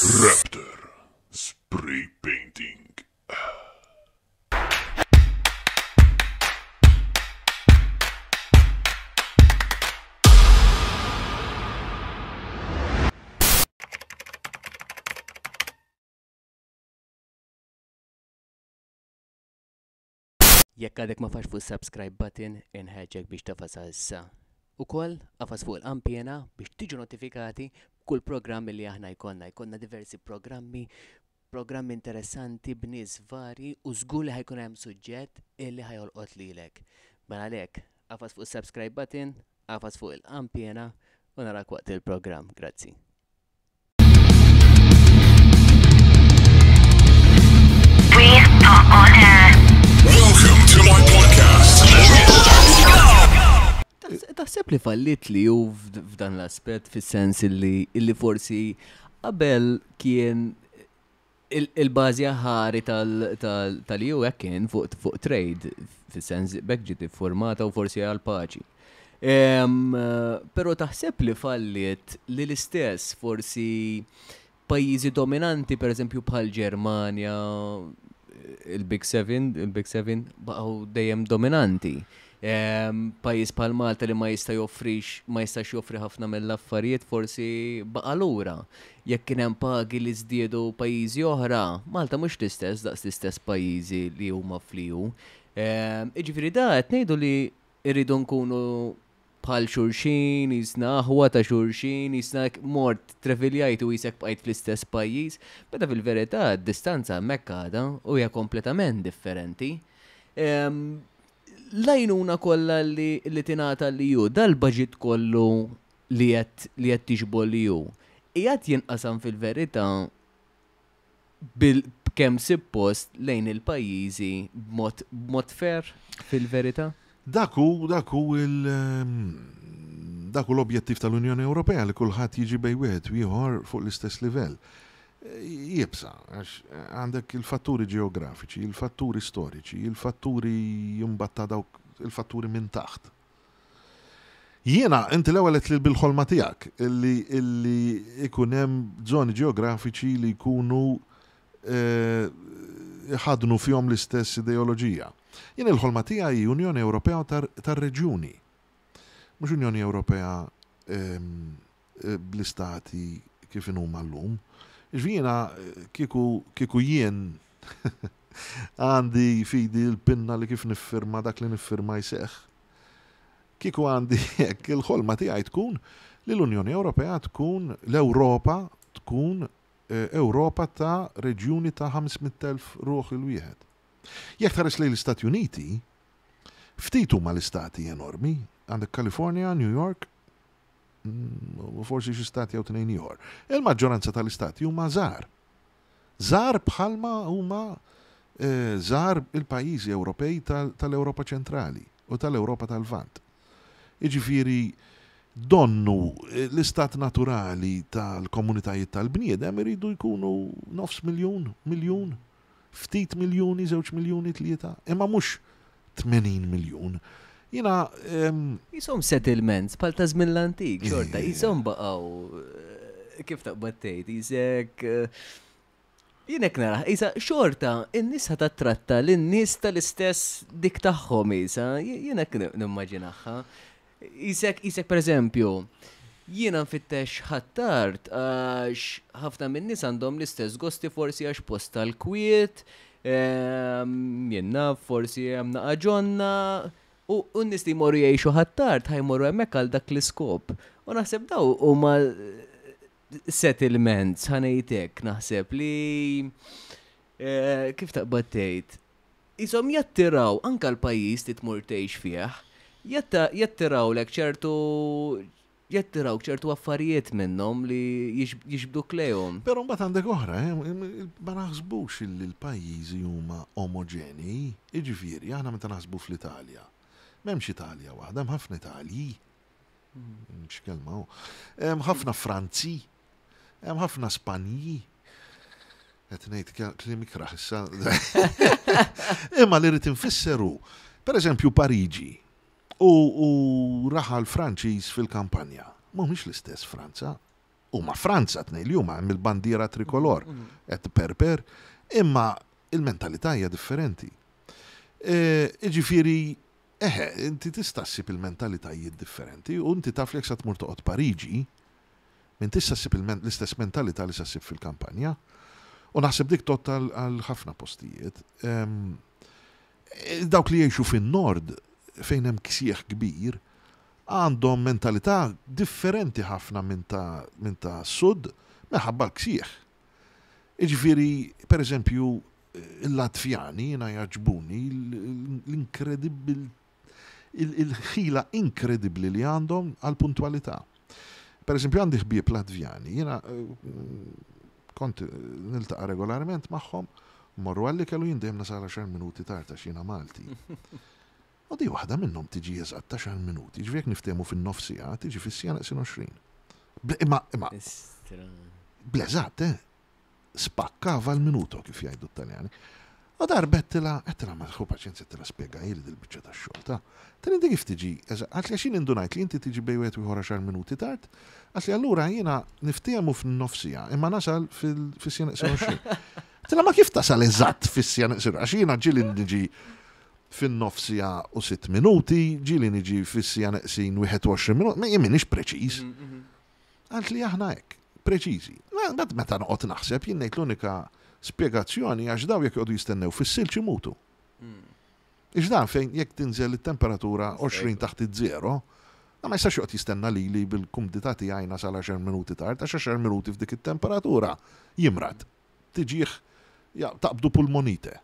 Raptor Spray Painting. Jekk għadek ma fax fuq subscribe button, inħeġġek biex tafasha issa. Ukoll afas fuq il-qanpiena biex tiġu notifikati b'kull programm li aħna jkollna. Jkollna diversi programmi, programmi interessanti b'nies varji u żgur li ħajkun hemm suġġett illi ħajolqot lilek. Mela għalhekk, afas fuq subscribe button, afas fuq il-qanpiena u narak waqt il-programm. Grazzi. We are on air. Welcome to my podcast. Taħseb li fallit li ju f'dan l-aspett fis-sens illi illi forsi qabel kien il-bażi aħari tal-EU hekk kien fuq trade, fis-sens b'hekk ġiet iffurmata u forsi għal paċi. Però taħseb li falliet li l-istess forsi pajjiżi dominanti, pereżempju bħal Ġermanja, il-Big Seven, il-Big Seven baqgħu dejjem dominanti. Pajjiż bħal Malta li ma jista' joffrix, ma jistax joffri ħafna mill-affarijiet forsi baqa' lura. Jekk kien hemm pagi li żdiedu pajjiżi oħra, Malta mhux l-istess daqs l-istess pajjiżi li huma fl-EU. Jiġifieri da qed ngħidu li rridu nkunu bħal xulxin, jisna aħwa ta' xulxin, jisna mort treviljajt u jisek bqajt fl-istess pajjiż, meta fil-verità d-distanza hemmhekk għadha u hija kompletament differenti. L-għajnuna kollha li tingħata l-EU, dal-baġit kollu li qed li qed tixbol li hu, qiegħed jinqasam fil-verità bil b'kemm sippost lejn il-pajjiżi b'mod b'mod fair fil-verità? Dak hu dak hu il dak hu l-objettiv tal-Unjoni Ewropea li kulħadd jiġi bejn wieħed u ieħor fuq l-istess livell. Iebsa, għax għandek il-fatturi ġeografiċi, il-fatturi storiċi, il-fatturi imbagħad ta' dawk il-fatturi minn taħt. Jiena, inti l-ewwel għedt li bil-ħolma tiegħek illi illi ikun hemm żoni ġeografiċi li jkunu iħaddnu fihom l-istess ideoloġija. Jien il-ħolma tiegħi hi Unjoni Ewropea tar-reġjuni. Mhux Unjoni Ewropea bl-istati kif inhuma llum. Jiġifieri jiena kieku kieku jien għandi f'idi l-pinna li kif niffirma dak li niffirma jseħħ. Kieku għandi hekk, il-ħolma tiegħi tkun li l-Unjoni Ewropea tkun, l-Ewropa tkun Ewropa ta' reġjuni ta' 500,000 ruħ il-wieħed. Jekk tħares lejn l-Istati Uniti, ftit huma l-istati enormi, għandek California, New York, u forsi xi stat jew tnejn ieħor. Il-maġġoranza tal-istati huma żgħar. Żgħar bħalma huma żgħar il-pajjiżi Ewropej tal-Ewropa ċentrali u tal-Ewropa tal-Lvant. Jiġifieri donnu l-istat naturali tal-komunitajiet tal-bniedem iridu jkunu nofs miljun, miljun, ftit miljuni, żewġ miljuni, tlieta, imma mhux 80 miljun. Jiena. Qishom settlements bħal ta' żmien l-antik, xorta, qishom baqgħu kif taqbad tgħid, qisek jien hekk narah, qisha xorta in-nies ħa tattratta lin-nies tal-istess dik tagħhom qisha, jien hekk nimmaġinaha. Qisek, qisek pereżempju, jiena nfittex Ħ'Attard għax ħafna min-nies għandhom l-istess gosti forsi għax post tal-kwiet, jien naf, forsi hemm naqa' ġonna, u n-nies li jmorru jgħixu Ħ'Attard ħa jmorru hemmhekk għal dak l-iskop. U naħseb dawn huma settlements, ħa ngħid hekk, naħseb li kif taqbad tgħid, qishom jattiraw anke l-pajjiż li tmur tgħix fih, jattirawlek ċertu jattirawk ċertu affarijiet minnhom li jiġbduk lejhom. Però mbagħad għandek oħra, ma naħsbux illi l-pajjiżi huma omoġenji, jiġifieri aħna meta naħsbu fl-Italja, m'hemmx Italja waħda, hemm ħafna Italji. X'kelma hu. Hemm ħafna Franzi, hemm ħafna Spanji. Qed ngħid kliem ikrah issa. Imma li rrid infisser hu, pereżempju Pariġi u, u raħal Franċiż fil-kampanja. Mhumiex l-istess Franza. Huma Franza tnej li huma hemm il-bandiera trikolor qed perper, imma il-mentalità hija differenti. Jiġifieri, eħe, inti tista' ssib il-mentalitajiet differenti u inti taf li jekk sa tmur toqgħod Pariġi, m'intix sa ssib l-istess mentalità li sa ssib fil-kampanja. U naħseb dik tgħodd għal ħafna postijiet. Dawk li jgħixu fin-nord fejn hemm ksieħ kbir, għandhom mentalità differenti ħafna minn ta' minn ta' sud minħabba l-ksieħ. Jiġifieri, per eżempju, il-Latvjani jiena jgħaġġbuni l-inkredibbli il-ħila inkredibbli li għandhom għall-puntwalità. Per eżempju, għandi ħbieb Latvjani, jiena kont niltaqa' regolarment magħhom, mmorru għall-ikel u jien dejjem nasal għaxar minuti tard għax jiena Malti. U di waħda minnhom tiġi eżatt għaxar minuti, jiġifieri jekk niftehmu fin-nofs siegħa, tiġi fis-siegħa neqsin 20. Imma, imma. Bl-eżatt, eh? Spaccava il minuto kif jgħidu t-Taljani. U darba għedtilha, għedtilha ma ħu paċenzja għedtilha spjegajli dil-biċċa tax-xogħol ta'. Għedtilha inti kif tiġi, qaltli għax jien indunajt li inti tiġi bejn wieħed u ieħor għaxar minuti tard, qaltli allura jiena niftehmu f'nofs siegħa imma nasal fis-siegħa neqsin 20. Għedtilha ma kif tasal eżatt fis-siegħa neqsin għax jiena ġieli niġi fin-nofs siegħa u sitt minuti, ġieli niġi fis-siegħa neqsin 21 minuta, ma jien m'iniex preċiż. Qaltli aħna hekk, preċiżi. Mbagħad meta noqgħod naħseb jien ngħid l-unika spjegazzjoni għax daw jekk joqogħdu jistennew fis-silġ imutu. Ix dan fejn jekk tinżel it-temperatura 20 taħt iż-żero, ma jistax joqgħod jistenna lili bil-kumdità tiegħi nasal għaxar minuti tard għax għaxar minuti f'dik it-temperatura jimrad. Tiġih taqbdu pulmonite.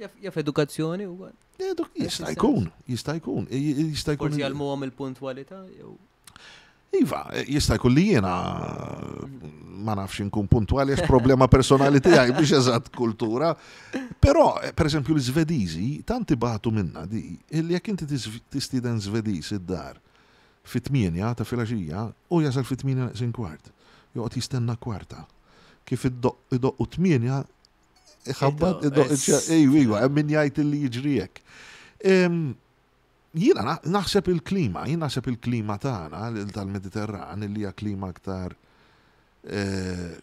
Jaf edukazzjoni u Jista' jkun, jista' jkun, jista' jkun. Forsi jgħallmuhom il-puntwalità jew. Iva, jista' jkun li jiena ma nafx inkun puntwali għax problema personali tiegħi biex eżatt kultura. Però, per eżempju, l-Svediżi tant ibatu minna di, illi jekk inti tistieden Svediż id-dar fit-8 ta' filgħaxija u jasal fit-8 neqsin kwart. Joqgħod jistenna kwarta. Kif idoqqu 8 iħabbat, idoqq ejju, iva, hemm min jgħid illi jiġri hekk. Jiena naħseb il-klima, jien naħseb il-klima tagħna tal-Mediterran li hija klima aktar eh,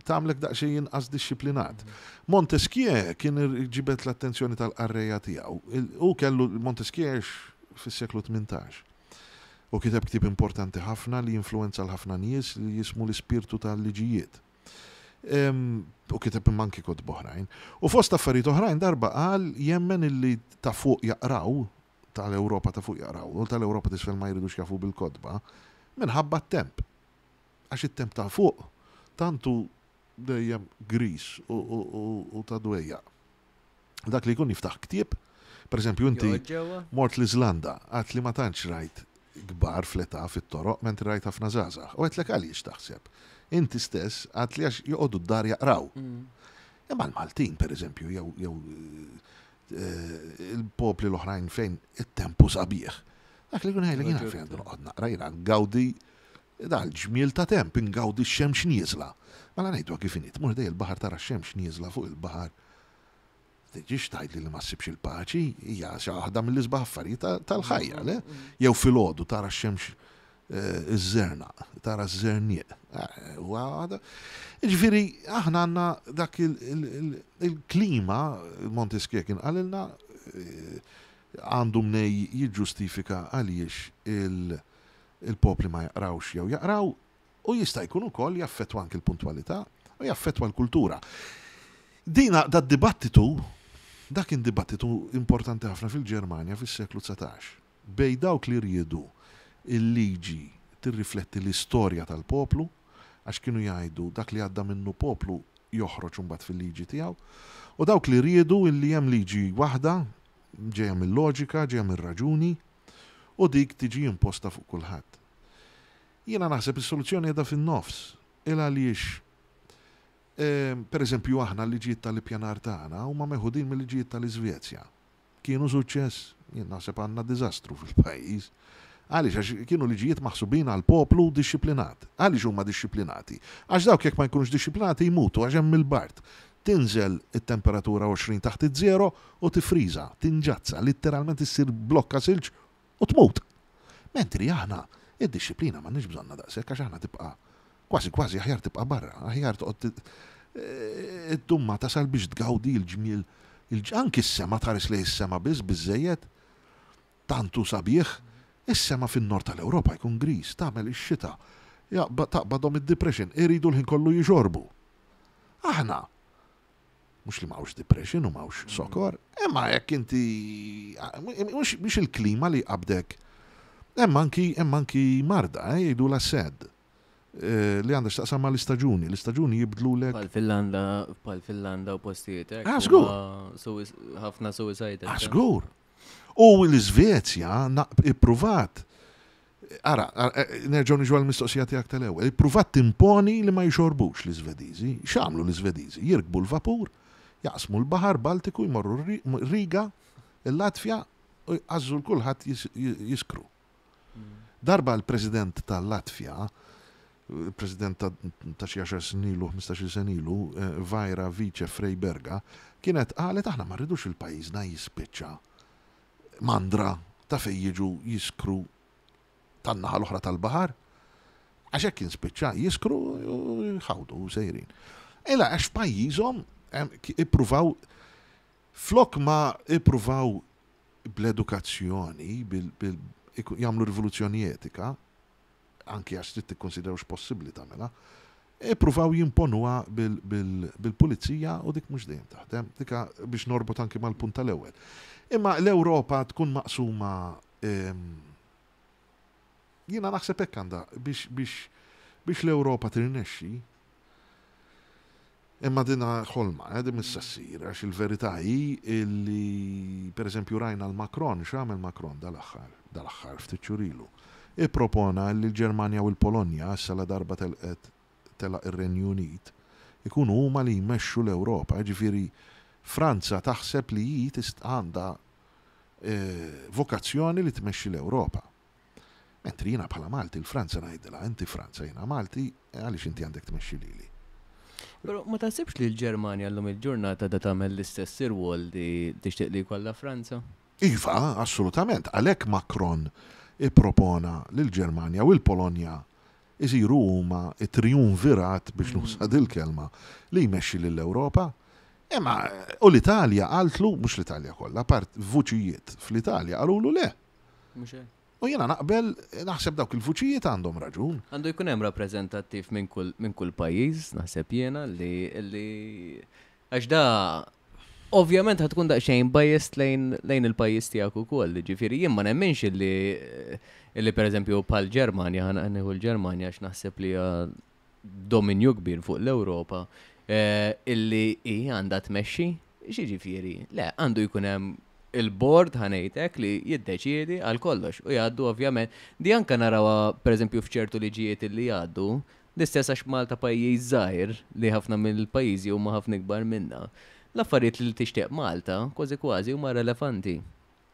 tagħmlek daqsxejn inqas dixxiplinat. Montesquieu kien ġibed l-attenzjoni tal-qarrejja tiegħu. Hu kellu Montesquieu fis-seklu 18. U kiteb ktieb importanti ħafna li influenza l-ħafna nies li jismu l-ispirtu tal-liġijiet. U kiteb imma anki kotba oħrajn. U fost affarijiet oħrajn darba qal jemmen illi ta' fuq jaqraw, tal-Ewropa ta' fuq jaqraw, u tal-Ewropa t'isfel ma jridux jafu bil-kotba, minħabba t-temp. Għax it-temp ta' fuq tant hu dejjem griż u ta' dwejjaq. Dak li jkun jiftaħ ktieb, per eżempju inti mort l-Iżlanda, għedt li ma tantx rajt kbar fl-età fit-toroq mentri rajt ħafna żgħażagħ. U għedtlek għaliex taħseb? Inti stess għedt li għax joqogħdu d-dar jaqraw. Imma l-Maltin, per eżempju, jew jew il-popli l-oħrajn fejn it-tempu sabiħ. Dak li jkun jgħidlek jiena fejn għandu noqgħod naqra jiena ngawdi dal-ġmiel ta' temp, ingawdi x-xemx nieżla. Mela ngħidu kif inhi, tmur ħdej il-baħar tara x-xemx nieżla fuq il-baħar. Tiġix tgħidli li ma ssibx il-paċi, hija xi waħda mill-isbaħ affarijiet tal-ħajja, le? Jew filgħodu tara x-xemx eh, iż-żernaq, tara ż-żernieq. Eh, jiġifieri aħna għandna dak il-klima, Montesquieu kien qalilna, eh, għandu mnej jiġġustifika għaliex il-popli ma jaqrawx jew jaqraw, U jista' jkun ukoll jaffettwa anki l-puntwalità u jaffettwa l-kultura. Dina dad-dibattitu, dak kien dibattitu importanti ħafna fil-Ġermanja fis-seklu 19, bejn dawk li riedu l-liġi tirrifletti l-istorja tal-poplu, għax kienu jgħidu dak li għadda minnu poplu joħroġ imbagħad fil-liġi tiegħu, u dawk li riedu illi hemm liġi waħda ġejja mil-loġika, ġejja mir-raġuni, u dik tiġi imposta fuq kulħadd. Jiena naħseb is-soluzzjoni qiegħda fin-nofs. Il għaliex per eżempju aħna l-liġijiet tal-ippjanar tagħna huma meħudin mill-liġijiet tal-Iżvezja. Kienu suċċess? Jien naħseb għandna diżastru fil-pajjiż. Għaliex? Għax kienu liġijiet maħsubin għal poplu dixxiplinat. Għaliex huma dixxiplinati? Għax dawk jekk ma jkunux dixxiplinati jmutu għax hemm il-bard. Tinżel it-temperatura 20 taħt iż-żero u tiffriża, tinġazza, litteralment issir blokka silġ u tmut. Mentri aħna, id-dixxiplina m'għandniex bżonnha daqshekk għax aħna tibqa' Kważi kważi aħjar tibqa' barra, aħjar toqgħod iddum ma tasal biex tgawdi l-ġmiel, anki s-sema tħares lejn is-sema biss biżżejjed. Tant hu sabiħ, is-sema fin-nord tal-Ewropa jkun griż, tagħmel ix-xita, taqbadhom id-depression, iridu l-ħin kollu jixorbu. Aħna, mhux li m'hawnx depression u m'hawnx sokor, imma jekk inti mhux il-klima li jqabbdek. Hemm anki hemm anki marda, eh, jgħidulha SAD. Eh, li għandha x'taqsam mal-istaġuni, l-istaġuni jibdlulek. Bħal Finlanda, bħal Finlanda u postijiet hekk. Ah, żgur. Ħafna suicide. Ah, żgur. U l-Iżvezja ippruvat Ara, eh, nerġgħu niġu għall-mistoqsija tiegħek tal-ewwel. Ippruvat timponi li ma jixorbux l-Iżvediżi. X'għamlu l-Iżvediżi? Jirkbu l-vapur, jaqsmu l-Baħar Baltiku, jmorru Riga, il-Latvja, u jqażżu l kulħadd jiskru. Darba l-President tal-Latvja, il-President ta' xi għaxar snin ilu, ħmistax-il sena ilu, Vaira Vice Freiberga, kienet qalet aħna ma rridux il pajjiżna jispiċċa mandra ta' fejn jiġu jiskru tan-naħa l-oħra tal-baħar. Għax hekk kien spiċċa jiskru u jħawdu u sejrin. Ela għax f'pajjiżhom ippruvaw flok ma ippruvaw bl-edukazzjoni, jagħmlu rivoluzzjoni etika, anki għax trid tikkonsidra hux possibbli tagħmilha, ippruvaw jimponuha bil-pulizija u dik mhux dejjem taħdem. Dika biex norbot anki mal-punt tal-ewwel. Imma l-Ewropa tkun maqsuma ehm, jiena naħseb hekk għandha biex biex biex l-Ewropa tirnexxi Imma din ħolma, eh, din mhux se ssir, għax il-verità hi li pereżempju rajna l-Macron, x'għamel Macron dal-aħħar, dal-aħħar ftit xhur ilu. Ippropona li l-Ġermanja u l-Polonja, issa la darba telqet telaq ir-Renju Unit, ikunu huma li jmexxu l-Ewropa, jiġifieri Franza taħseb li hi tista' għandha eh, vokazzjoni li tmexxi l-Ewropa. Mentri jiena bħala Malti l-Franza ngħidilha, inti Franza jiena Malti, għaliex inti għandek tmexxi lili? Però ma taħsibx li l-Ġermanja llum il-ġurnata da tagħmel l-istess irwol li tixtieq li jkollha Franza? Iva, assolutament. Għalhekk Macron ippropona li l-Ġermanja u l-Polonja jsiru huma t-triumvirat, biex nuża dil-kelma, li jmexxi lill-Ewropa. Imma u l-Italja qaltlu, mhux l-Italja kollha, part vuċijiet fl-Italja qalulu le. Mhux hekk. U jiena naqbel, naħseb dawk il-vuċijiet għandhom raġun. Għandu jkun hemm rappreżentattiv minn kull minn kull pajjiż, naħseb jiena li li għax da ovvjament ħa tkun daqsxejn biased lejn lejn il-pajjiż tiegħek ukoll, jiġifieri jien ma nemminx illi illi pereżempju bħal Ġermanja, ħa nieħu l-Ġermanja għax naħseb li hija dominju kbir fuq l-Ewropa, illi hi għandha tmexxi, x'jiġifieri? Le, għandu jkun hemm il-board ħa ngħidlek li jiddeċiedi għal kollox u jgħaddu ovvjament. Di anke narawha pereżempju f'ċertu liġijiet illi jgħaddu, l-istess għax Malta pajjiż żgħir li ħafna mill-pajjiżi huma ħafna ikbar minna. L-affarijiet li tixtieq Malta kważi kważi huma relevanti.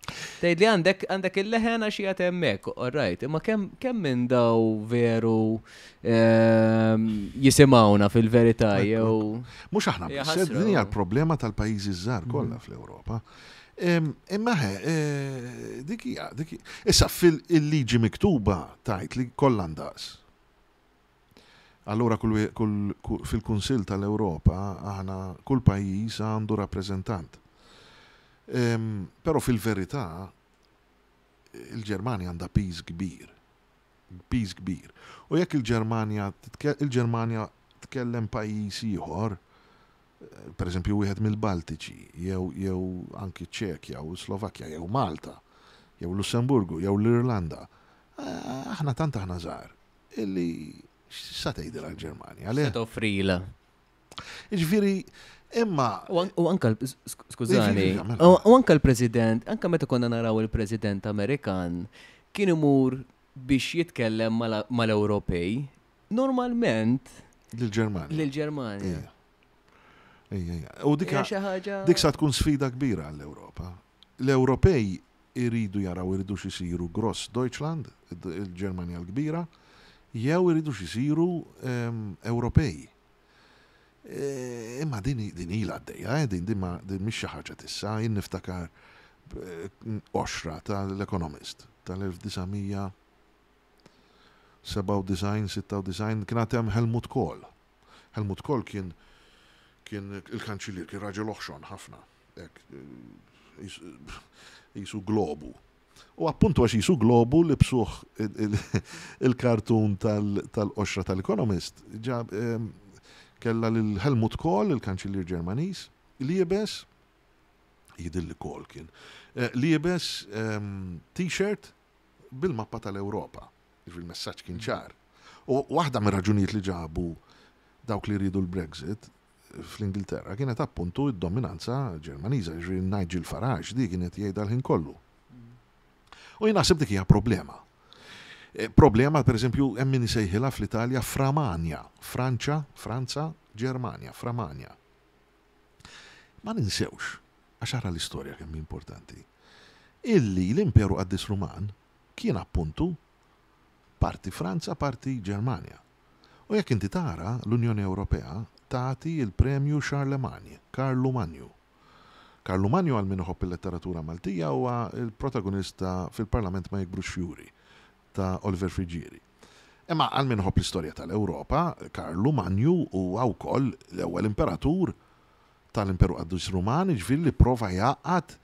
Tgħid li għandek għandek il-leħen għax qiegħed hemmhekk, all right, imma kemm kemm minn daw veru ehm, jisimgħuna fil-verità jew. Mhux aħna biss, din hija l-problema tal-pajjiżi żgħar kollha mhm. fl-Ewropa. Imma ħe, eh, dik hija, dik Issa fil-liġi miktuba tajt li kollha ndaqs. Allura kull, kull, fil-Kunsill tal-Ewropa aħna kull pajjiż għandu rappreżentant. Però fil-verità il-Ġermanja għandha piż kbir. Piż kbir. U jekk il-Ġermanja il-Ġermanja tkellem pajjiż ieħor, per eżempju wieħed mill-Baltiċi, jew jew anki ċ-Ċekja u Slovakkja jew Malta, jew Lussemburgu, jew l-Irlanda, aħna tant aħna żgħar illi x'sa tgħidilha l-Ġermanja? Le. Se toffrilha. Jiġifieri, imma. U anka, skużani, u anka l-President, anka meta konna naraw il-President Amerikan, kien imur biex jitkellem mal-Ewropej, normalment. Lill-Ġermanja. Lill-Ġermanja. Ejja, ejja. U dik dik sa tkun sfida kbira għall-Ewropa. L-Ewropej iridu jaraw iridux isiru Gross Deutschland, il-Ġermanja l-kbira, jew iridux isiru ehm, Ewropej. E, imma din din ilha għaddejja, eh, din din ma din mhix xi ħaġa tissa, jien niftakar eh, qoxra tal-Economist tal-1900 97, 96, kien għad hemm Helmut Kohl. Helmut Kohl kien kien il-kanċillier, kien raġel oħxon ħafna, hekk, jisu globu. U appuntu għax jisu globu libsuh il-kartun tal-qoxra tal-Economist, ġab kella lil Helmut Kohl, il-kanċillier Ġermaniż, liebes, jidhirli Kohl kien, liebes t-shirt bil-mappa tal-Ewropa. Jiġifieri il-messaġġ kien ċar. U waħda mir-raġunijiet li ġabu dawk li riedu l-Brexit fl-Ingilterra kienet appuntu d-dominanza Ġermaniża, jiġifieri Nigel Farage di kienet jgħidha l-ħin kollu. U jien naħseb dik hija problema. Eh, problema, per eżempju, hemm min isejħilha fl-Italja Framania, Franċa, Franza, Ġermanja, Framania. Ma ninsewx, għax ara l-istorja kemm importanti, illi l-Imperu Qaddis Ruman kien appuntu parti Franza, parti Ġermanja. U jekk inti tara, l-Unjoni Ewropea tagħti l-Premju Charlemagne, Karlu Manju. Karlu Manju għal min iħobb il-letteratura Maltija huwa l-protagonist ta' Fil-Parlament ma Jikbrux Fjuri ta' Oliver Friggieri. Imma għal min iħobb l-istorja tal-Ewropa, Karlu Manju huwa wkoll l-ewwel imperatur tal-Imperu Qaddis Ruman, jiġifieri li pprova jgħaqqad,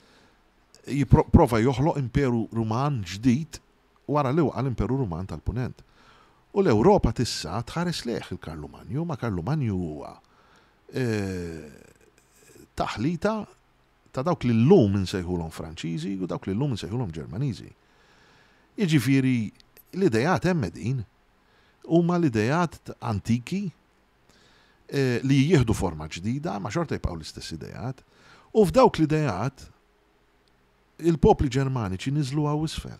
jipprova joħloq Imperu Ruman ġdid wara li waqa' l-Imperu Ruman tal-Punent. U l-Ewropa t'issa tħares lejh il-Karlu Manju, ma Karlu Manju huwa taħlita ta' dawk li llum insejħulhom Franċiżi u dawk li llum insejħulhom Ġermaniżi. Jiġifieri l-ideat hemm qegħdin, huma l-ideat antiki li jieħdu forma ġdida, ma xorta jibqgħu l-istess ideat, u f'dawk l-ideat il-popli Ġermaniċi niżlu hawn isfel.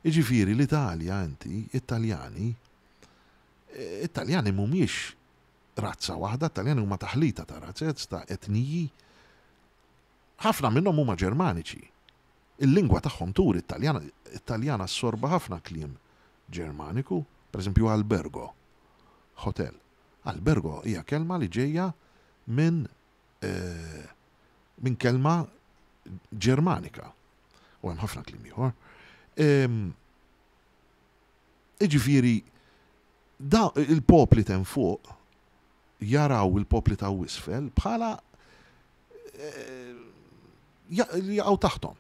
Jiġifieri l-Italja inti, it-Taljani, it-Taljani mhumiex razza waħda, it-Taljani huma taħlita ta' razzez, ta' etniji. Ħafna minnhom huma Ġermaniċi. Il-lingwa tagħhom turi t-Taljan, it-Taljan assorba ħafna kliem Ġermaniku, pereżempju albergo, hotel. Albergo hija kelma li ġejja minn minn kelma Ġermanika. U hemm ħafna kliem ieħor. Jiġifieri da il-popli t'hemm fuq jaraw il-popli ta' isfel bħala li jaqgħu taħthom.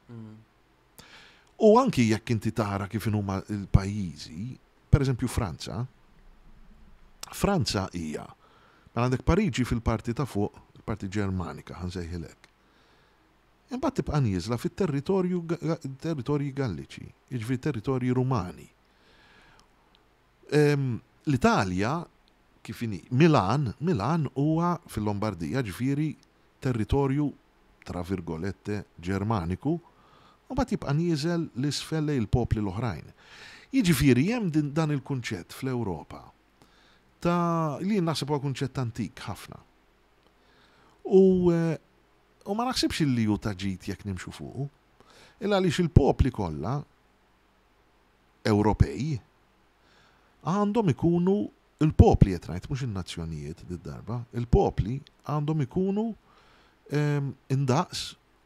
U anki jekk inti tara kif inhuma l-pajjiżi, pereżempju Franza, Franza hija, mela għandek Pariġi fil-parti ta' fuq, il-parti Ġermanika ħa nsejħilek. Imbagħad tibqa' nieżla fit-territorju territorji Galliċi, jiġifieri territorji Rumani. L-Italja kif inhi, Milan, Milan huwa fil-Lombardija, ġifieri territorju tra virgolette Ġermaniku, u mbagħad jibqa' nieżel 'l isfel lejn il-popli l-oħrajn. Jiġifieri hemm din dan il-kunċett fl-Ewropa ta' li jien naħseb huwa kunċett antik ħafna. U u ma naħsibx illi hu ta' ġid jekk nimxu fuqu. Il għaliex il-popli kollha Ewropej għandhom ikunu il-popli qed ngħid mhux in-nazzjonijiet did-darba, il-popli għandhom ikunu indaqs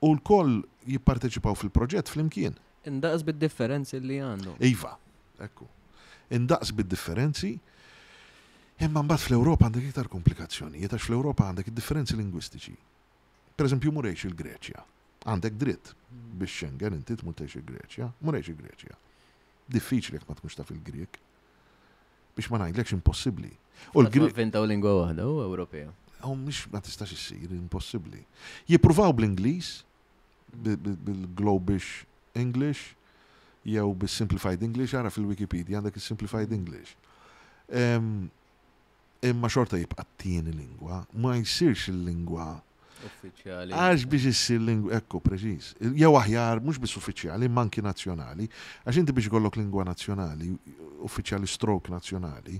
u lkoll jipparteċipaw fil-proġett flimkien. Indaqs bid-differenzi li għandhom. Iva, ekku. Indaqs bid-differenzi, imma mbagħad fl-Ewropa għandek iktar komplikazzjonijiet għax fl-Ewropa għandek id-differenzi lingwistiċi. Per eżempju, mur għix il-Greċja. Għandek dritt biex Schengen inti tmur tgħix il-Greċja, mur għix il-Greċja. Diffiċli jekk ma tkunx taf il-Grieg. Biex ma ngħidlekx impossibbli. U l-Grieg Inventaw lingwa waħda u Ewropea. U mhix ma tistax issir, impossibbli. Jippruvaw bl-Ingliż, bil-Globish English, jew bis-Simplified English, ara fil-Wikipedia għandek is-Simplified English. Imma xorta jibqa' t-tieni lingwa, ma jsirx il-lingwa uffiċjali. Għax biex issir lingwa, ekku, preċiż. Jew aħjar, mhux biss uffiċjali, imma anki nazzjonali. Għax inti biex ikollok lingwa nazzjonali, uffiċjali stroke nazzjonali,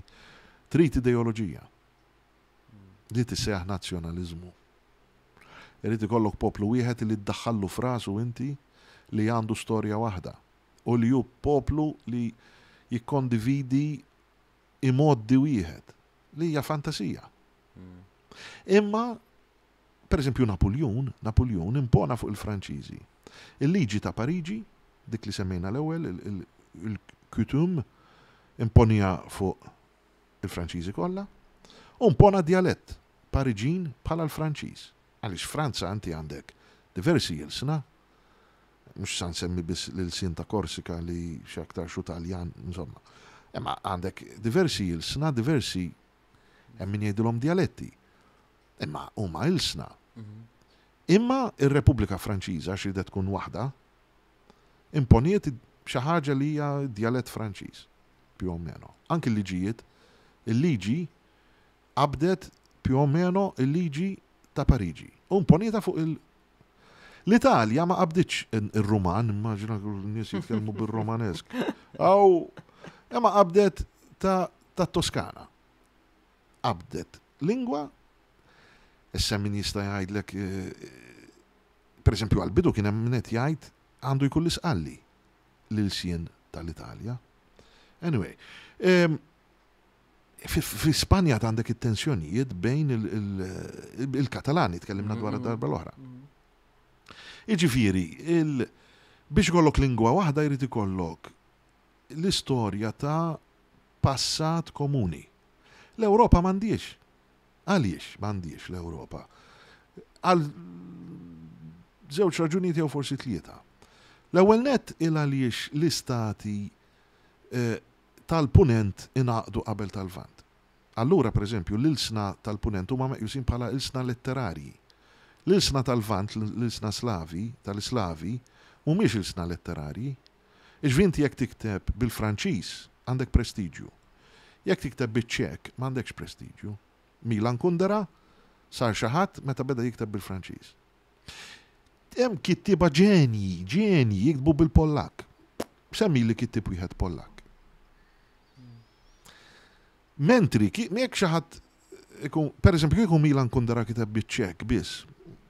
trid ideoloġija. Li tissejjaħ nazzjonaliżmu. Irid ikollok poplu wieħed li ddaħħallu f'rasu inti li għandu storja waħda u li hu poplu li jikkondividi imgħoddi wieħed, li hija fantasija. Imma, per eżempju, Napuljun, Napuljun impona fuq il-Franċiżi il-liġi ta' Pariġi, dik li semmejna l-ewwel, il-coutume, Imponiha fuq il-Franċiżi kollha u impona djalett Pariġin bħala l-Franċiż. Għaliex Franza inti għandek diversi ilsna, mhux sa nsemmi biss l-ilsien ta' Korsika li x'aktarx hu Taljan, insomma. Imma għandek diversi ilsna, diversi hemm min jgħidilhom djaletti. Imma huma ilsna. Imma ir-Repubblika Franċiża għax ridet tkun waħda, imponiet xi ħaġa li hija djalett Franċiż, più o meno. Anki l-liġijiet, il-liġi qabdet più o meno il-liġi ta' Pariġi u imponietha fuq il- L-Italja ma qabditx ir-Ruman, immaġina n-nies jitkellmu bir-Romanesk. Aw, imma qabdet ta' Toskana. Qabdet lingwa, issa min jista' jgħidlek, per eżempju għall-bidu kien hemm min qed jgħid għandu jkun l-Isqalli l-ilsien tal-Italja. Anyway, fi Spanja għandek it-tensjonijiet bejn il-Katalani, tkellimna dwar darba l-oħra. Iġifieri, biex ikollok lingwa waħda jrid ikollok l-istorja ta' passat komuni. L-Ewropa m'għandhiex. Għaliex m'għandhiex l-Ewropa? Għal żewġ raġunijiet jew forsi tlieta. L-ewwel nett il għaliex l-istati tal-Punent ingħaqdu qabel tal-Lvant. Allura, pereżempju, l-ilsna tal-Punent huma meqjusin bħala ilsna letterarji. L-ilsna tal-Lvant, l-ilsna Slavi, tal-Islavi, mhumiex ilsna letterarji. Jiġifieri inti jekk tikteb bil-Franċiż għandek prestiġju. Jekk tikteb biċ-Ċek m'għandekx prestiġju. Milan Kundera sar xi ħadd meta beda jikteb bil-Franċiż. Hemm kittieba ġenji, ġenji jiktbu bil-Pollakk. Semmili kittieb wieħed Pollakk. Mentri, jekk xi ħadd ikun, per eżempju, kieku Milan Kundera kiteb biċ-Ċek biss,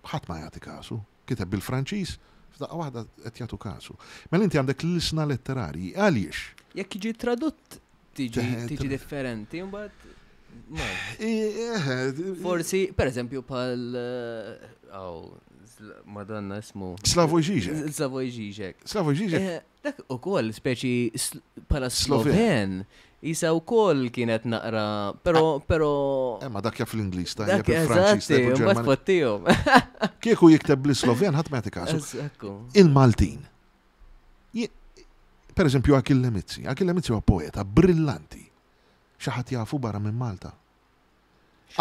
ħadd ma jagħti kasu. Kiteb bil-Franċiż, f'daqqa waħda qed jagħtu kasu. Mela inti għandek l-ilsna letterarji, għaliex? Jekk jiġi tradott tiġi differenti, mbagħad Forsi, per eżempju, bħal aw, Madonna ismu. Slavoj Žižek. Slavoj Žižek. Slavoj Žižek. Dak ukoll speċi bħala Sloven. Isa wkoll kienet naqra, pero, pero. Ma dak jaf l-Ingliż, tajjeb il-Franċiż, tajjeb il-Ġermaniż. Fottihom. Kieku jikteb bl-Sloven ħadd ma jagħti kasu. Il-Maltin. Per eżempju Achille Mizzi. Achille Mizzi huwa poeta brillanti. Xi ħadd jafu barra minn Malta.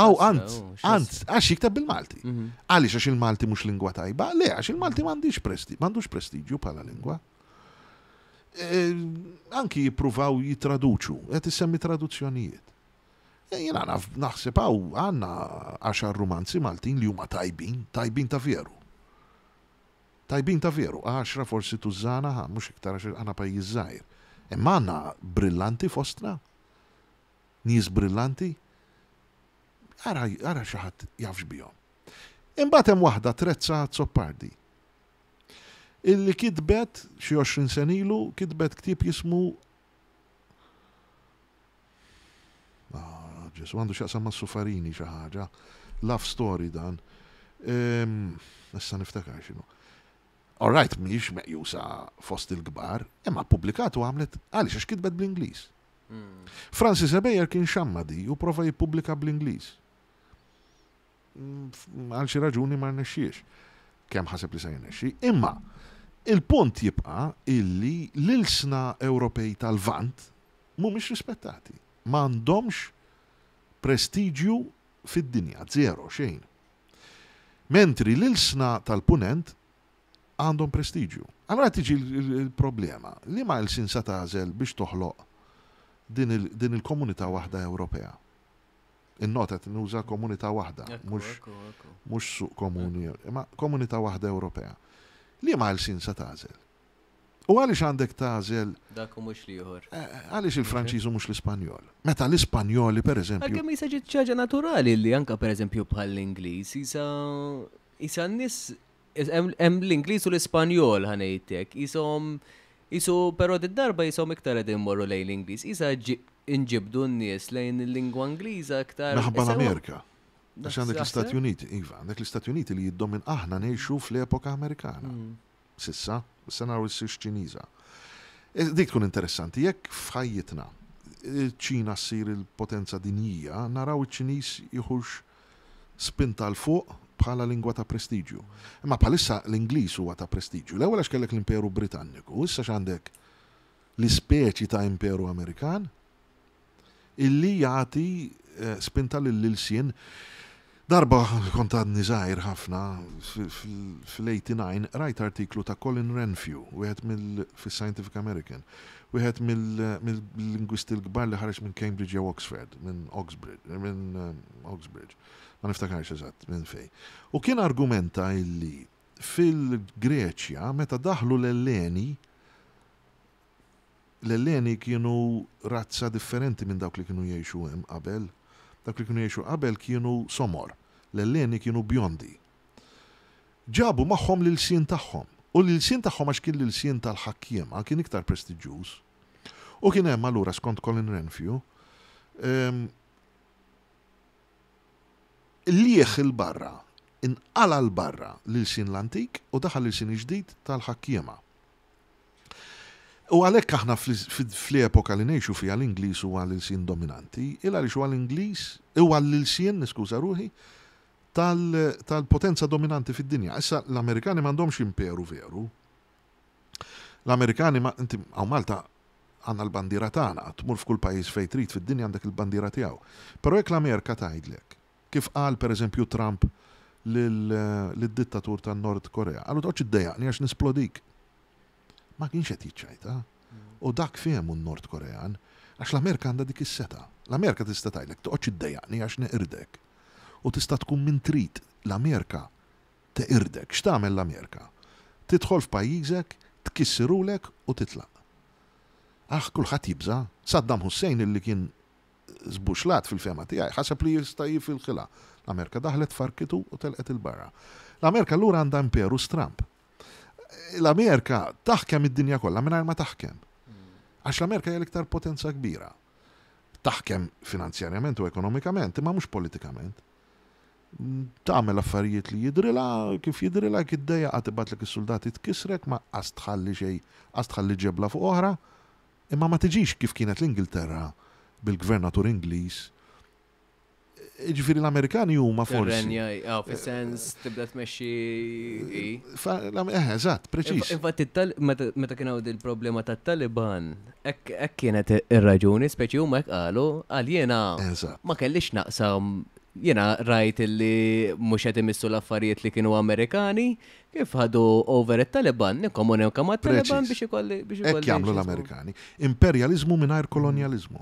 Aw, ant, ant, għax jikteb bil-Malti. Għaliex għax il-Malti mhux lingwa tajba? Le, għax il-Malti m'għandix presti, m'għandux prestiġju bħala lingwa. Anki jippruvaw jitraduċu, qed issemmi traduzzjonijiet. Jiena naf naħseb hawn għandna għaxar rumanzi Maltin li huma tajbin, tajbin ta' veru. Tajbin ta' veru, għaxra forsi tużżana, ħa, mhux iktar għax aħna pajjiż żgħir. Imma għandna brillanti fostna, nies brillanti, ara, ara xi ħadd jafx bihom. Imbagħad hemm waħda Trezza Azzopardi illi kitbet xi 20 sena ilu kitbet ktieb jismu Ah, Ġesu għandu x'jaqsam ma' Sufarini xi ħaġa. Love story dan. Issa niftakar x'inhu. All right, mhijiex meqjusa fost il-kbar, imma ppubblikat u għamlet għaliex għax kitbet bl-Ingliż. Francis Ebejer kien xammadi u prova jippubblika bl-Ingliż. Għal xi raġuni ma rnexxiex. Kemm ħaseb li se jirnexxi. Imma il-punt jibqa' illi l-ilsna Ewropej tal-Lvant mhumiex rispettati. M'għandhomx prestiġju fid-dinja, zero, xejn. Mentri l-ilsna tal-Punent għandhom prestiġju. Allura tiġi l-problema, liema ilsien sa tagħżel biex toħloq din il-komunità waħda Ewropea? Innota qed nuża komunità waħda, mhux suq komuni, imma komunità waħda Ewropea. Liema ilsien sa tagħżel? U għaliex għandek tagħżel Dak u mhux l-ieħor. Għaliex il-Franċiż u mhux l-Ispanjol? Meta l-Ispanjoli pereżempju. Għalkemm jisa ġiet xi ħaġa naturali li anke pereżempju bħall-Ingliż jisa jisa n-nies hemm l-Ingliż u l-Ispanjol ħa ngħidlek, qishom qisu però did-darba qishom iktar qegħdin imorru lejn l-Ingliż, qisha inġibdu n-nies lejn il-lingwa Ingliża iktar. Minħabba l-Amerika. Għax għandek l-Istati Uniti, iva, għandek l-Istati Uniti li jiddomin aħna ngħixu fl-epoka Amerikana. Sissa, issa naraw issirx Ċiniża. Dik tkun interessanti, jekk f'ħajjitna iċ-Ċina ssir il-potenza dinjija, naraw iċ-Ċiniż jieħux spinta 'l fuq bħala lingwa ta' prestiġju. Imma bħalissa l-Ingliż huwa ta' prestiġju. L-ewwel għax kellek l-Imperu Britanniku, issa x'għandek l-ispeċi ta' Imperu Amerikan illi jagħti spinta lill-ilsien. Darba kont għadni żgħir ħafna, fil-89, qrajt artiklu ta' Colin Renfrew, wieħed mill fis-Scientific American, wieħed mill-lingwisti l-kbar li ħareġ minn Cambridge jew Oxford, minn Oxbridge, minn Oxbridge, ma niftakarx eżatt minn fejn. U kien argumenta illi fil-Greċja meta daħlu l-Elleni, L-Elleni kienu razza differenti minn dawk li kienu jgħixu hemm qabel. Dawk li kienu jgħixu qabel kienu somor. L-Elleni kienu bjondi. Ġabu magħhom l-ilsien tagħhom. U l-ilsien tagħhom għax kien l-ilsien tal-ħakkiema kien iktar prestiġjuż. U kien hemm allura skont Colin Renfrew, qligħ 'il barra, inqala' 'l barra l-ilsien l-antik u daħal l-ilsien il-ġdid tal-ħakkiema. U għalhekk aħna fl-epoka li ngħixu fiha l-Ingliż huwa l-ilsien dominanti, il għaliex huwa l-Ingliż, huwa l-ilsien, niskuża ruħi, tal-potenza dominanti fid-dinja. Issa l-Amerikani m'għandhomx imperu veru. L-Amerikani ma inti hawn Malta għandna l-bandiera tagħna, tmur f'kull pajjiż fejn trid fid-dinja għandek il-bandiera tiegħu. Però jekk l-Amerika tgħidlek, kif qal pereżempju Trump lid-dittatur tan-Nord Korea, qallu toqgħodx iddejjaqni għax nisplodik. Ma kienx qed jiċċajta. U dak fehmu n-Nord Korean, għax l-Amerika għandha dik is-setgħa. L-Amerika tista' tgħidlek toqgħodx iddejjaqni għax neqirdek. U tista' tkun min trid, l-Amerika teqirdek. X'tagħmel l-Amerika? Tidħol f'pajjiżek, tkissirulek u titlaq. Aħ, kulħadd jibża'. Saddam Hussein illi kien żbuxlat fil-fehma tiegħi, ħaseb li jista' jifilħilha. L-Amerika daħlet farkitu u telqet 'il barra. L-Amerika allura għandha imperu stramb. L-Amerika taħkem id-dinja kollha mingħajr ma taħkem. Għax l-Amerika hija l-iktar potenza kbira. Taħkem finanzjarjament u ekonomikament, imma mhux politikament. Tagħmel affarijiet li jidrilha, kif jidrilha, jekk iddejjaqha tibgħatlek is-suldati tkissrek, ma qas tħalli xejn, qas tħalli ġebla fuq oħra. Imma ma tiġix kif kienet l-Ingilterra bil-gvernatur Ingliż. Jiġifieri l-Amerikani huma forsi. Tirrenja, ah, fis-sens tibda tmexxi. Eh, eżatt, preċiż. Infatti meta kien hawn il-problema tat-Taliban, hekk kienet ir-raġuni, speċi huma hekk qalu, għal jiena ma kellix naqsam jiena rajt li mhux qed imissu l-affarijiet li kienu Amerikani, Kif ħadu over it-Taliban, nikkomunika mat-Taliban biex ikolli biex ikolli. Hekk jagħmlu l-Amerikani. Imperjaliżmu mingħajr kolonjaliżmu.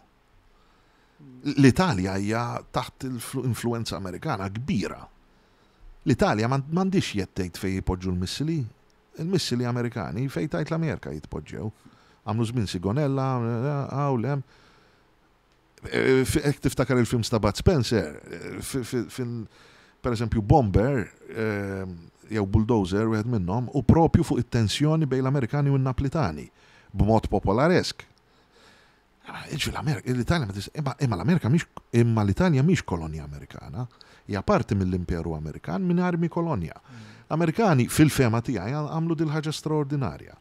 L-Italja hija taħt influenza Amerikana kbira. L-Italja m'għandhiex jedd tgħid fejn jpoġġu l-missili. Il-missili Amerikani fejn tgħid l-Amerika jitpoġġew. Għamlu żmien Sigonella, hawn hemm. Jekk tiftakar il-films ta' Bud Spencer, per eżempju Bomber jew Bulldozer wieħed minnhom u propju fuq it-tensjoni bejn l-Amerikani u n-Naplitani b'mod popolaresk. L-Italja imma l-Amerika mhix imma l-Italja mhix kolonja Amerikana, hija parti mill-Imperu Amerikan mingħajr mhi kolonja. L-Amerikani fil-fehma tiegħi għamlu dil-ħaġa straordinarja.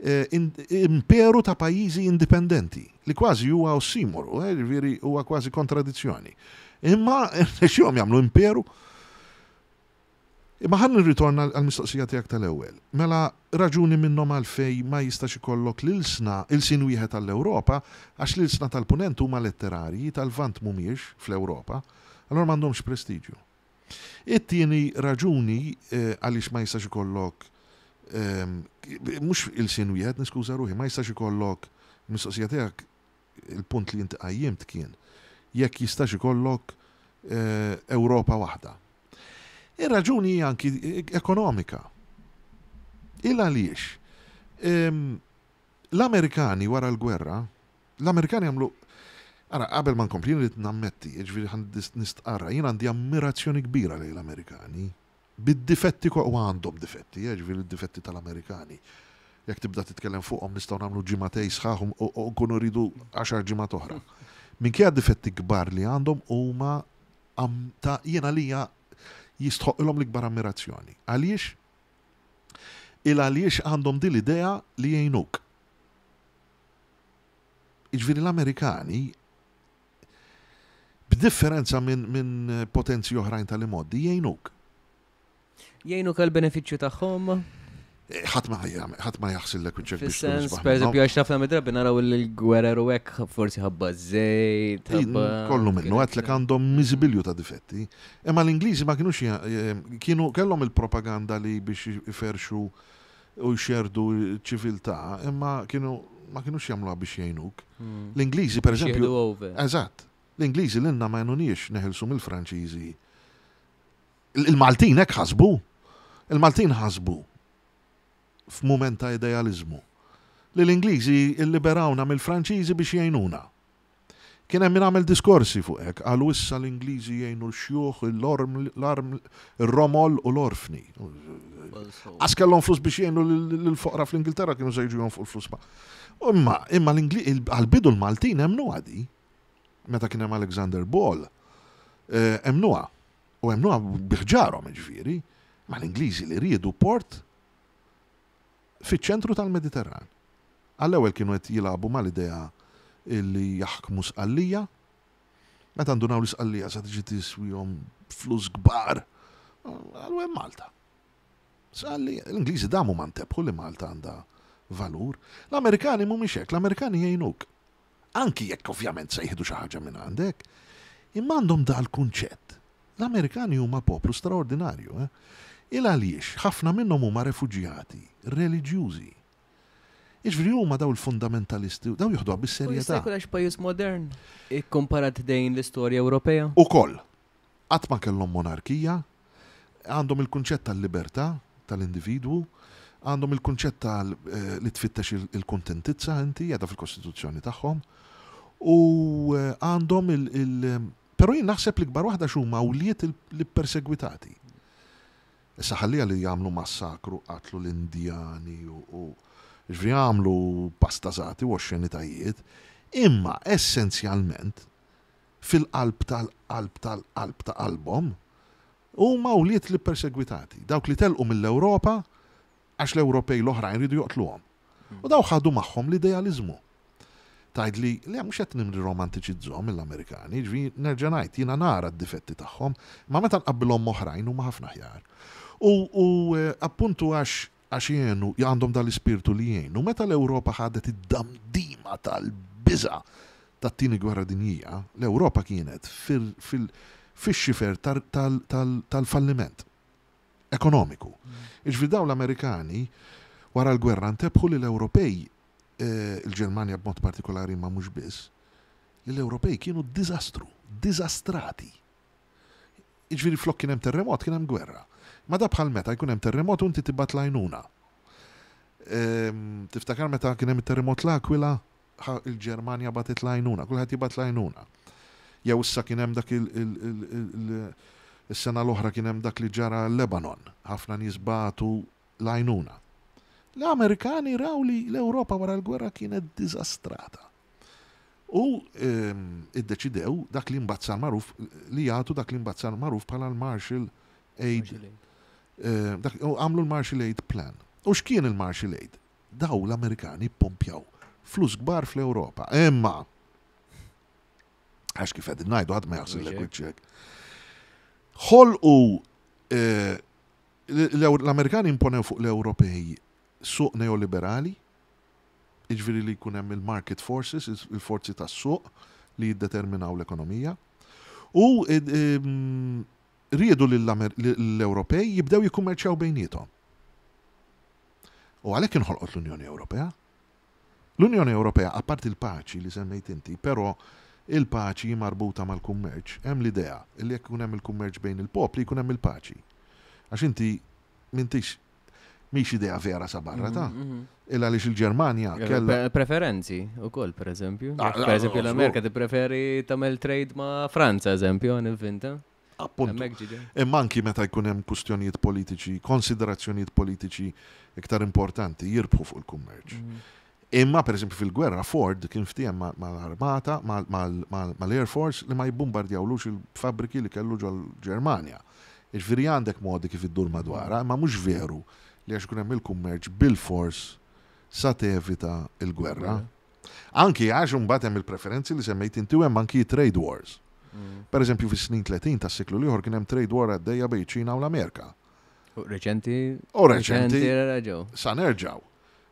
Imperu ta' pajjiżi indipendenti, li kważi huwa ossimoru, jiġifieri huwa kważi kontradizzjoni. Imma rnexxielhom jagħmlu imperu. Imma ħa nirritorna għall-mistoqsija tiegħek tal-ewwel. Mela raġuni minnhom għalfejn ma jistax ikollok l-ilsna, ilsien wieħed għall-Ewropa, għax l-ilsna tal-Punent huma letterarji, tal-Lvant mhumiex fl-Ewropa, allura m'għandhomx prestiġju. It-tieni raġuni għaliex ma jistax ikollok mhux ilsien wieħed, niskuża ruħi, ma jistax ikollok mistoqsija tiegħek il-punt li inti qajjimt kien jekk jistax ikollok Ewropa waħda. Ir-raġuni hija anki ekonomika. Il għaliex l-Amerikani wara l-gwerra L-Amerikani għamlu Ara, qabel ma nkompli, jien rrid nammetti, jiġifieri ħa nistqarra, jien għandi ammirazzjoni kbira lejn l-Amerikani. Bid-difetti u għandhom difetti, eh, jiġifieri d-difetti tal-Amerikani. Jekk tibda titkellem fuqhom nistgħu nagħmlu ġimagħtej sħaħ u nkunu rridu għaxar ġimgħat oħra. Minkejja d-difetti kbar li għandhom huma ta' jien għalija jistħoqqilhom l-ikbar ammirazzjoni. Għaliex? Il għaliex għandhom din l-idea li jgħinuk. Jiġifieri l-Amerikani b'differenza minn min potenzi oħrajn tal-imgħoddi jgħinuk. Jgħinuk għal benefiċċju tagħhom? Eh, ħadd ma ħadd ma jaħsillek wiċċek biex Fis-sens, per eżempju, għax ħafna mid-drabi naraw il-gwerer u hekk forsi ħabba żejt. Kollu minnu għedtlek għandhom miżibilju ta' difetti. Imma l-Ingliżi ma kienux eh, kienu kellhom il-propaganda li biex iferxu u jxerdu ċiviltà, imma kienu ma kienux jagħmluha biex jgħinuk. L-Ingliżi, per eżempju. Eżatt. L-Ingliżi lilna ma għenuniex neħilsu mill-Franċiżi. Il-Maltin hekk ħasbu. Il-Maltin ħasbu f'mument ta' idealiżmu li l-Ingliżi illiberawna mill-Franċiżi biex jgħinuna. Kien hemm min għamel diskorsi fuq hekk, qalu issa l-Ingliżi jgħinu l-xjuħ, ir-romol u l-orfni. Qas kellhom flus biex jgħinu lill-foqra fl-Ingilterra kienu se jiġu jonfqu l-flus ma. Imma imma għall-bidu l-Maltin emmnuha di. Meta kien hemm Alexander Ball, eh, emmnuha. U emmnuha bi ħġarhom jiġifieri. Ma l-Ingliżi li riedu port fiċ-ċentru tal-Mediterran. Għall-ewwel kienu qed jilagħbu mal-idea li jaħkmu Sqallija. Meta ndunaw li Sqallija sa tiġi tiswihom flus kbar, qalu hemm Malta. Sqallija, l-Ingliżi damu ma ntebħu li Malta għandha valur. L-Amerikani mhumiex hekk, l-Amerikani jgħinuk. Anki jekk ovvjament se jieħdu xi ħaġa minn għandek, imma għandhom dal-kunċett. L-Amerikani huma poplu straordinarju, eh? Il għaliex ħafna minnhom huma refuġjati reliġjużi. Jiġifieri huma daw il-fundamentalisti, daw joħduha bis-serjetà. U jista' jkun għax pajjiż modern ikkomparat dejn l-istorja Ewropea? Ukoll. Qatt ma kellhom monarkija, għandhom il-kunċett tal-libertà tal-individwu, għandhom il-kunċett tal li tfittex il-kuntentizza inti, qiegħda fil-kostituzzjoni tagħhom, u għandhom il Però jien naħseb l-ikbar waħda x'huma wlied l-ippersegwitati. Issa ħalliha li jagħmlu massakru qatlu l-Indjani u ġifieri għamlu pastażati u oxxenitajiet, imma essenzjalment fil-qalb tal-qalb tal-qalb ta' qalbhom, huma wlied l-ippersegwitati, dawk li telqu mill-Ewropa għax l-Ewropej l-oħrajn riedu joqtluhom. U dawk ħadu magħhom l-idealiżmu. Tgħidli, le mhux qed nirromantiċizzhom lill-Amerikani, jiġifieri nerġa' ngħid, jiena nara d-difetti tagħhom, imma meta nqabbilhom m'oħrajn huma ħafna aħjar. U appuntu għax Għax jgħinu, għandhom dan l-ispirtu li jgħinu. Meta l-Ewropa ħadet id-damdima tal-biża' tat-Tieni Gwerra Dinjija, l-Ewropa kienet fix-xifer tal-falliment ekonomiku. Jiġifieri dawn l-Amerikani wara l-gwerra ntebħu li l-Ewropej, il-Ġermanja b'mod partikolari imma mhux biss, li l-Ewropej kienu diżastru, diżastrati. Jiġifieri flok kien hemm terremot kien hemm gwerra. Imma da bħal meta jkun hemm terremot u inti tibgħat l-għajnuna. Ehm, tiftakar meta kien hemm it-terremot l-Aquila, il-Ġermanja bagħtet l-għajnuna, kulħadd jibgħat l-għajnuna. Jew issa kien hemm dak is-sena l-oħra kien hemm dak li ġara l-Lebanon, ħafna nies bagħtu l-għajnuna. L-Amerikani raw li l-Ewropa wara l-gwerra kienet diżastrata. U iddeċidew dak li mbagħad sar magħruf li jagħtu dak li mbagħad sar magħruf bħala l-Marshall Aid. Għamlu l-Marshall Aid Plan. U x'kien il-Marshall Aid? Daw l-Amerikani ppompjaw flus kbar fl-Ewropa. Imma għax kif qegħdin ngħidu ħadd ma jaħsilek wiċċek. Ħolqu l-Amerikani imponew fuq l-Ewropej suq neoliberali jiġifieri li jkun hemm il-market forces, il-forzi tas-suq li jiddeterminaw l-ekonomija, u riedu li l-Ewropej jibdew jikkummerċjaw bejniethom. U għalhekk inħolqot l-Unjoni Ewropea. L-Unjoni Ewropea, apparti l-paċi li semmejt inti, però il-paċi marbuta mal-kummerċ, hemm l-idea li jekk ikun hemm il-kummerċ bejn il-popli jkun hemm il-paċi. Għax inti m'intix Mhix idea vera sa barra ta'. Mhm, mhm. Il għaliex il-Ġermanja kellha. Preferenzi ukoll pereżempju. Ah, ah, pereżempju l-Amerika tippreferi tagħmel trade ma' Franza eżempju ninvinta. Appuntu. Imma anki meta jkun hemm kwistjonijiet politiċi, konsiderazzjonijiet politiċi iktar importanti jirbħu fuq il-kummerċ. Mhm. Imma pereżempju fil-gwerra Ford kien ftiehem mal-armata, mal-Air Force li ma jibbumbardjawlux il-fabbriki li kellu ġol-Ġermanja. Jiġifieri għandek modi kif iddur madwarha, imma mhux veru li għax ikun hemm il-kummerċ bilfors sa tevita l-gwerra. Anki għax imbagħad hemm il-preferenzi li semmejt inti u hemm anki trade wars. Per eżempju, fis-snin 30 tas-seklu l-ieħor kien hemm trade war għaddejja bejn Ċina u l-Amerika. U reċenti. U reċenti. Reġgħu. Sa nerġgħu.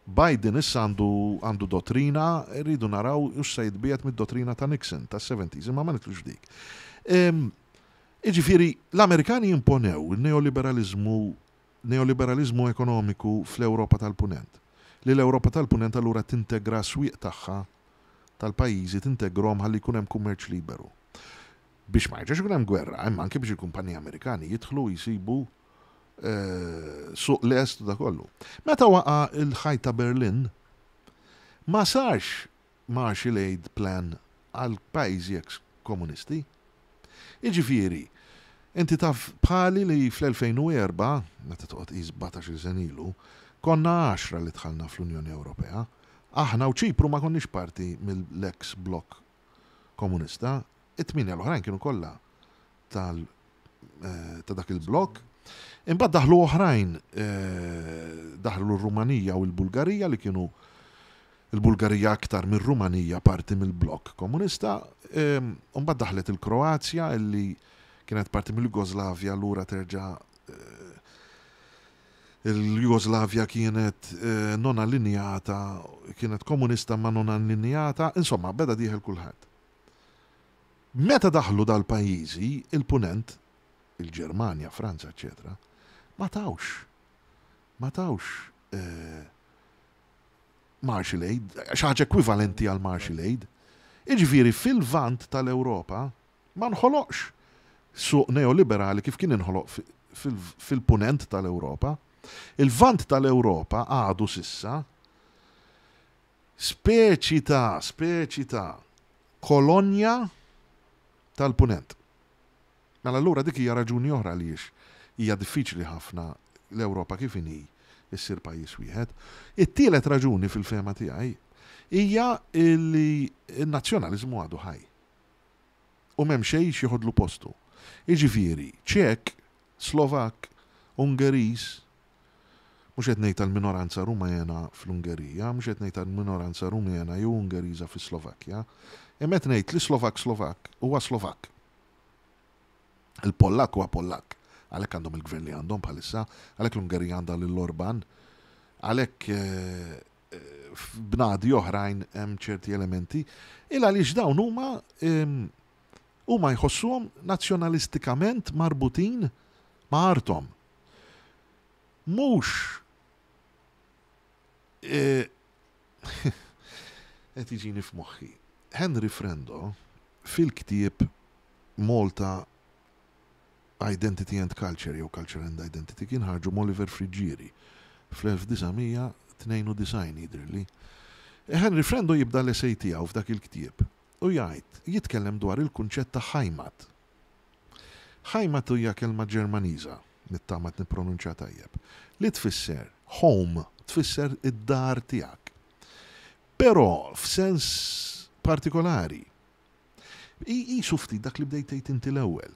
Biden issa għandu dottrina, rridu naraw u se jitbiegħed mid-dottrina ta' Nixon tas-70s, imma ma nidħlux f'dik. Iġifieri, l-Amerikani imponew il-neoliberalizmu neoliberalizmu ekonomiku fl-Ewropa tal-Punent. Li l-Ewropa tal-Punent allura tintegra swieq tagħha tal-pajjiżi tintegrahom ħalli jkun hemm kummerċ liberu. Biex ma jerġax ikun hemm gwerra, imma anke biex il-kumpaniji Amerikani jidħlu jsibu suq lest u da kollu. Meta waqa' il-ħajt ta' Berlin, ma sarx Marshall Aid Plan għal pajjiżi ex komunisti. Iġifieri, inti taf bħali li fl-2004, meta toqgħod tqis 17-il sena ilu, konna 10 li dħalna fl-Unjoni Ewropea. Aħna u Ċipru ma konniex parti mill-ex blok komunista, it-tmienja l-oħrajn kienu kollha tal ta' dak il-blok. Imbagħad daħlu oħrajn, daħlu r-Rumanija u l-Bulgarija li kienu il-Bulgarija aktar mir-Rumanija parti mill-blok komunista. Imbagħad daħlet il-Kroazja illi kienet parti mill-Jugoslavja lura terġa' il-Jugoslavja kienet non allinjata, kienet komunista ma non allinjata, insomma, beda dieħel kulħadd. Meta daħlu dal-pajjiżi, il-Punent, il-Ġermanja, Franza, eccetera, ma tawx Marshall Aid, xi ħaġa ekwivalenti għal Marshall Aid. Iġifieri fil-vant tal-Ewropa ma nħoloqx suq neoliberali kif kien inħoloq fil-punent tal-Ewropa. Il-vant tal-Ewropa għadu s'issa speċi ta' kolonja tal-punent. Mela allura dik hija raġuni oħra għaliex hija diffiċli ħafna l-Ewropa kif inhi issir pajjiż wieħed. It-tielet raġuni fil-fehma tiegħi hija li n-nazzjonaliżmu għadu ħaj. U m'hemm xejn x'jeħodlu postu. Jiġifieri, Ċek, Slovak, Ungeriż, mhux qed ngħid tal-minoranza Rumena fl-Ungerija, mhux qed ngħid tal-minoranza Rumena jew Ungeriża fis-Slovakkja, imma qed ngħid li Slovak Slovak huwa Slovak. Il-Pollak huwa Pollak. Għalhekk għandhom il-gvern li għandhom bħalissa, għalhekk l-Ungerija għandha lil Orban, għalhekk f'bnadi oħrajn hemm ċerti elementi, il għaliex dawn huma jħossuhom nazzjonalistikament marbutin ma' arthom. Mhux qed jiġini f'moħħi. Henry Frendo fil-ktieb Malta Identity and Culture jew Culture and Identity kien ħarġu Oliver Friggieri fl-1992 jidhirli. Henry Frendo jibda l-essay tiegħu f'dak il-ktieb u jgħid jitkellem dwar il-kunċett ta' Heimat. Heimat hija kelma Ġermaniża, nittama nippronunċja tajjeb, li tfisser home, tfisser id-dar tiegħek. Però f'sens partikolari. Qisu ftit dak li bdejt tgħid inti l-ewwel.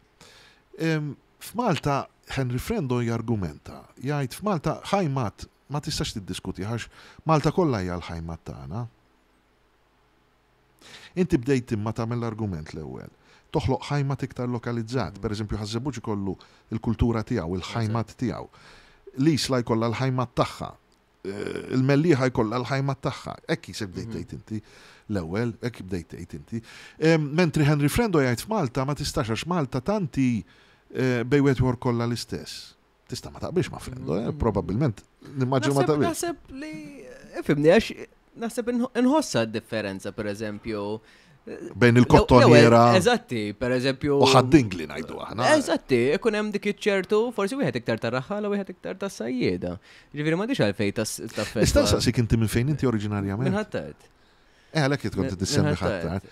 F'Malta Henry Frendo jargumenta, jgħid f'Malta Heimat ma tistax tiddiskuti għax Malta kollha hija l-Heimat tagħna. Inti bdejt imma tagħmel l-argument l-ewwel. Toħloq Heimat iktar lokalizzat, per eżempju Ħaż-Żebbuġ ikollu il-kultura tiegħu, il-Heimat tiegħu. L-Isla jkollha l-Heimat tagħha. Il-Mellieħa jkollha l-Heimat tagħha. Hekk jisek bdejt tgħid inti l-ewwel, hekk bdejt tgħid inti. Mentri Henry Frendo jgħid f'Malta ma tistax għax Malta tanti bejn wieħed ieħor kollha l-istess. Tista' ma taqbilx ma' Frendo, probabbilment nimmaġinu ma taqbilx. Naħseb li, fhimni, għax naħseb inħossa d-differenza, per eżempju. Bejn il-Kottonera. Eżatti, per eżempju. U Ħad-Dingli ngħidu aħna. Eżatti, ikun hemm dik iċ-ċertu, forsi wieħed iktar tar-raħħala u wieħed iktar tas-sajjieda. Ġifieri m'għandix għalfejn ta' Nista' nsaqsik inti minn fejn inti oriġinarjament? Minn Ħ'Attard. Għalhekk kont tissemmi Ħ'Attard.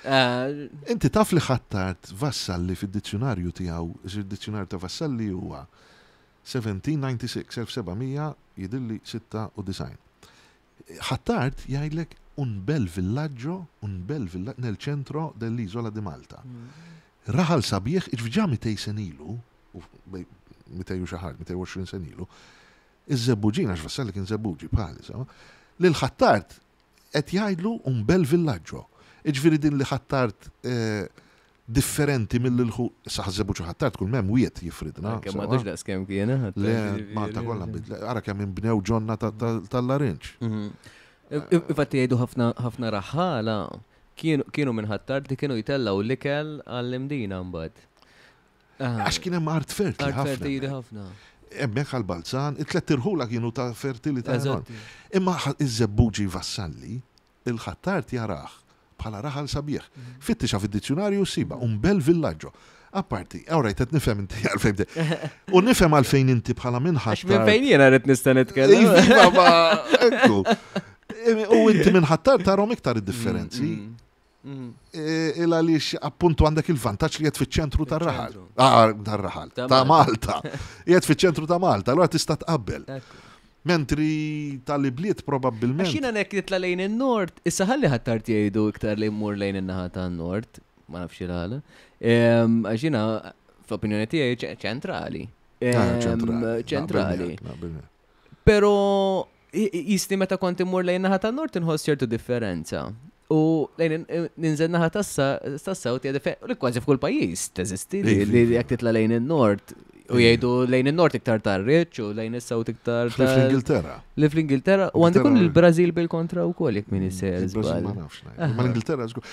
Inti taf li Ħ'Attard Vassalli fid-dizzjonarju tiegħu, id-dizzjonarju ta' Vassalli huwa 1796, 1700 jidhirli 96. Ħ'Attard jgħidlek un bel villaggio, un bel villaggio nel centro dell'isola di Malta. Raħal sabiħ, ġa 200 sena ilu, 200 u xi ħaġa, 220 sena ilu, iż-Żebbuġin, għax Vassalli kien Żebbuġi bħali, sama, lil Ħ'Attard. Qed jgħidlu un bel villaggio. Jiġifieri din li Ħ'Attard eh, differenti mill-ilħu, sa Ħaż-Żebbuġ u Ħ'Attard kull m'hemm wied jifridna. Kemm m'għadux daqs kemm kien, eh, Le, Malta kollha nbidlet. Ara kemm inbnew ġonna tal-larinġ. Mhm. Infatti jgħidu ħafna ħafna raħħala kienu minn Ħ'Attard li kienu jtellgħu l-ikel għall-Imdina mbagħad. Għax kien hemm art fertili ħafna. Art fertili ħafna. Hemmhekk għal Balzan, it-tlett irħula kienu ta' fertilità. Imma iż-Żebbuġi Vassalli, il-Ħ'Attard jarah bħala raħal sabiħ. Mhm. Fittixa fid-dizzjunarju ssiba, un bel villaggio. Apparti, all right, qed nifhem inti għalfejn. U nifhem għalfejn inti bħala minn Għax minn fejn jiena rrid nista' nitkellem. Iva, ma, ekku. U inti minn Ħ'Attard tarhom iktar id-differenzi. Mm, mm. Mm. E, il għaliex appuntu għandek il-vantaġġ li qed fiċ-ċentru tar-raħal. Ah, tar-raħal, ta' Malta. Qiegħed fiċ-ċentru ta' Malta, allura tista' tqabbel. Mentri tal-ibliet probabbilment. Għax jiena nek nitla' lejn in-nord, issa ħalli Ħ'Attard jgħidu iktar li mmur lejn in-naħa tan-nord, ma nafx il-għala. Għax jiena fl-opinjoni tiegħi ċentrali. Ah, ċentrali. Pero jisni meta kont immur lejn naħa tan-nord inħoss ċertu differenza. U lejn ninżel naħa tas-south hija differenti. Kważi f'kull pajjiż teżisti li jekk titla' lejn in-nord u jgħidu lejn in-nord iktar tar-riċ u lejn is-south iktar. Li fl-Ingilterra. Li fl-Ingilterra u għandi kun il-Brażil bil-kontra wkoll jekk min isser. Ma nafx. Ma l-Ingilterra żgur.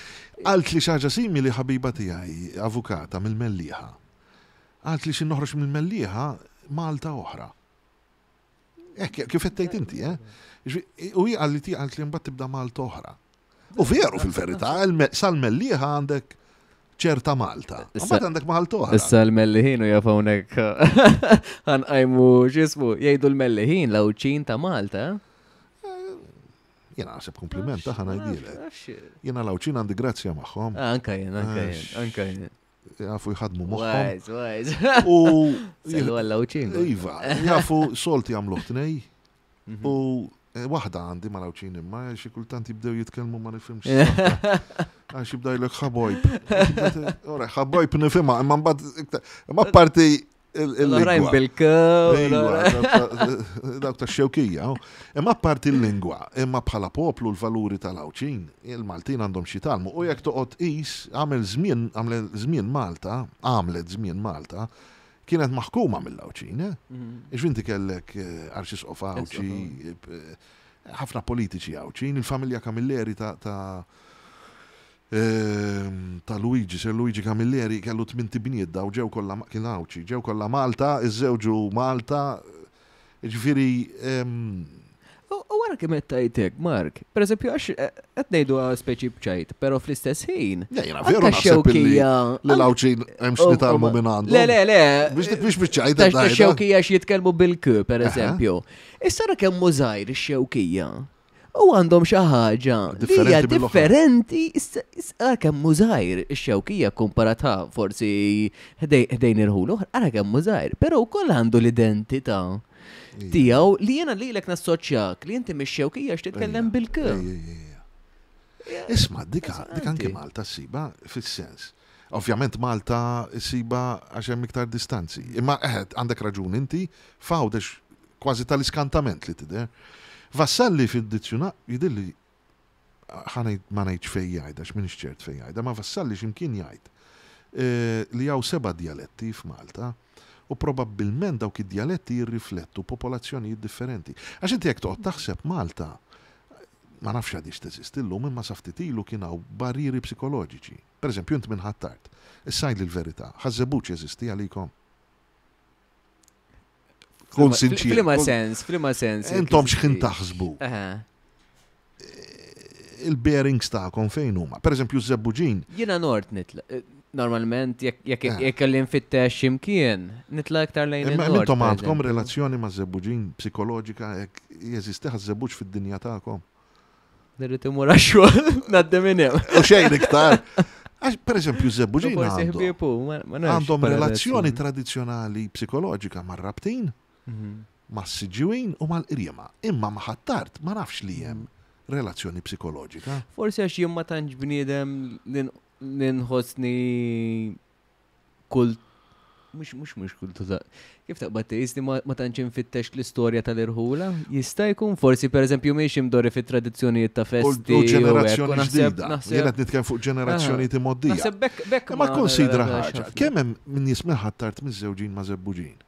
Qalt li xi ħaġa simili ħabiba tiegħi, avukata mill-Mellieħa. Qalt li xi noħroġ mill-Mellieħa Malta oħra. Hekk, kif qed tgħid inti, eh? U hi qalli ti qalt li mbagħad tibda Malta oħra. U veru fil-verità, sal-Mellieħa għandek ċerta Malta. Mbagħad għandek Malta oħra. Issa l-Melliħin u jaf hawnhekk ħanqajmu x'ismu, jgħidu l-Melliħin l-Għawdxin ta' Malta. Eh? Jena naħseb kompliment ta' ħana jgħidilek. Jena l-Għawdxin għandi grazzja magħhom. Ah, anka jien, anka jien, anka jien. Jafu jħadmu moħħhom. Wise, wise. U. Sellu għalla u ċin. Iva, jafu solt jagħmluh tnej. Mhm. U eh, waħda għandi ma lawċin imma xi kultant jibdew jitkellmu ma nifhimx. Għax jibda jlek ħabojb. Ora, ħabojb nifhimha, imma mbagħad imma parti L-oħrajn bil-k. Dawk ta' xewkija. Imma parti l-lingwa, imma bħala poplu l-valuri tal-Għawdxin, il-Maltin għandhom xi jitgħallmu. U jekk toqgħod tqis, għamel żmien, għamlet żmien Malta, għamlet żmien Malta, kienet maħkuma mill-Għawdxin. Eh? Mhm. Ix inti kellek eh, Arċisqof Għawdxi, eh, ħafna politiċi Għawdxin, il-familja Camilleri ta' Ehm, ta' Luigi, Sir Luigi Camilleri, kellu tmint ibniet daw ġew kollha kien Għawdxi, ġew kollha Malta, iżżewġu Malta, ġifieri ehm, U wara kemm qed tgħid hekk, Mark, pereżempju għax eh, qed ngħidu speċi b'ċajt, però fl-istess ħin. Jiena veru naħseb li l-Għawdxin hemm x'nitalmu minn għandu. Le, le, le. Biex biex biċ-ċajt. Ta' xewkija x'jitkellmu bil-k, pereżempju. Issa ra kemm żgħir ix-xewkija. U għandhom xi ħaġa li hija differenti ara kemm hu żgħir ix-xewkija kkumparatha forsi ħdejn irħul oħra, ara kemm hu żgħir, però wkoll għandu l-identità tiegħu li jiena lilek nassoċjak li inti mix-xewkija għax titkellem bil-k. Isma' dika dik anke Malta ssiba fis-sens. Ovvjament Malta ssiba għax hemm iktar distanzi. Imma eħe għandek raġun inti, f'Għawdex Kważi tal-iskantament li tidher. Vassalli fid-dizzjuna jidhirli ħa ngħid ma ngħidx fejn jgħid għax m'iniex ċert fejn jgħidha, ma Vassalli xi mkien jgħid li hawn seba' djaletti f'Malta u probabbilment dawk id-djaletti jirriflettu popolazzjonijiet differenti. Għax inti jekk toqgħod taħseb Malta ma nafx għadhiex teżisti llum imma sa ftit ilu kien hawn barrieri psikoloġiċi. Pereżempju int minn Ħ'Attard. Issa għidli l-verità, Ħaż-Żebbuġ jeżisti għalikom? Kun sinċir. Flima sens, flima sens. Intom xħin taħsbu. Il-bearings tagħkom fejn huma. Per eżempju, żebbuġin. Jiena nord nitla. Eh, normalment, jekk eh. kelli nfittex x'imkien, nitla iktar lejn il Intom għandkom relazzjoni ma' żebbuġin psikoloġika jekk jeżisti ħaż-żebbuġ fid-dinja tagħkom. Nirrid imur għax-xogħol, ngħaddi minn hemm. U xejn iktar. Għax, per eżempju, żebbuġin għandhom relazzjoni tradizzjonali psikoloġika mar-Rabtin, mhm. mas-Siġġiwin u mal-Qriema. Imma ma' Ħ'Attard ma nafx li hemm relazzjoni psikoloġika. Forsi għax jien ma tantx bniedem li nħossni kull Mhux mhux mhux kultura. Kif taqbad tgħid li ma tantx infittex l-istorja tal-irħula? Jista' jkun forsi pereżempju mhix imdorri fit-tradizzjonijiet ta' festi. U ġenerazzjoni ġdida. Jien qed nitkellem fuq ġenerazzjoni timoddija. Naħseb bekk bekk. Ma konsidra ħaġa. Kemm hemm min jismel Ħ'Attard miżżewġin ma' Żebbuġin?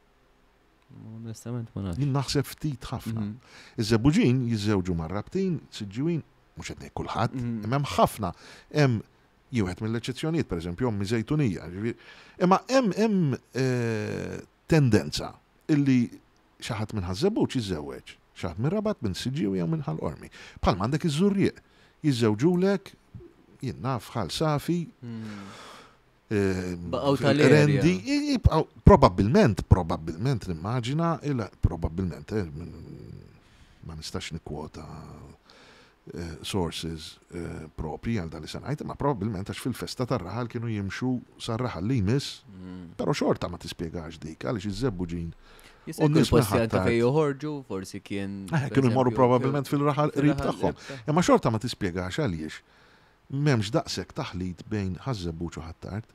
Onestament ma nafx. Jien naħseb ftit ħafna. Mhm. Iż-Żebbuġin jiżżewġu mar-Rabtin, Siġġiwin, mhux qed ngħid kulħadd, mhm. imma hemm ħafna. Hemm Jien wieħed mill-eċċezzjonijiet, pereżempju, ommi Żejtunija, ġifieri. Imma hemm hemm eh, tendenza illi xi ħadd minn Ħaż-Żebbuġ jiżżewweġ, xi ħadd minn Rabat, minn Siġġiewi jew minn Ħal Qormi. Bħalma għandek iż-Żurrieq, jiżżewġulek, jien naf, Ħal Safi, eh, Baqgħu tal-area. Rendi, jibqgħu probabbilment, probabbilment nimmaġina, probabbilment, eh, ma nistax nikkwota sources propri għal dan li se ngħid, imma probabbilment għax fil-festa tar-raħal kienu jimxu sar-raħal li jmiss, però xorta ma tispjegax dik għaliex iż-Żebbuġin u n-nies posti anke fejn joħorġu, forsi kien. Kienu jmorru probabbilment fil-raħal qrib tagħhom. Imma xorta ma tispjegax għaliex m'hemmx daqshekk taħlit bejn Ħaż-Żebbuġ u Ħ'Attard.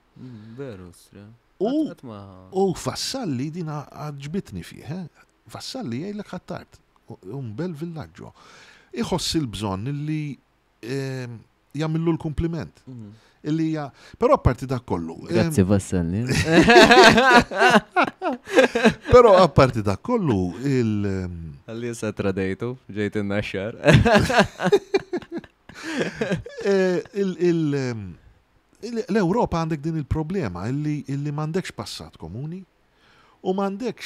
Veru, U Vassalli din għaġbitni fih, eh? Vassalli jgħidlek Ħ'Attard, un bel villaggio. Iħoss il-bżonn illi ehm, jagħmillu l-kumpliment. Mhm. Illi hija, però apparti dak kollu. Ehm, Grazzi Vassalli. Però apparti dak kollu il. Ehm, Għalli sa tradejtu, ġejt in-naxxar. Eh, L-Ewropa għandek din il-problema illi m'għandekx passat komuni u m'għandekx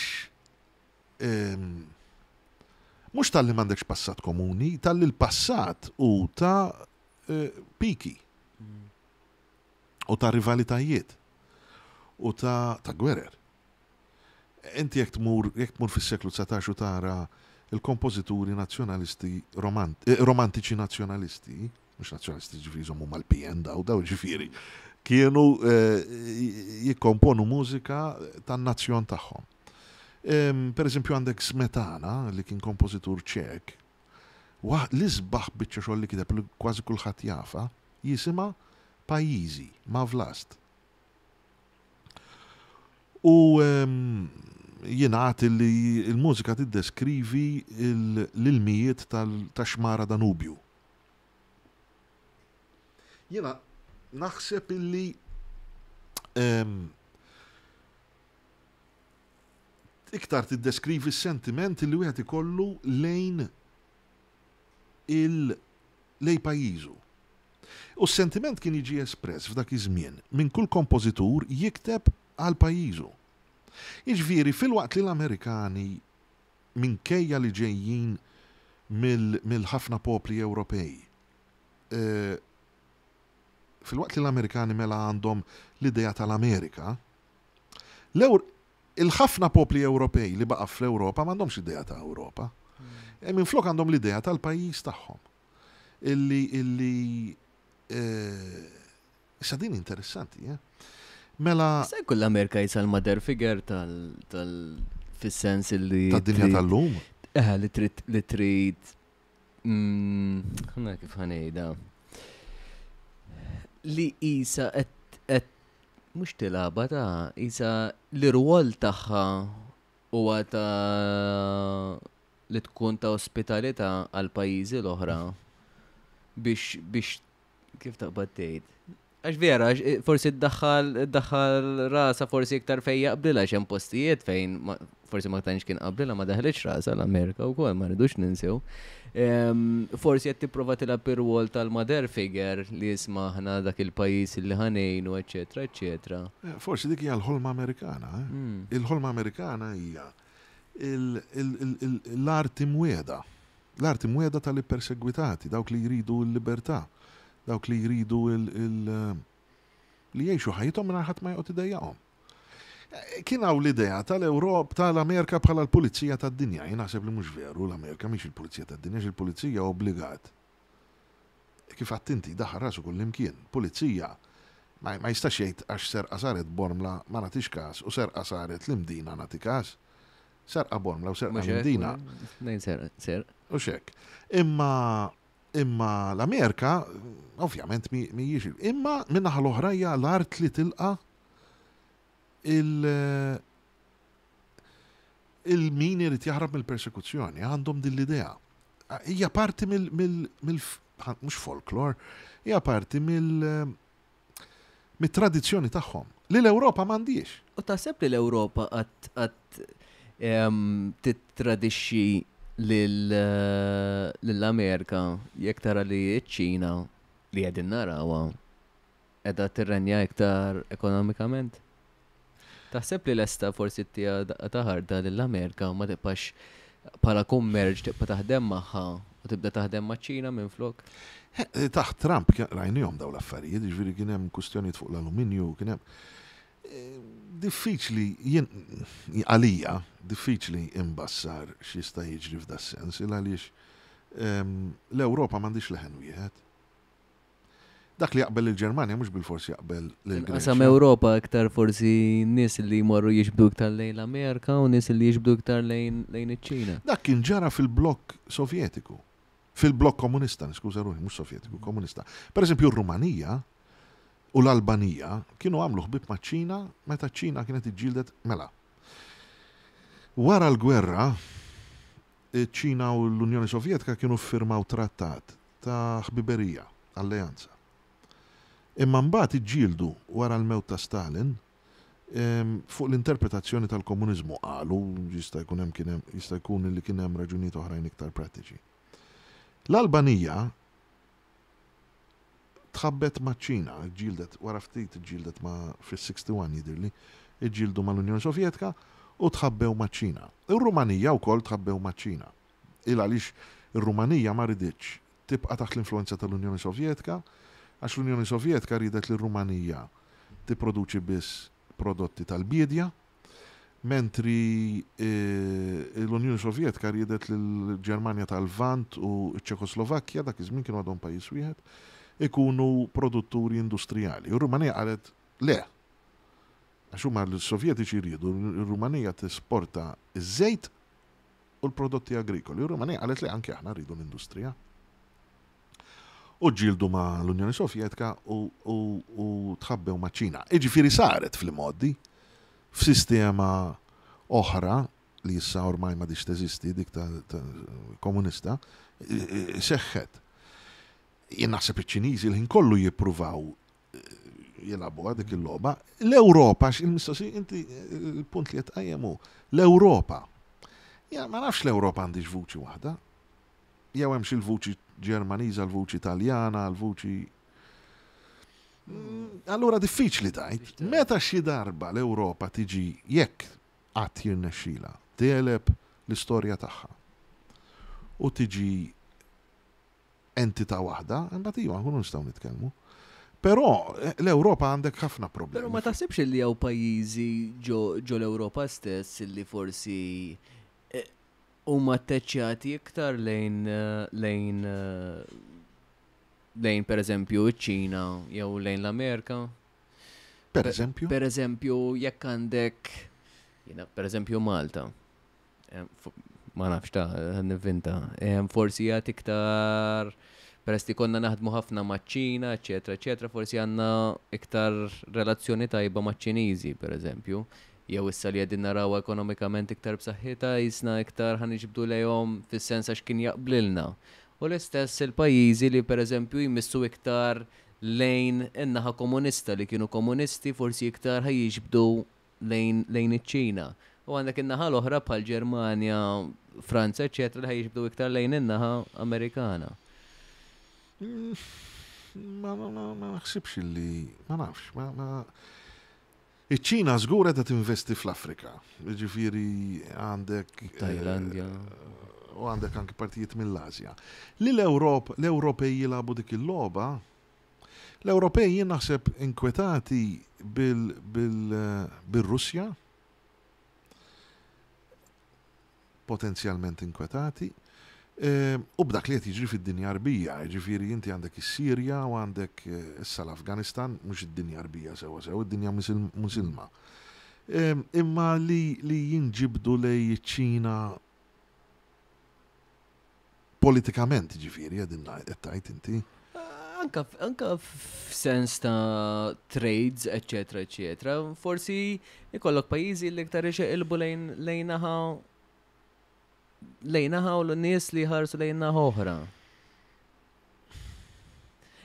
Mhux talli m'għandekx passat komuni, talli l-passat hu ta' eh, piki u ta' rivalitajiet u ta' ta' gwerer. Inti jekk tmur jekk tmur fis-seklu 19 u tara il-kompożituri nazzjonalisti romant, eh, romantiċi nazzjonalisti, mhux nazzjonalisti ġifieri jżommu mal-PN daw, daw ġifieri, kienu eh, jikkomponu mużika tan-nazzjon tagħhom. Per eżempju għandek Smetana li kien kompożitur ċek, l-isbaħ biċċa xogħol li kiteb li kważi kulħadd jafa, jisimha Pajjiżi, ma' Vlast. U jingħad li l-mużika tiddeskrivi l-ilmijiet tax-xmara Danubju. Jiena naħseb illi iktar tiddeskrivi s-sentiment li wieħed ikollu lejn il lej pajjiżu. U s-sentiment kien jiġi espress f'dak iż-żmien minn kull kompożitur jikteb għal pajjiżu. Jiġifieri filwaqt li l-Amerikani minkejja li ġejjin mill-ħafna popli Ewropej, filwaqt li l-Amerikani mela għandhom l-idea tal-Amerika, il-ħafna popli Ewropej li baqa' fl-Ewropa m'għandhomx idea ta' Ewropa. E minflok għandhom l-idea tal-pajjiż tagħhom. Illi illi Issa din interessanti, eh? Mela. Se jkun l-Amerika jisa l-mother figure tal tal fis-sens li. Tad-dinja tal-lum? Eh, li trid li trid. Mm, ħana kif ħanejda. Li isa qed qed mhux tilaba ta' isa l-irwol tagħha huwa ta' li tkun ta' ospitalità għal pajjiżi l-oħra biex biex Kif taqbad tgħid? Għax vera, eh, forsi ddaħħal ddaħħal rasa forsi iktar fejn jaqblilha x'hemm postijiet fejn forsi ma tantx kien qablilha ma daħlitx rasa l-Amerika wkoll ma rridux ninsew. Ehm, forsi qed tipprova tilgħab ir-rwol tal-mother figure li jisma' aħna dak il-pajjiż li ħanejnu, eċetera, eċetera. Eh, forsi dik hija l-ħolma Amerikana. Eh? Hmm. Il-ħolma Amerikana hija l-arti mwiegħda. L-art imwiegħda tal-ippersegwitati, dawk li jridu l-libertà, dawk li jridu li jgħixu ħajjithom mingħajr ħadd ma joqgħod idejjaqhom. Kien hawn l-idea tal-Ewrop tal-Amerika bħala l-pulizija tad-dinja. Jien naħseb li mhux veru l-Amerika mhix il-pulizija tad-dinja, għax il-pulizija obbligat. Kif għedt inti, daħal rasu kullimkien. Pulizija ma jistax jgħid għax serqa saret Bormla ma nagħtix każ u serqa saret l-Imdina nagħti każ. Serqa Bormla u serqa Mdina. Nejn serq, serq. U xek. Imma imma l-Amerika, ovvjament mhijiex. Imma minnaħa l-oħra hija l-art li tilqa' il- il-min irid jaħrab mill-persekuzzjoni, għandhom din l-idea. Hija parti mill, mill, mhux folklor, hija parti mill mit-tradizzjoni tagħhom li l-Ewropa m'għandhiex. U taħseb li l-Ewropa qatt tittradixxi lill-Amerika jekk tara li ċ-Ċina li qegħdin narawha qiegħda tirrenja iktar ekonomikament? Taħseb li lesta forsi ttiha daqqa ta' ħarta lill-Amerika u ma tibqax bħala kummerċ tibqa' taħdem magħha u tibda taħdem maċ-Ċina minflok? Taħt Trump rajnihom dawn l-affarijiet, jiġifieri kien hemm kwistjonijiet fuq l-aluminju, kien hemm diffiċli jien għalija diffiċli imbassar x'jista' jiġri f'das-sens il għaliex l-Ewropa m'għandhiex leħen wieħed. Dak li jaqbel lill-Ġermanja mhux bilfors jaqbel lill-Greċja. Qasam Ewropa iktar forsi nies li jmorru jiġbdu iktar lejn l-Amerika u nies li jiġbdu iktar lejn iċ-Ċina. Dak kien ġara fil-blokk Sovjetiku. Fil-blokk komunista, niskuża ruħi, mhux Sovjetiku, komunista. Per eżempju, r-Rumanija u l-Albanija kienu għamlu ħbieb maċ-Ċina meta ċ-Ċina kienet iġġieldet mela. Wara l-gwerra, iċ-Ċina u l-Unjoni Sovjetika kienu ffirmaw trattat ta' ħbiberija, alleanza. Imma mbagħad iġġieldu wara l-mewt ta' Stalin fuq l-interpretazzjoni tal-komuniżmu qalu jista' jkun hemm kien hemm jista' jkun li kien hemm raġunijiet oħrajn iktar prattiċi. L-Albanija tħabbet maċ-Ċina, ġġieldet wara ftit ġġieldet ma' fis-61 jidhirli, iġġieldu mal-Unjoni Sovjetika u tħabbew maċ-Ċina. Ir-Rumanija wkoll tħabbew maċ-Ċina. Il għaliex ir-Rumanija ma riditx tibqa' taħt l-influwenza tal-Unjoni Sovjetika, għax l-Unjoni Sovjetika riedet li r-Rumanija tipproduċi biss prodotti tal-biedja, mentri l-Unjoni Sovjetika riedet li l-Ġermanja tal-Lvant u ċ-Ċekoslovakkja, dak iż-żmien kienu għadhom pajjiż wieħed, ikunu produtturi industrijali. U r-Rumanija qalet le. Għax huma l-Sovjetiċi riedu r-Rumanija tesporta ż-żejt u l-prodotti agrikoli. U r-Rumanija qalet le anke aħna rridu l-industrija. U ġġieldu ma' l-Unjoni Sovjetika u, u, u tħabbew maċ-Ċina. Iġifieri saret fl-imgħoddi f'sistema oħra li issa ormai m'għadhiex teżisti, dik ta', ta komunista, seħħet. Jien naħseb iċ-Ċiniżi l-ħin kollu jippruvaw jilagħbuha dik il-logħba. L-Ewropa, il-mistoqsija inti il-punt li qed tqajjem hu, l-Ewropa. Ja, ma nafx l-Ewropa għandix vuċi waħda. Jew hemm xi l-vuċi Ġermaniża, l-vuċi Taljana, l-vuċi Allura diffiċli tgħid. Meta xi darba l-Ewropa tiġi jekk qatt jirnexxilha tegħleb l-istorja tagħha u tiġi entità waħda, imbagħad iva nkunu nistgħu nitkellmu. Però l-Ewropa għandek ħafna problemi. Però ma taħsibx li hawn pajjiżi ġo l-Ewropa stess li forsi huma atteċċjati iktar lejn lejn lejn pereżempju ċ-Ċina jew lejn l-Amerika? Per eżempju? Per eżempju, jekk għandek jiena pereżempju Malta. Ma nafx ta' nivvinta. Forsi għad iktar peress li konna naħdmu ħafna maċ-Ċina, eċetera, eċetera, forsi għandna iktar relazzjoni tajba maċ-Ċiniżi, per eżempju. Jew issa li qegħdin naraw ekonomikament iktar b'saħħitha, jisna iktar ħa niġbdu lejhom fis-sens għax kien jaqblilna. U l-istess il-pajjiżi li per eżempju jmissu iktar lejn in-naħa komunista li kienu komunisti forsi iktar ħa jiġbdu lejn lejn iċ-Ċina. U għandek in-naħa l-oħra bħal Ġermanja, Franza, eċetera, li ħa jiġbdu iktar lejn in-naħa Amerikana. Ma ma naħsibx li ma nafx, ma ma Iċ-Ċina żgur qiegħda tinvesti fl-Afrika. Jiġifieri għandek Tajlandja. U għandek anki partijiet mill-Asja. Li l-Ewrop, l-Ewropej jilagħbu dik il-logħba, l-Ewropej jien naħseb inkwetati bil-Russja, potenzjalment inkwetati, u b'dak li qed jiġri fid-dinja Għarbija, jiġifieri inti għandek is-Sirja u għandek issa l-Afganistan, mhux id-dinja Għarbija sewwa sew, id-dinja Musulma. Imma li li jinġibdu lejn iċ-Ċina politikament, jiġifieri qegħdin qed tgħid inti. Anka, anka f'sens ta' trades, eccetera, eccetera, forsi ikollok pajjiżi li iktar ixeqilbu lejn lejn naħa lejn naħa u l-nies li jħarsu lejn naħa oħra.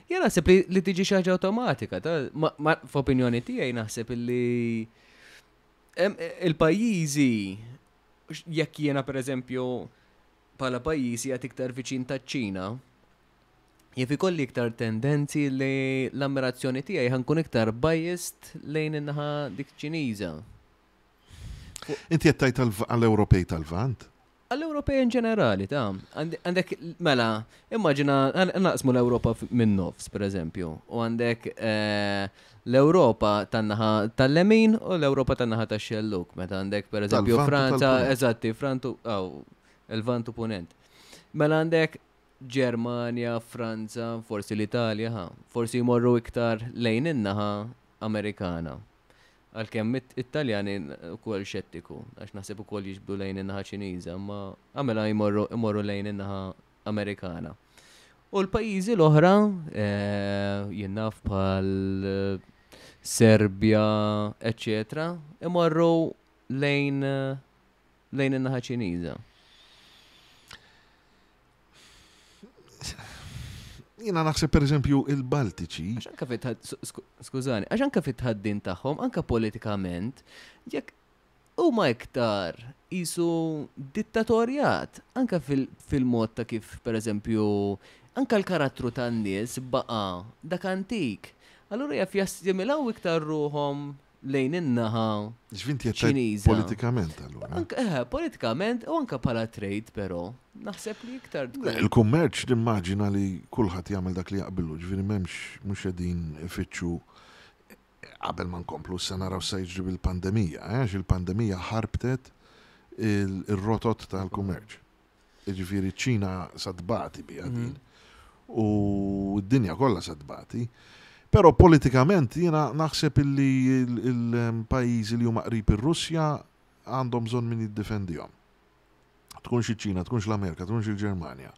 Jien naħseb li, li tiġi xi ħaġa awtomatika, ta' ma, ma, f'opinjoni tiegħi naħseb li il-pajjiżi jekk jiena pereżempju bħala pajjiż qiegħed iktar viċin taċ-Ċina, jaf ikolli iktar tendenzi li l-ammirazzjoni tiegħi ħa nkun iktar biased lejn in-naħa dik Ċiniża. Inti qed tgħid għall-Ewropej tal-Lvant? Għall-Ewropej in ġenerali, ta' għandek, mela, immaġina, naqsmu l-Ewropa minn nofs, per eżempju, u għandek eh, l-Ewropa tan-naħa tal-lemin u l-Ewropa tan-naħa tax-xelluk, meta għandek, per eżempju, Franza, eżatti, Frantu, aw, il-Lvant u Punent. Mela għandek Ġermanja, Franza, forsi l-Italja, ha, forsi jmorru iktar lejn in-naħa Amerikana. Għalkemm it-Taljani wkoll xettiku, għax naħseb ukoll jiġbdu lejn in-naħa Ċiniża, imma għamela jmorru imorru lejn in-naħa Amerikana. U l-pajjiżi l-oħra, eh, jien naf bħal eh, Serbja, eċċetera, imorru lejn eh, lejn in-naħa Ċiniża. Jiena naħseb pereżempju il-Baltiċi. Għax anka fit skużani, għax anka fit-tħaddin tagħhom, anka politikament, jekk huma iktar jisu dittatorjat, anka fil-mod ta' kif pereżempju anka l-karattru tan-nies baqa' dak antik. Allura jaf jassimilaw iktar ruħhom lejn in-naħa Ġvinti Ċiniża. Politikament allura. Anka eh, politikament u anka bħala trade però naħseb li iktar tkun. Il-kummerċ nimmaġina li kulħadd jagħmel dak li jaqbillu, ġifieri m'hemmx mhux qegħdin ifittxu qabel ma nkomplu issa naraw sa jiġri bil-pandemija, eh, għax il-pandemija ħarbtet il-rotot tal-kummerċ. Jiġifieri ċ-Ċina sa tbati biha din. U d-dinja kollha sa tbati. Però politikament jiena naħseb illi il-pajjiżi li huma qrib ir-Russja għandhom bżonn min jiddefendihom. Tkunx iċ-Ċina, tkunx l-Amerika, tkunx il-Ġermanja.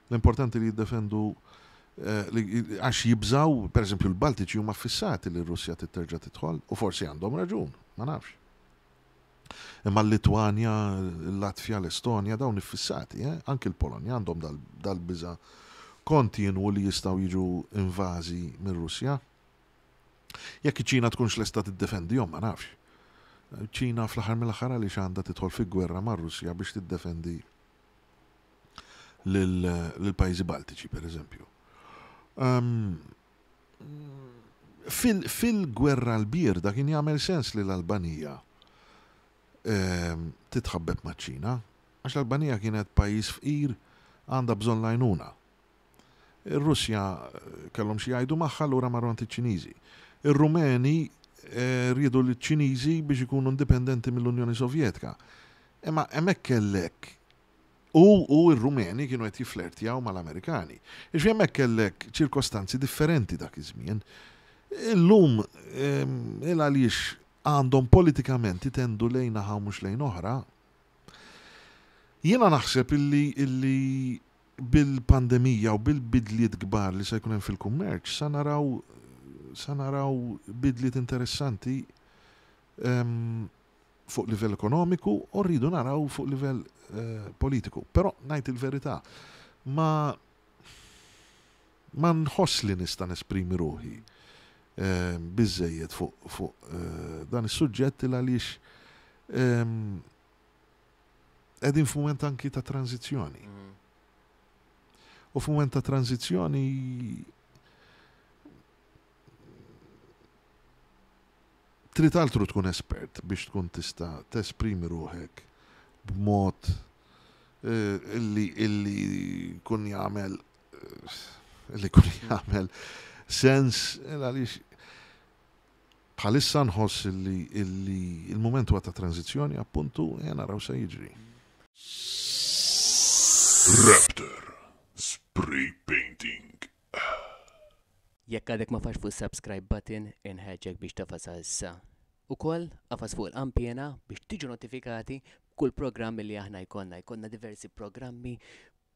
L-importanti li jiddefendu eh, għax jibżaw, per eżempju l-Baltiċi huma fissati li r-Russja titterġa' tidħol u forsi għandhom raġun, ma nafx. Imma l-Litwanja, l-Latvja, l-Estonja dawn iffissati, eh? Anki l-Polonja għandhom dal-biża' kontinwu li jistgħu jiġu invażi mir-Russja. Jekk iċ-Ċina tkunx lesta tiddefendihom ma nafx. Ċina fl-aħħar mill-aħħar għaliex għandha tidħol fi gwerra mar-Russja biex tiddefendi lill-pajjiżi Baltiċi, pereżempju. Ehm, Fil-gwerra l-bierda kien jagħmel sens li l-Albanija titħabbeb maċ-Ċina, għax l-Albanija kienet pajjiż fqir għandha bżonn l-għajnuna. Ir-Russja kellhom xi jgħidu magħha allura marru għand iċ-Ċiniżi. Ir-Rumeni riedu liċ-Ċiniżi biex ikunu indipendenti mill-Unjoni Sovjetika. Imma hemmhekk kellek U u r-Rumeni kienu qed jifflertjaw mal-Amerikani. Jiġifieri hemmhekk kellek ċirkostanzi differenti dak iż-żmien. Illum il għaliex għandhom politikament itendu lejn naħa u mhux lejn oħra. Jiena naħseb illi illi bil-pandemija u bil-bidliet kbar li se jkun hemm fil-kummerċ sa naraw sa naraw bidliet interessanti fuq livell ekonomiku u rridu naraw fuq livell eh, politiku. Però ngħid il-verità, ma ma nħoss li nista' nesprimi ruħi eh, biżejjed fuq fu, eh, dan is-suġġett il għaliex ehm, qegħdin f'mument anki ta' tranzizzjoni. Mm. U f'mument ta' tranzizzjoni Trid altru tkun espert biex tkun tista' tesprimi ruħek b'mod illi illi jkun jagħmel illi jkun jagħmel sens għaliex bħalissa nħoss illi illi il-mument huwa ta' tranżizzjoni appuntu e naraw se jiġri. Raptor Spray Painting. Jekk għadek ma fax fuq subscribe button, inħeġġek biex tafasha issa. Ukoll, afas fuq il-qanpiena biex tiġu notifikati b'kull programm li aħna jkollna. Jkollna diversi programmi.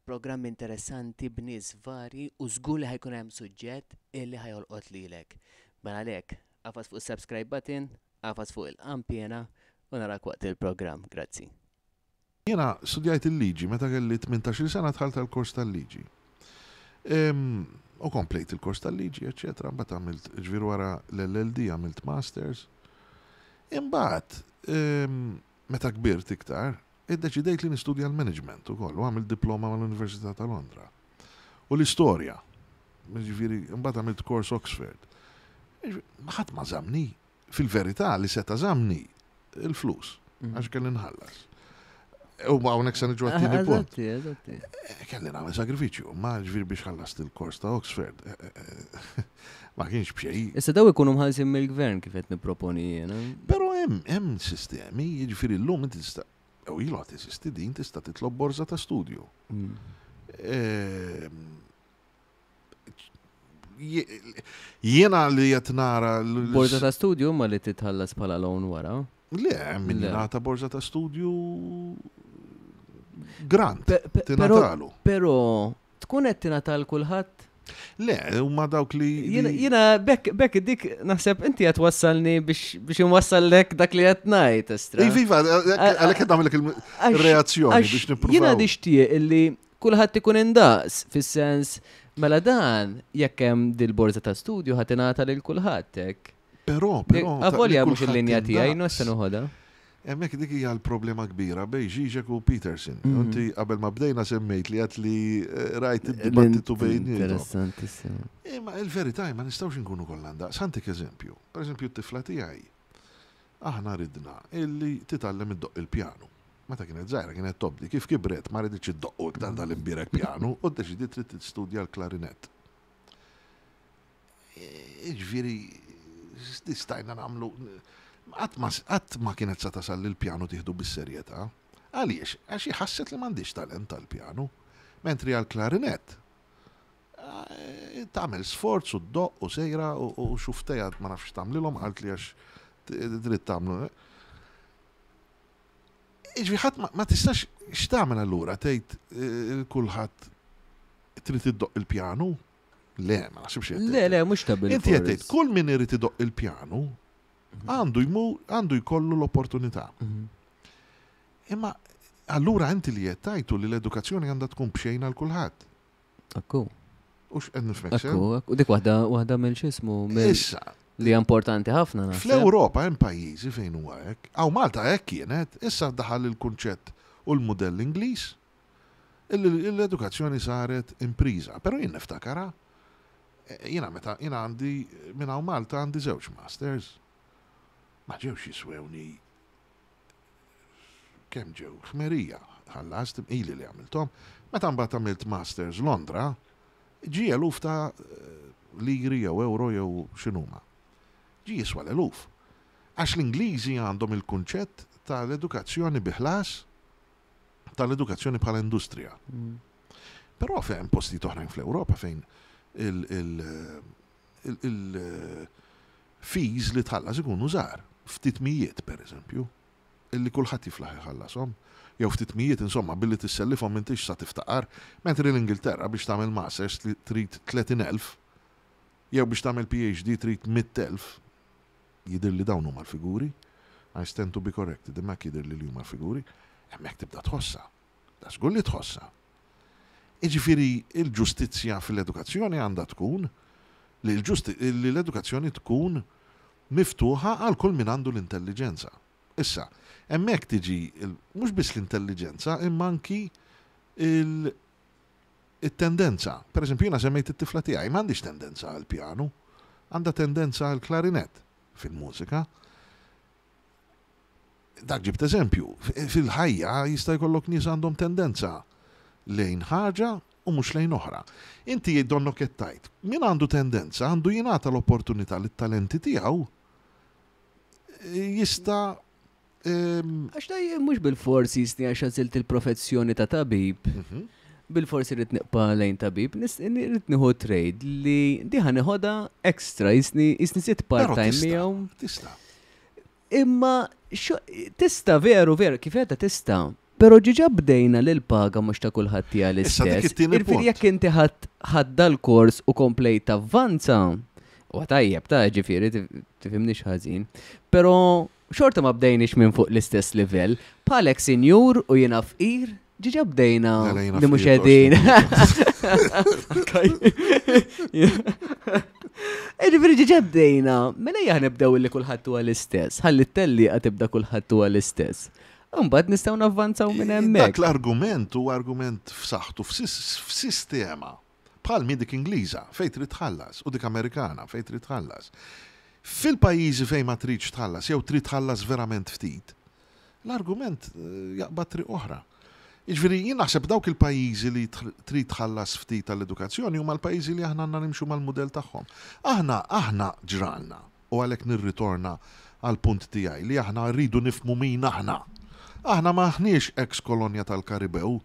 programm interessanti b'nies vari u żgur li ħa jkun hemm suġġett illi ħa jolqot lilek. Mela għalhekk, agħfas fuq is-subscribe button, agħfas fuq il-qanpiena u narak waqt il-programm. Grazzi. Jiena studjajt il-liġi meta kelli 18-il sena dħalt għall-kors tal-liġi. U komplejt il-kors tal-liġi, eċċetera, mbagħad għamilt, ġifieri wara l-LLD għamilt masters. Imbagħad, meta kbirt iktar, iddeċidejt li nistudja l-management ukoll u għamilt diploma mal-Università ta' Londra. U l-istorja, ġifieri, imbagħad għamilt kors Oxford. Ħadd ma żamni, fil-verità li seta' żamni il-flus, mhm. għax kelli nħallas. U ma hawnhekk se niġu għat-tieni ah, punt. Eh, kelli nagħmel sagrifiċċju, ma ġifieri biex ħallast il-kors ta' Oxford. Eh, eh, ma kienx b'xejn. Issa daw ikunu mħallsin mill-gvern kif qed nipproponi jiena. Però hemm hemm sistemi, jiġifieri llum inti tista' u ilu għad teżisti din tista' titlob borża ta' studju. Mm. Ehm, jiena li qed nara. Borża ta' studju ma li titħallas bħala loan wara? Le, min jingħata borża ta' studju grant. Tingħatalu. Però tkun qed tingħata l kulħadd? Le, huma dawk li. Jiena bekk bekk dik naħseb inti qed wassalni biex biex inwassallek dak li qed ngħid estra. Iva, għalhekk qed nagħmlek il-reazzjoni biex nippruvaw. Jiena nixtieq illi kulħadd ikun indaqs, fis-sens mela dan jekk hemm dil-borża ta' studju ħa tingħata lil kulħadd hekk. Però, però. Avolja mhux il-linja tiegħi, no se noħodha. Hemmhekk dik hija l-problema kbira bejn Žižek u Peterson. Mhm. Inti qabel ma bdejna semmejt li għat li eh, rajt id-dibattitu bejn. Interessantissimo. Imma il-verità ma nistgħux inkunu kollha ndaqs. Ħantik eżempju. Per eżempju t-tifla tiegħi aħna ridna illi titgħallem iddoqq il-pjanu. Meta kienet żgħira kienet tobdi, kif kibret ma riditx iddoqqu iktar dal-imbierek pjanu u ddeċidiet trid tistudja l-klarinett. Jiġifieri stajna nagħmlu qatt ma kienet sa tasal li l-pjanu tieħdu bis-serjetà. Għaliex? Għax hi ħasset li m'għandhiex talent għall-pjanu. Mentri għall-klarinett tagħmel sforz u ddoqq u sejra u xuftejha ma nafx x'tagħmlilhom qaltli għax trid tagħmlu. Jiġifieri ħadd ma tistax x'tagħmel allura tgħid eh, kulħadd trid iddoqq il-pjanu? Le, ma naħsibx Le, le, mhux ta' bil Inti qed tgħid kull min irid idoqq il-pjanu mhm. għandu jmur għandu jkollu l-opportunità. Mhm. Imma allura inti li qed tgħidu li l-edukazzjoni għandha tkun b'xejn għal kulħadd. Akku. U x'qed nifhmek sew? Akku, akku. Dik waħda waħda mill x'ismu Issa. Li hija importanti ħafna naħseb. Fl-Ewropa hemm pajjiżi fejn huwa hekk. Hawn Malta hekk kienet, issa daħal il-kunċett u l-mudell Ingliż illi l-edukazzjoni saret impriża. Però jien niftakarha, jiena meta jiena għandi minn hawn Malta għandi żewġ masters. Ma ġewx jiswewni kemm ġew ħmerija ħallast ili li għamilthom. Meta mbagħad għamilt masters Londra, ġie eluf ta' liri jew euro jew x'inhuma. Ġie jiswa l-eluf. Għax l-Ingliżi għandhom il-kunċett tal-edukazzjoni bi ħlas, tal-edukazzjoni bħala industrija. Mm. Però fejn postijiet oħrajn fl-Ewropa fejn il-fees li tħallas ikunu żgħar, ftit mijiet pereżempju, illi kulħadd jiflaħ iħallashom, jew ftit mijiet insomma billi tissellifhom m'intix sa tiftaqar, mentri l-Ingilterra biex tagħmel masters trid 30,000 jew biex tagħmel PhD trid 100,000, jidhirli dawn huma l-figuri, I stand to be corrected, imma hekk jidhirli li huma l-figuri, hemmhekk tibda tħossha. Da żgur li tħossha. Jiġifieri l-ġustizzja fil-edukazzjoni għandha tkun li l-edukazzjoni tkun miftuħa għal kull min għandu l-intelliġenza. Issa, hemmhekk tiġi mhux biss l-intelliġenza imma anki it-tendenza. Per eżempju, jiena semmejt it-tifla tiegħi, m'għandhiex tendenza għall-pjanu, għandha tendenza għall-klarinett fil-mużika. Dak ġibt eżempju. Fil-ħajja jista' jkollok nies għandhom tendenza lejn ħaġa u mhux lejn oħra. Inti donnok qed tgħid, min għandu tendenza għandu jingħata l-opportunità li t-talenti tiegħu jista' Għax da mhux bil-fors jisni għax għażilt il-professjoni ta' tabib. Mhm. Bil-forsi rrid nibqa' lejn tabib, rrid nieħu trade li diħa neħodha extra, jisni jisni sitt part-time miegħu. Tista'. Imma tista' veru veru kif qiegħda tista'. Però ġiġa bdejna li l-paga mhux ta' kulħadd hija Issa, dik l-istess. it-tieni Irfiri punt. jekk inti ħadd ħadd dal-kors u komplejt tavvanza, u tajjeb ta' ġifieri tifhimniex ħażin. Però xorta ma bdejniex minn fuq l-istess livell. Bħalek sinjur u jiena fqir, ġiġa bdejna Mela jiena li mhux fqir, qegħdin. Ġifieri ġiġa bdejna, mela ejja nibdew li kulħadd huwa l-istess, ħalli t-tellieqa tibda kulħadd huwa l-istess. Imbagħad nistgħu navvanzaw minn hemmhekk. Dak l-argument huwa argument f'saħħtu f'sistema bħal mi dik Ingliża fejn trid tħallas u dik Amerikana fejn trid tħallas. Fil-pajjiżi fejn ma tridx tħallas jew trid tħallas verament ftit, l-argument jaqbad triq oħra. Jiġifieri jien naħseb dawk il-pajjiżi li trid tħallas ftit għall-edukazzjoni huma l-pajjiżi li aħna għandna nimxu mal-mudell tagħhom. Aħna aħna ġralna u għalhekk nirritorna għall-punt tiegħi li aħna rridu nifhmu min aħna. Aħna m'aħniex ex kolonja tal-Karibew,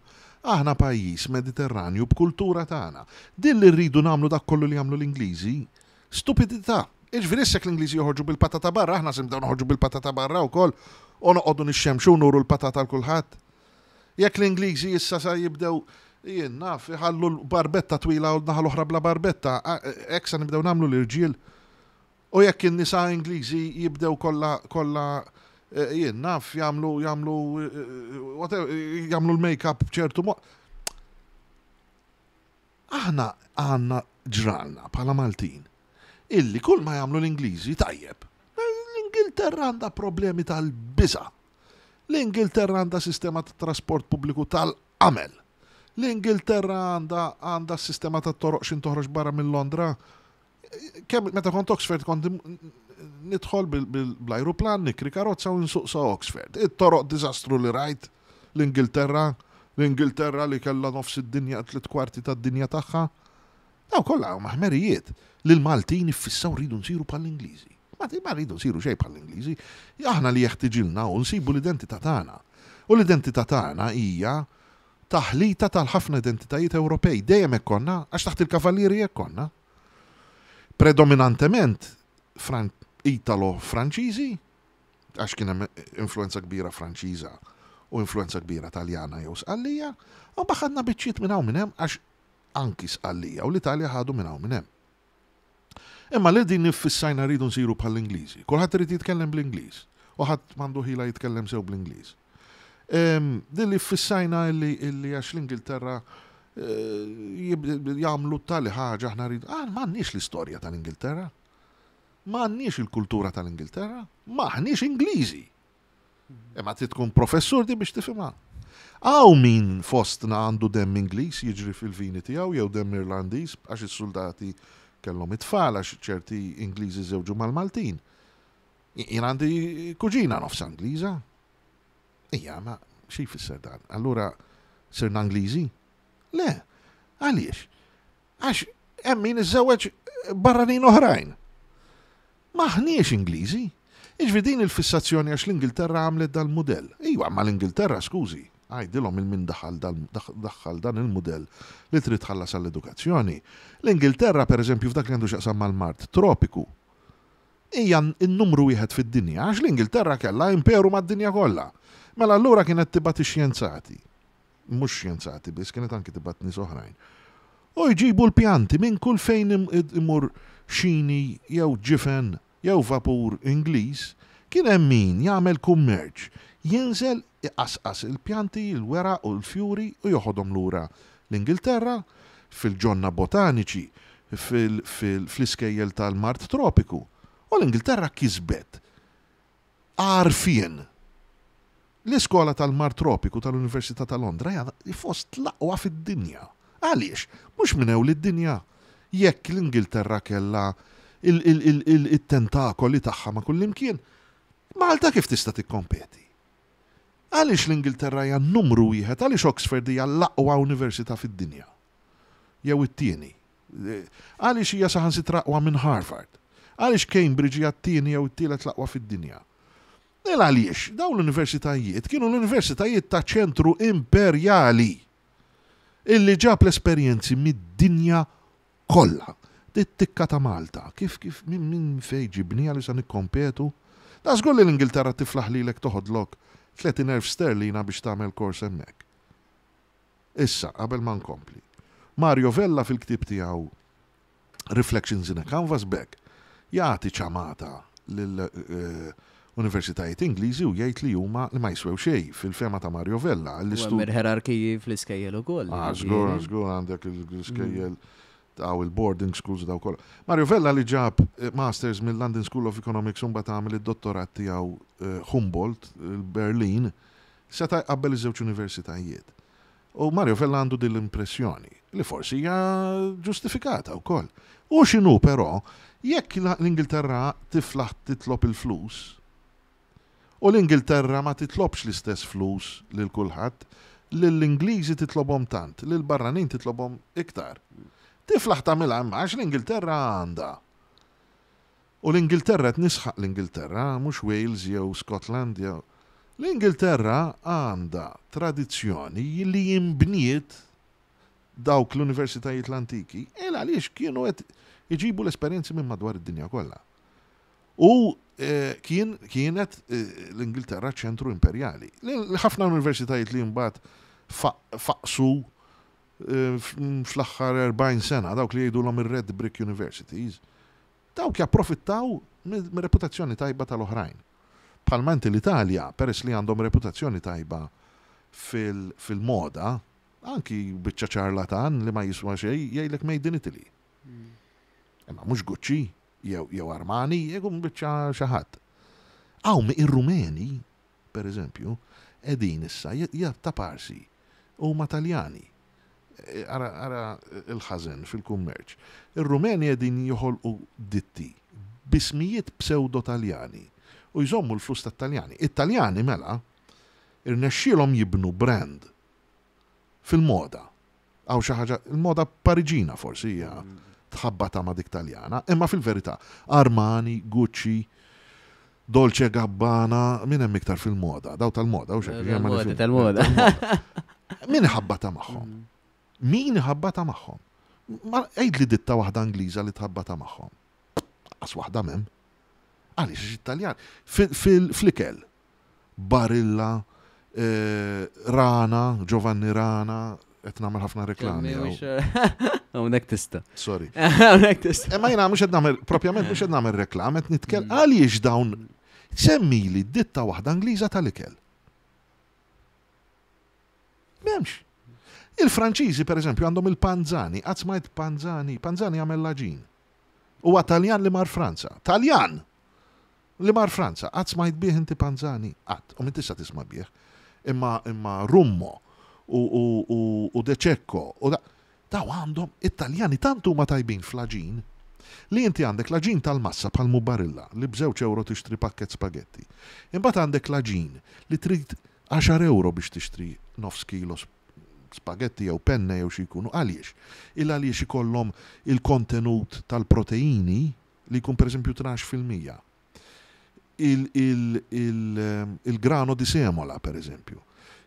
aħna pajjiż Mediterranju b'kultura tagħna. Din li rridu nagħmlu dak kollu li jagħmlu l-Ingliżi, stupidità. Jiġifieri issa jekk l-Ingliżi joħorġu bil-patata barra, aħna se nibdew noħorġu bil-patata barra wkoll u noqogħdu nixxemxu u nuru l-patata 'l kulħadd. Jekk l-Ingliżi issa sa jibdew jien naf iħallu l-barbetta twila u l-naħa l-oħra bla barbetta, hekk sa nibdew nagħmlu l-irġiel. U jekk in-nisa Ingliżi jibdew kollha kollha jien naf jagħmlu jagħmlu whatever jagħmlu l-make-up b'ċertu mod. Aħna għandna ġralna bħala Maltin illi kull ma jagħmlu l-Ingliżi tajjeb. L-Ingilterra għandha problemi tal-biża'. L-Ingilterra għandha sistema ta' trasport pubbliku tal-qamel. L-Ingilterra għandha għandha s-sistema ta' toroq x'in toħroġ barra minn Londra. Kemm meta kont Oxford kont nidħol bl-ajruplan, nikri karozza u nsuq sa Oxford. It-toroq diżastru li rajt l-Ingilterra, l-Ingilterra li kellha nofs id-dinja, 3/4 tad-dinja tagħha. Dawn kollha huma ħmerijiet li l-Maltin iffissaw rridu nsiru bħall-Ingliżi. Ma ma rridu nsiru xejn bħall-Ingliżi. Aħna li jeħtiġilna hu nsibu l-identità tagħna. U l-identità tagħna hija taħlita tal-ħafna identitajiet Ewropej. Dejjem hekk konna, għax taħt il-Kavallieri hekk konna. Predominantement Italo-Franċiżi, għax kien hemm influenza kbira Franċiża u influenza kbira Taljana jew Sqallija, u mbagħad ħadna biċċiet minn hawn minn hemm għax anki Sqallija u l-Italja ħadu minn hawn minn hemm. Imma li din iffissajna rridu nsiru bħall-Ingliżi. Kulħadd irid jitkellem bl-Ingliż u ħadd m'għandu ħila jitkellem sew bl-Ingliż. Din li ffissajna illi għax l-Ingilterra jagħmlu tali ħaġa aħna rridu. Ah, m'għandniex l-istorja tal-Ingilterra. M'għandniex il-kultura tal-Ingilterra. M'aħniex Ingliżi. Imma trid tkun professur di biex tifhimha. Hawn min fostna għandu demm Ingliż jiġri fil-vini tiegħu jew demm Irlandiż għax is-suldati kellhom it-tfal għax ċerti Ingliżi żewġu mal-Maltin. Jien għandi kuġina nofsha Ingliża. Ija, ma xi jfisser dan? Allura sirna Ingliżi? Le. Għaliex? Għax hemm min iżżewweġ barranin oħrajn. M'aħniex Ingliżi. Jiġifieri din il-fissazzjoni għax l-Ingilterra għamlet dal-mudell. Iva, imma l-Ingilterra, skużi, għidilhom il min daħal daħħal dan il-mudell li trid tħallas għall-edukazzjoni. L-Ingilterra, pereżempju, f'dak li għandu x'jaqsam mal-mard tropiku, hija n-numru wieħed fid-dinja għax l-Ingilterra kellha imperu mad-dinja kollha. Mela allura kienet tibgħat ix-xjenzati. Mhux xjenzati biss, kienet anki tibgħat nies oħrajn. U jġibu l-pjanti minn kull fejn imur xini jew ġifen jew vapur Ingliż, kien hemm min jagħmel kummerċ, jinżel iqasqas il-pjanti, il-weraq u l-fjuri u joħodhom lura l-Ingilterra, fil-ġonna botaniċi, fl-iskejjel tal-mard tropiku. U l-Ingilterra kisbet għarfien. L-iskola tal-Mar Tropiku tal-Università ta' Londra hija fost l-aqwa fid-dinja. Għaliex? Mhux minn ewl id-dinja. Jekk l-Ingilterra kellha it-tentakoli tagħha ma' kullimkien, Malta kif tista' tikkompeti? Għaliex l-Ingilterra hija n-numru wieħed? Għaliex Oxford hija l-aqwa università fid-dinja? Jew it-tieni? Għaliex hija saħansitra aqwa minn Harvard? Għaliex Cambridge hija t-tieni jew it-tielet l-aqwa fid-dinja? Il għaliex dawn l-universitajiet kienu l-universitajiet ta' ċentru imperjali illi ġab l-esperjenzi mid-dinja kollha. Dit-tikka ta' Malta, kif kif minn min fejn ġibniha li sa nikkompetu? Da żgur li l-Ingilterra tiflaħ lilek toħodlok 30,000 sterlina biex tagħmel kors hemmhekk. Issa, qabel ma nkompli. Mario Vella fil-ktieb tiegħu Reflections in a Canvas Bag jagħti ċamata lil universitajiet Ingliżi u jgħid li huma li ma jiswew xejn fil-fehma ta' Mario Vella. U hemm il-ħerarkiji fl-iskejjel ukoll. Ah, żgur, żgur għandek l-iskejjel daw il-boarding schools daw kollha. Mario Vella li ġab masters mill-London School of Economics u mbagħad għamel id-dottorat tiegħu Humboldt, il-Berlin, seta' jqabbel iż-żewġ universitajiet. U Mario Vella għandu din l-impressjoni, li forsi hija ġustifikata wkoll. U x'inhu però, jekk l-Ingilterra tiflaħ titlob il-flus, u l-Ingilterra ma titlobx l-istess flus lil kulħadd, lill-Ingliżi titlobhom tant, lill-barranin titlobhom iktar. Tiflaħ tagħmilha imma għax l-Ingilterra għandha. U l-Ingilterra, qed nisħaq l-Ingilterra, mhux Wales jew Scotland jew. L-Ingilterra għandha tradizzjoni li inbniet dawk l-universitajiet l-antiki il għaliex kienu qed iġibu l-esperjenzi minn madwar id-dinja kollha. U kien kienet l-Ingilterra ċentru imperjali. Ħafna universitajiet li mbagħad faqsu fl-aħħar 40 sena, dawk li jgħidulhom ir-Red Brick Universities, Dawk japprofittaw mir-reputazzjoni tajba tal-oħrajn. Bħalma inti l-Italja, peress li għandhom reputazzjoni tajba fil-moda, anki biċċa ċarlatan li ma jiswa xejn jgħidlek made in Italy. Imma mhux Gucci jew Armani, jkun biċċa xi ħadd. Hawn ir-Rumeni per eżempju, qegħdin issa taparsi huma Taljani. Ara, ara l-ħażen fil-kummerċ. Ir-Rumeni qegħdin joħolqu ditti b'ismijiet pseudo-Taljani u jżommu l-flus tat-Taljani. It-Taljani mela irnexxielhom jibnu brand fil-moda. Hawn xi ħaġa, il-moda Pariġina forsi hija tħabbata ma' dik Taljana, imma fil-verità Armani, Gucci, Dolce Gabbana, min hemm iktar fil-moda? Daw tal-moda, u xek. Tal-moda, tal-moda. Min ħabbata magħhom? Min ħabbata magħhom? Ma għid li ditta waħda Ingliża li tħabbata magħhom. Qas waħda m'hemm. Għaliex it-Taljan fl-ikel Barilla, Rana, Giovanni Rana, qed nagħmel ħafna reklami. Hawnhekk tista'. Sorry. Hawnhekk tista'. Imma jiena mhux qed nagħmel propjament mhux qed nagħmel reklam, qed nitkellem għaliex dawn semmili ditta waħda Ingliża tal-ikel. M'hemmx. Il-Franċiżi pereżempju għandhom il-Panzani, qatt smajt Panzani, Panzani jagħmel l-għaġin. Huwa Taljan li mar Franza. Taljan! Li mar Franza. Qatt smajt bih inti Panzani? Qatt. U m'intix sa tisma' bih. Imma imma Rummo u u u u De Cecco u da daw għandhom it-Taljani tant huma tajbin fl-għaġin li inti għandek l-għaġin tal-massa bħal mhu Barilla li b'żewġ ewro tixtri pakkett spagetti. Imbagħad għandek l-għaġin li trid għaxar ewro biex tixtri nofs kilo spagetti jew penne jew xi jkunu. Għaliex? Il għaliex ikollhom il-kontenut tal-proteini li jkun pereżempju 12%. Il-grano di semola pereżempju.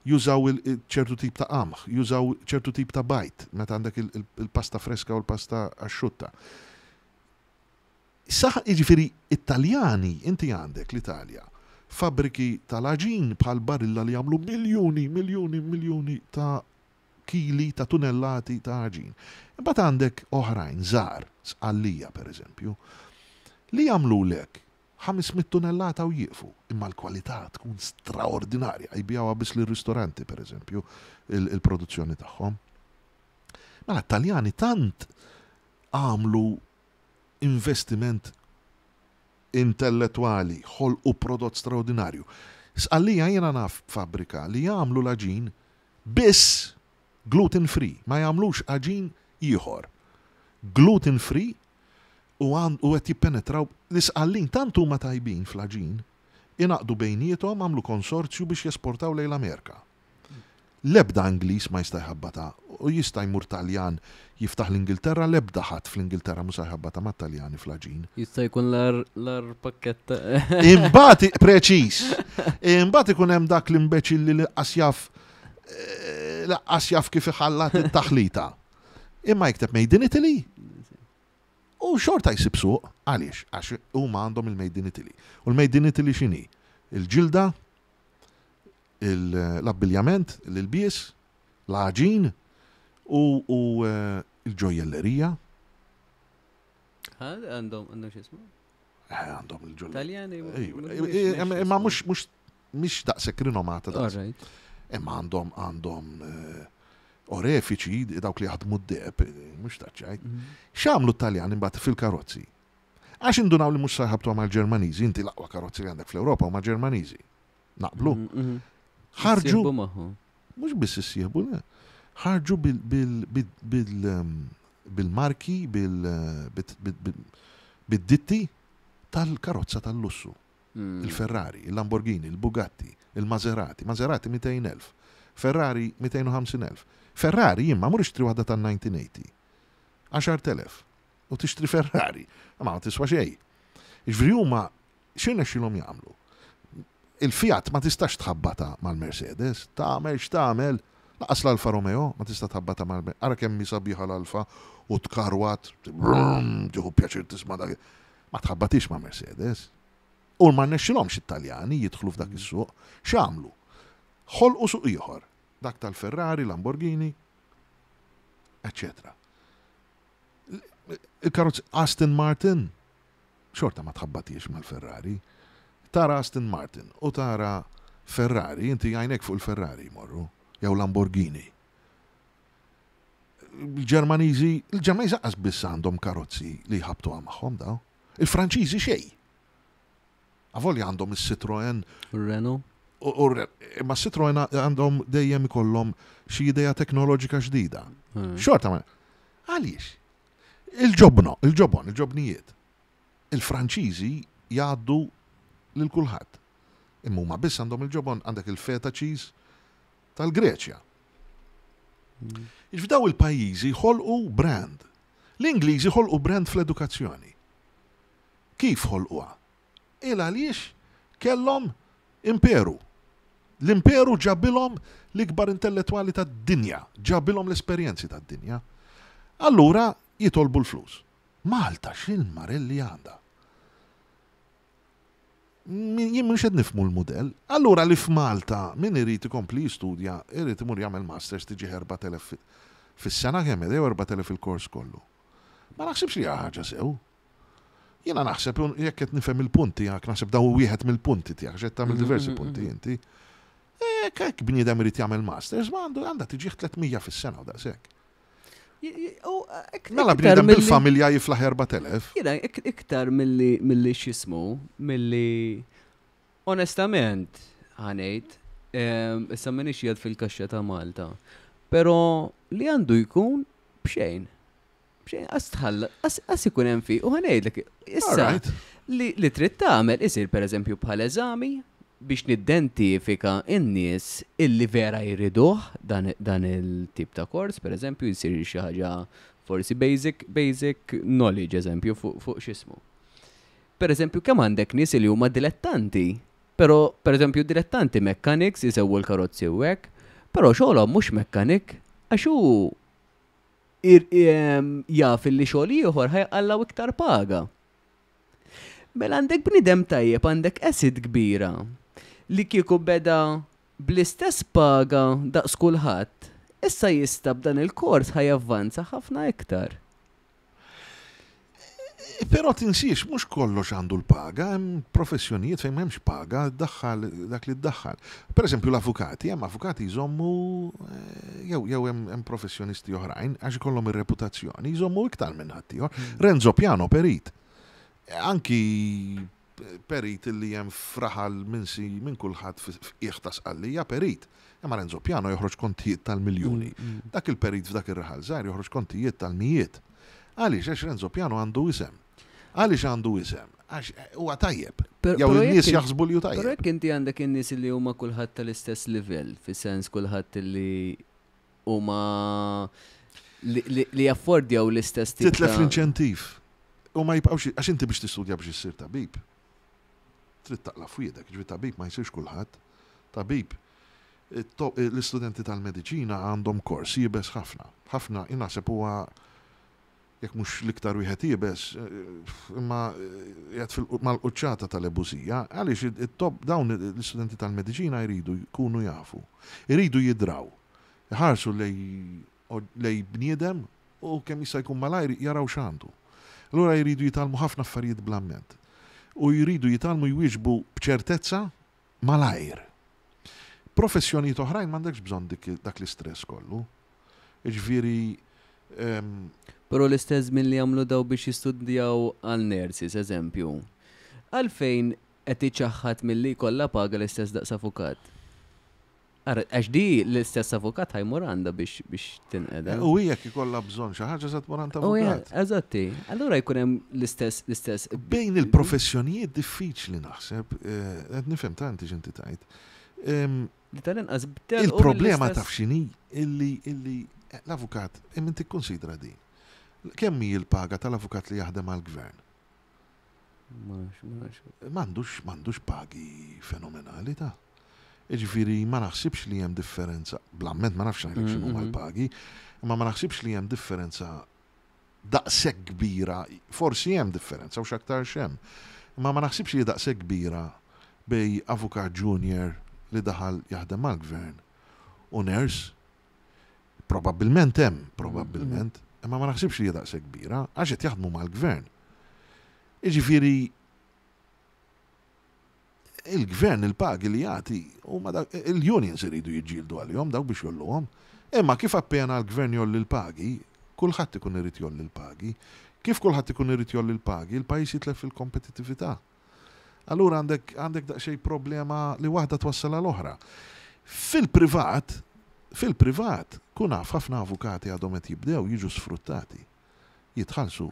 Jużaw ċertu tip ta' qamħ, jużaw ċertu tip ta' bajd meta għandek il-pasta freska u l-pasta asciutta. Saħ, jiġifieri it-Taljani, inti għandek l-Italja, fabbriki tal-għaġin bħal Barilla li jagħmlu miljuni, miljuni, miljuni ta' kili ta' tunellati ta' għaġin. Imbagħad għandek oħrajn żgħar, Sqallija pereżempju, li jagħmlulek 500 tunellata u jieqfu, imma l-kwalità tkun straordinarja, jbigħuha biss lir-ristoranti pereżempju il-produzzjoni tagħhom. Mela t-Taljani tant għamlu investiment intellettwali, ħolqu prodott straordinarju. Sqallija jiena naf fabbrika li jagħmlu l-għaġin biss gluten free, ma jagħmlux għaġin ieħor. Gluten free u u qed jippenetraw l-Isqallin tant huma tajbin fl-għaġin, ingħaqdu bejniethom għamlu konsorzju biex jesportaw lejn l-Amerika. L-ebda Ingliż ma jista' jħabbatha u jista' jmur Taljan jiftaħ l-Ingilterra l-ebda ħadd fl-Ingilterra mhu se jħabbatha mat-Taljani fl-għaġin. Jista' jkun l-agħar pakkett. Imbagħad preċiż. Imbagħad ikun hemm dak l-imbeċilli li laqqas jaf laqqas jaf kif iħallat it-taħlita. Imma jikteb Made in Italy u xorta jsib suq. Għaliex? Għax huma għandhom il-Made in Italy. U l-Made in Italy x'inhi? Il-ġilda, L-abbiljament, l-ilbies, l-għaġin u l-ġojjellerija. Għandhom għandhom x'ismu? Eh, għandhom il-ġojjellerija. Taljani. Imma mhux mhux mhix daqshekk rinomata daqs. Imma għandhom għandhom eh, orefiċi dawk li jaħdmu d-deb, eh, mhux taċċajt. Mhm. X'għamlu t-Taljani mbagħad fil-karozzi? Għax indunaw li mhux sa jħabtu mal-Ġermaniżi, inti l-aqwa karozzi li għandek fl-Ewropa huma Ġermaniżi. Naqblu. Mhm, mhm. Ħarġu. Mhux biss issieħbu, le. Ħarġu bil-marki, bil-ditti tal-karozza tal-lussu. Mm. Il-Ferrari, il-Lamborghini, il-Bugatti, il-Maserati. Maserati 200.000. Ferrari 250.000. Ferrari jimma mur ixtri waħda tan-1980. 10.000. U tixtri Ferrari. Ma tiswa xejn. Ġifieri huma x'irnexxielhom jagħmlu? Il-Fiat ma tistax tħabbatha mal-Mercedes, tagħmel x'tagħmel, lanqas l-Alfa Romeo ma tista' tħabbatha mal Ara kemm hi sabiħa l-Alfa u tkarwat, brum, tieħu pjaċir tisma' dak. Ma tħabbatix ma' Mercedes. U ma rnexxilhomx it-Taljani jidħlu f'dak is-suq. X'għamlu? Ħolqu suq ieħor, dak tal-Ferrari, Lamborghini, eċċetera. Il-karozzi Aston Martin xorta ma tħabbatiex mal-Ferrari. Tara Aston Martin u tara Ferrari, inti għajnek fuq il-Ferrari jmorru, jew Lamborghini. Il-Ġermaniżi, il-Ġermaniżi qas biss għandhom karozzi li jħabtuha magħhom daw. Il-Franċiżi xejn. Avolja għandhom is-Citroen. U Renault. Imma Citroen għandhom dejjem ikollhom xi idea teknoloġika ġdida. Hmm. Xorta ma. Għaliex? Il-ġobno, il-ġobon, il-ġobnijiet. Il-Franċiżi jgħaddu lil kulħadd. Imma huma biss għandhom il-ġobon għandek il-feta cheese tal-Greċja. Hmm. F'daw il-pajjiżi ħolqu brand. L-Ingliżi ħolqu brand fl-edukazzjoni. Kif ħolquha? Il għaliex kellhom imperu. L-imperu ġabilhom l-ikbar intellettwali tad-dinja, ġabilhom l-esperjenzi tad-dinja. Allura jitolbu l-flus. Malta x'il-marelli għandha? Jien mhux qed nifhmu l-mudell. Allura li f'Malta min irid ikompli jistudja irid imur jagħmel masters tiġih 4000 fis-sena kemm jew 4000 il-kors kollu. Ma naħsibx li hija ħaġa sew. Jiena naħseb, jekk qed nifhem il-punt tiegħek, naħseb daw wieħed mill-punti tiegħek, x'qed tagħmel mhm, diversi mhm, punti mhm. inti. Jekk hekk bniedem irid jagħmel masters, ma għandu għandha tiġih 300 fis-sena u daqshekk. Mela bniedem bil-familja jiflaħ 4000. Jiena iktar milli milli x'ismu, milli onestament ħanejt, issa m'iniex jgħid fil-kaxxa ta' Malta, però li għandu jkun b'xejn. B'xejn, qas tħalla, qas ikun hemm fi, u ħanejdlek, issa li, li trid tagħmel isir pereżempju bħal eżami biex nidentifika n-nies illi vera jriduh dan, dan il-tip ta' kors, pereżempju jsir xi ħaġa forsi basic, basic knowledge eżempju fuq fu x'ismu. Pereżempju kemm għandek nies li huma dilettanti, però pereżempju dilettanti mechanics isewwu l-karozzi u hekk, però xogħolhom mhux mechanic għax hu jaf illi xogħol ieħor ħa jqallgħu iktar paga. Mela għandek bniedem tajjeb, għandek asset kbira li kieku beda bl-istess paga daqs kulħadd, issa jista' b'dan il-kors ħa javvanza ħafna iktar. Però tinsiex, mhux kollox għandu l-paga, hemm professjonijiet fejn m'hemmx paga, ddaħħal dak li ddaħħal. Per eżempju l-avukati, hemm avukati jżommu eh, jew jew hemm professjonisti oħrajn għax ikollhom ir-reputazzjoni, jżommu iktar minn ħaddieħor. Hmm. Renzo Piano perit. Anki perit li hemm fraħal minsi minn kulħadd f'qiegħ ta' sqallija perit. Imma Renzo Piano joħroġ kontijiet tal-miljuni. Mm, mm. Dak il-perit f'dak ir-raħal żgħir joħroġ kontijiet tal-mijiet. Għaliex? Għax Renzo Piano għandu isem. Għaliex għandu isem? Għax eh, huwa tajjeb. Jew in-nies jaħsbu li hu tajjeb. Però jekk inti għandek in-nies li huma kulħadd tal-istess livell, fis-sens kulħadd li huma li jaffordjaw l-istess tip. Titlef l-inċentiv. U ma jibqgħux għax inti biex tistudja biex issir tabib. Trid taqla' fwiedek, ġifieri tabib ma jsirx kulħadd. Tabib l-istudenti tal-mediċina għandhom kors iebes ħafna. Ħafna, jien naħseb huwa. Jekk mhux l-iktar wieħed iebes, imma qiegħed mal-quċċata tal-ebusija, għaliex it-tobba dawn l-istudenti tal-mediċina jridu jkunu jafu, iridu jidraw, iħarsu lejn bniedem u kemm jista' jkun malajr jaraw x'għandu. Allura jridu jitgħallmu ħafna affarijiet bl-amment. U jridu jitgħallmu jwieġbu b'ċertezza malajr. Professjonijiet oħrajn m'għandekx bżonn dak l-istress kollu. Jiġifieri Però l-istess żmien li jagħmlu daw biex jistudjaw għal nurses, eżempju. Għalfejn qed iċaħħad milli jkollha paga l-istess daqs avukat? Ara, għax di l-istess avukat ħa jmur għandha biex tinqeda. U jekk ikollha bżonn xi ħaġa se tmur għand avukat. Eżatti. Allura jkun hemm l-istess. Bejn il-professjonijiet diffiċli naħseb, qed nifhem ta' inti x'inti tgħid. Li tal-inqas Il-problema taf x'inhi illi l-avukat imma tikkonsidra din. Kemm hi l-paga tal-avukat li jaħdem għall-gvern? M'għandux pagi fenomenali ta'. Jiġifieri ma naħsibx li hemm differenza, bl-amment ma nafx ngħidlek x'inhuma l-pagi, imma ma naħsibx li hemm differenza daqshekk kbira, forsi hemm differenza u x'aktarx hemm, imma ma naħsibx li daqshekk kbira bejn avukat junior li daħal jaħdem mal-gvern u nurse. Probabbilment hemm, probabbilment, imma ma naħsibx li hija daqshekk kbira, għax qed jaħdmu mal-gvern. Jiġifieri il-gvern il-pagi li jagħti huma il-unions iridu jiġġieldu għalihom dawk biex jgħolluhom. Imma kif appena l-gvern jgħolli l-pagi, kulħadd ikun irid jgħolli l-pagi. Kif kulħadd ikun irid jgħolli l-pagi, il-pajjiż jitlef fil-kompetittività. Allura għandek daqsxejn problema li waħda twassal għal oħra. Fil-privat, kun naf ħafna avukati għadhom qed jibdew jiġu sfruttati. Jitħallsu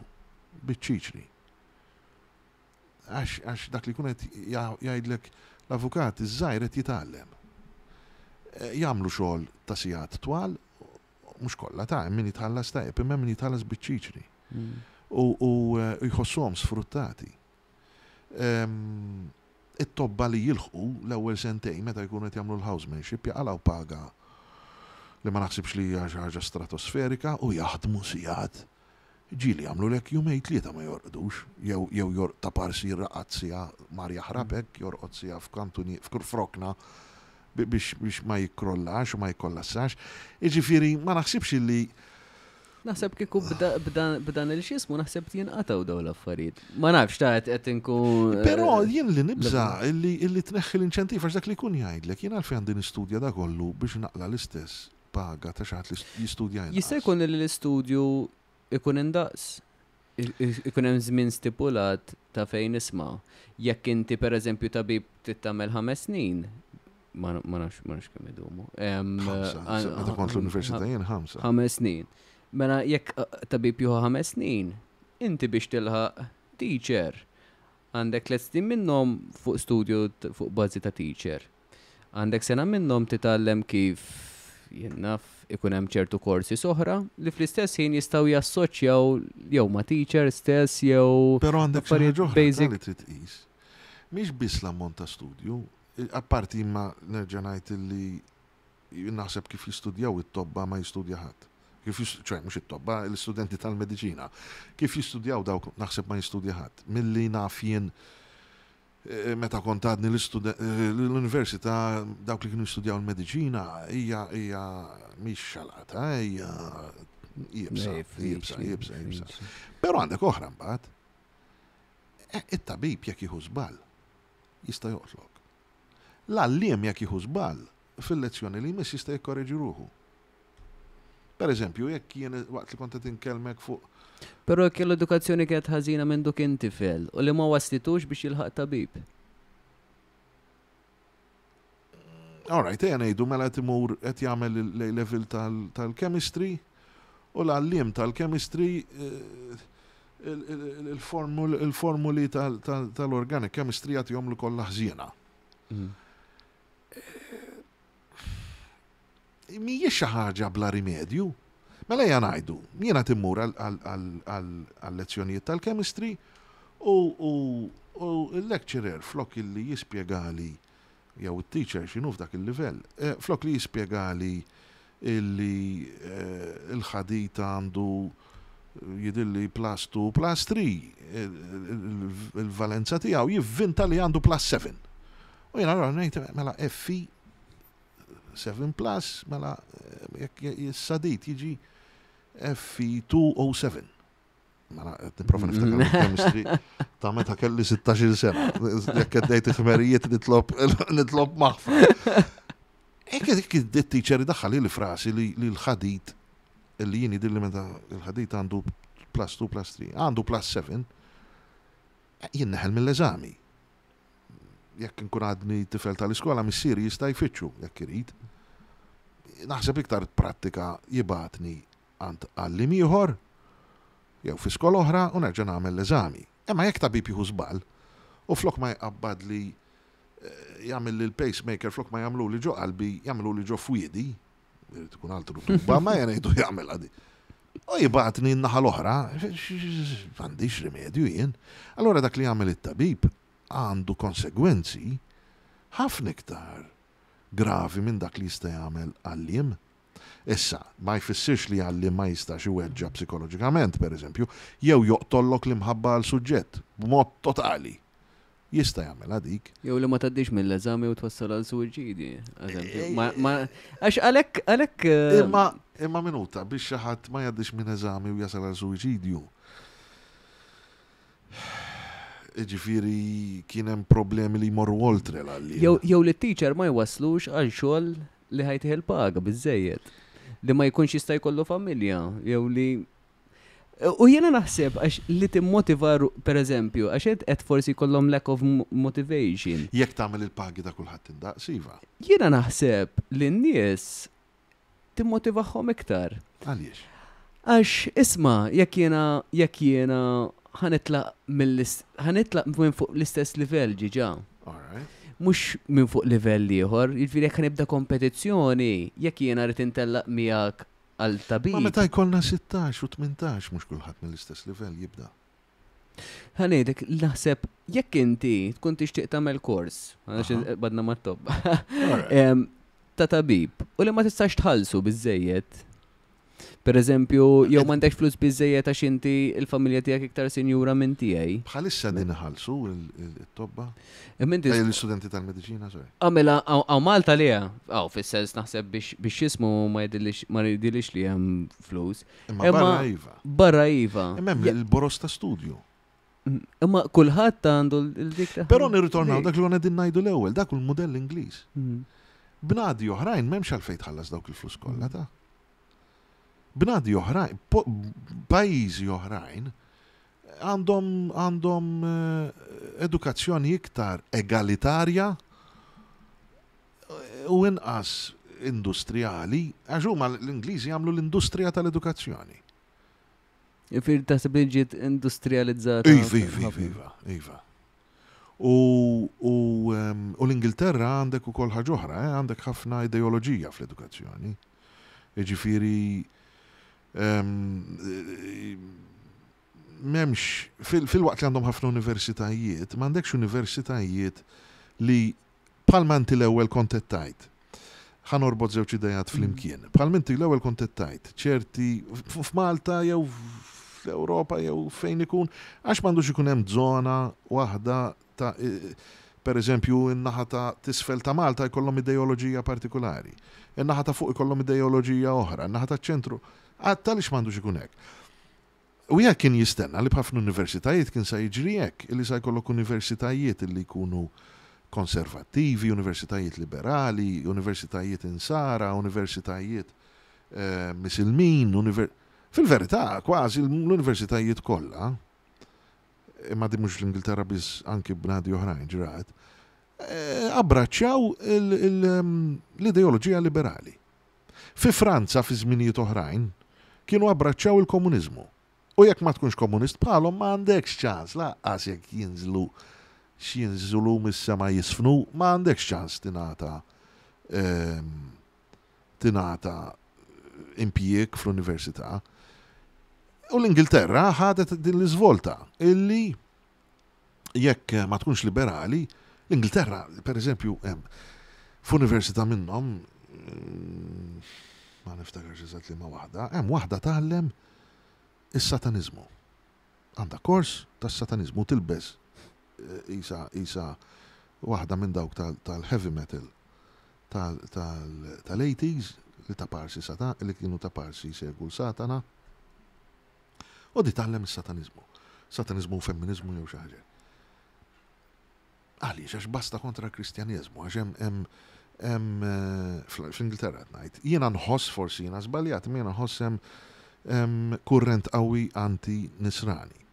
biċ-ċiċri. Għax dak li jkun qed jgħidlek l-avukat iż-żgħir qed jitgħallem. Jagħmlu xogħol ta' sigħat twal, mhux kollha ta' hemm min jitħallas tajjeb, imma hemm min jitħallas biċ-ċiċri. U jħossuhom sfruttati. It-tobba li jilħqu l-ewwel sentejn meta jkunu qed jagħmlu l-housemanship jaqalgħu paga li ma naħsibx li hija xi ħaġa stratosferika u jaħdmu sigħat. Ġieli jagħmlulek jumejn tlieta ma jorqdux, jew jew jorq ta' parsi raqad siegħa mar jaħrab hekk, jorqod siegħa f'kantuni f'rokna biex biex ma jikkrollax u ma jikkollassax. Jiġifieri ma naħsibx illi Naħseb kieku b'dan il-xismu naħseb jinqatgħu dawn l-affarijiet. Ma nafx ta' qed inkun. Però jien li nibża' illi illi tneħħi l-inċentiv għax dak li jkun jgħidlek jien għalfejn għandi nistudja da kollu biex naqla' l-istess paga ta' xi ħadd li jistudja inqas. Jista' jkun li l-istudju ikun indaqs? Ikun hemm żmien stipulat ta' fejn isma'. Jekk inti pereżempju tabib trid tagħmel 5 snin, ma nafx ma nafx kemm idumu. 5, meta kont l-università jien 5. 5 snin. Mela jekk tabib jieħu 5 snin, inti biex tilħaq teacher għandek 3 snin minnhom fuq studju fuq bażi ta' teacher. Għandek sena minnhom titgħallem kif jien naf ikun hemm ċertu korsi oħra li fl-istess ħin jistgħu jassoċjaw jew ma' teacher stess jew Però għandek xi ħaġa oħra li trid tqis. Mhix biss l-ammont ta' studju, apparti imma nerġa' ngħid illi naħseb kif jistudjaw it-tobba ma jistudja ħadd. Kif ċoè mhux it-tobba, l-istudenti tal-mediċina. Kif jistudjaw dawk naħseb ma jistudja ħadd. Milli naf jien meta kont għadni l-università dawk li kienu jistudjaw il-mediċina hija hija mhix xalata, hija iebsa, iebsa, iebsa, iebsa. Però għandek oħra mbagħad. It-tabib jekk jieħu żball jista' joqtlok. L-għalliem jekk jieħu żball fil-lezzjoni li jmiss jista' jikkoreġi ruħu. Per eżempju, jekk jien waqt li kont qed inkellmek fuq. Però jekk l-edukazzjoni kienet ħażina minn duk kien tifel u li ma waslitux biex jilħaq tabib. All right, ejja ngħidu mela qed imur qed jagħmel l-A level tal-chemistry u l-għalliem tal-chemistry il-formuli tal-organic chemistry jagħtihom li kollha ħżiena. Mhijiex xi ħaġa bla rimedju. Mela ejja ngħidu, jiena timmur għal-lezzjonijiet tal-chemistry u l-lecturer flok illi jispjegali jew it-teacher x'inhu f'dak il-livell, flok li jispjegali illi l-ħadid għandu jidhirli plus 2 plus 3 il-valenza tiegħu jivvinta li għandu plus 7. U jiena allura ngħid mela Fe 7 plus mela jekk is-sadid jiġi Fe2O7. Mela qed nipprova niftakar il-chemistry ta' meta kelli 16-il sena. Jekk qed ngħid il-ħmerijiet nitlob nitlob maħfra. Hekk it-teacher idaħħal li frasi li l-ħadid li jien jidhirli meta l-ħadid għandu plus 2 plus 3, għandu plus 7, jien neħel mill-eżami. Jekk inkun għadni tifel tal-iskola, missieri jista' jfittxu jekk irid. Naħseb iktar prattika jibgħatni għand għalliem ieħor jew fi skola oħra u nerġa' nagħmel l-eżami. Imma jekk tabib jieħu żball u flok ma jqabbadli eh, jagħmel li l-pacemaker flok ma jagħmluli ġo qalbi, jagħmluli ġo fwiedi, irid ikun altru tuba, ma jgħidu jagħmel għadi. U jibgħatni n-naħa l-oħra, m'għandix rimedju jien. Allora dak li jagħmel it-tabib għandu konsegwenzi ħafna iktar gravi minn dak li jista' jagħmel għalliem. Issa, ma jfissirx li għalliem ma jistax iweġġa' psikoloġikament, pereżempju, jew joqtollok l-imħabba għal suġġett, b'mod totali. Jista' jagħmilha dik. Jew li ma tgħaddix mill-eżami u twassal għal suwiċidji, eżempju. Għax għalhekk għalhekk. Eh, imma imma minuta biex xi ħadd ma jgħaddix minn eżami u jasal għal suwiċidju. Ġifieri kien hemm problemi li jmorru oltre l-għalliem. Jew li t-teacher ma jwasslux għal xogħol li ħajtih il-paga biżejjed. Li ma jkunx jista' jkollu familja, jew li U jiena naħseb għax li timmotiva per eżempju, għax qed qed forsi jkollhom lack of motivation. Jekk tagħmel il-pagi ta' kulħadd indaqs, iva. Jiena naħseb li n-nies timmotivahom iktar. Għaliex? Għax isma' jekk jiena jekk jiena ħa nitlaq mill ħa nitlaq minn fuq l-istess livell ġiġa. Mhux minn fuq livell ieħor, jiġifieri jekk nibda kompetizzjoni, jekk jiena rrid intellaq miegħek għal tabib. Ma meta jkollna 16 u 18 mhux kulħadd mill-istess livell jibda. Ħa ngħidlek, naħseb jekk inti tkun tixtieq tagħmel kors, għax badna mat-tobba, ta' tabib, u li ma tistax tħallsu biżejjed. Per eżempju, jew m'għandekx flus biżejjed għax inti il-familja tiegħek iktar sinjura minn tiegħi. Bħalissa din iħallsu il-tobba? Eh, l-istudenti tal-mediċina, sorry. Għamela, ah, għaw Malta li għaw fis-sens naħseb biex jismu ma jidilix li hemm flus. Imma barra iva. Barra iva. Imma hemm il-boros ta' studju. Mm, imma kulħadd għandu l-dik ta' Però nirritornaw dak li għana din ngħidu l-ewwel, dak hu l-mudell Ingliż. Mm. Bnadi oħrajn m'hemmx għalfejn tħallas dawk il-flus kollha ta' Bnadi oħrajn, pajjiżi oħrajn għandhom għandhom eh, edukazzjoni iktar egalitarja eh, u inqas industrijali, għax huma l-Ingliżi jagħmlu l-industrija tal-edukazzjoni. Ifir taħseb li ġiet industrializzata. Iva, iva, iva, iva. U, u, ehm, u l-Ingilterra għandek ukoll ħaġa oħra, eh, għandek ħafna ideoloġija fl-edukazzjoni. Jiġifieri ehm, m'hemmx fil-waqt li għandhom ħafna universitajiet, m'għandekx universitajiet li bħalma inti l-ewwel kont qed tgħid. Ħa norbot żewġ idejat flimkien. Bħalma inti l-ewwel kont qed tgħid, ċerti f'Malta jew fl-Ewropa jew fejn ikun, għax m'għandux ikun hemm żona waħda ta' per eżempju in-naħa ta' t'isfel ta' Malta jkollhom ideoloġija partikulari, in-naħa ta' fuq ikollhom ideoloġija oħra, in-naħa taċ-ċentru, għaliex m'għandux ikun hekk? Wieħed kien jistenna li b'ħafna universitajiet kien sa jiġri hekk, illi sa jkollok universitajiet illi jkunu konservattivi, universitajiet liberali, universitajiet insara, universitajiet Misilmin, fil-verità kważi l-universitajiet kollha, imma din mhux l-Ingilterra biss anki bnadi oħrajn ġrat, abbraċċjaw l-ideoloġija liberali. Fi Franza fi żminijiet oħrajn kienu abbraċċjaw il-komuniżmu. U jekk ma tkunx komunist bħalhom ma għandekx ċans lanqas jekk jinżlu x'jinżlu mis-sema jisfnu, ma għandekx ċans tingħata ehm, tingħata impjieg fl-università. U l-Ingilterra ħadet din l-iżvolta illi jekk ma tkunx liberali, l-Ingilterra, per eżempju, hemm f'università minnhom, mm, ma niftakarx eżatt li ma waħda, hemm waħda tgħallem Is-sataniżmu. Għandha kors tas-sataniżmu tilbes eh, isa isa waħda minn dawk tal-heavy metal tal-80s li ta' parsi sata li kienu ta' parsi jsegwu l-Satana. U di tgħallem is-sataniżmu. Sataniżmu u femminizmu jew xi ħaġa. Għaliex għax basta kontra l-Kristjaneżmu, għax hemm hemm eh, fl-Ingilterra qed ngħid. Jiena nħoss forsi jiena żbaljat, imma jiena nħoss hemm kurrent qawwi anti-Nisrani.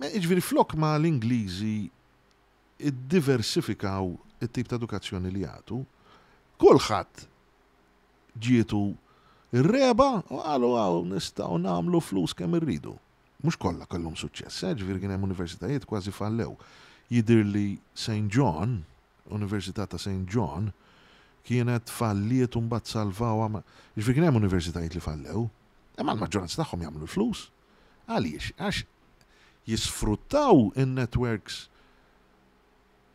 Jiġifieri flok ma l-Ingliżi iddiversifikaw it-tip ta' edukazzjoni li jagħtu, kulħadd ġietu r-regħba u qalu hawn nistgħu nagħmlu flus kemm irridu. Mhux kollha kellhom suċċess, eh, ġifieri kien hemm universitajiet kważi fallew. Jidhirli St. John, Università ta' St. John, kienet falliet u mbagħad salvawha. Ġifieri kien hemm universitajiet li fallew, imma l-maġġoranza tagħhom jagħmlu l-flus. Għaliex? Għax jisfruttaw in-networks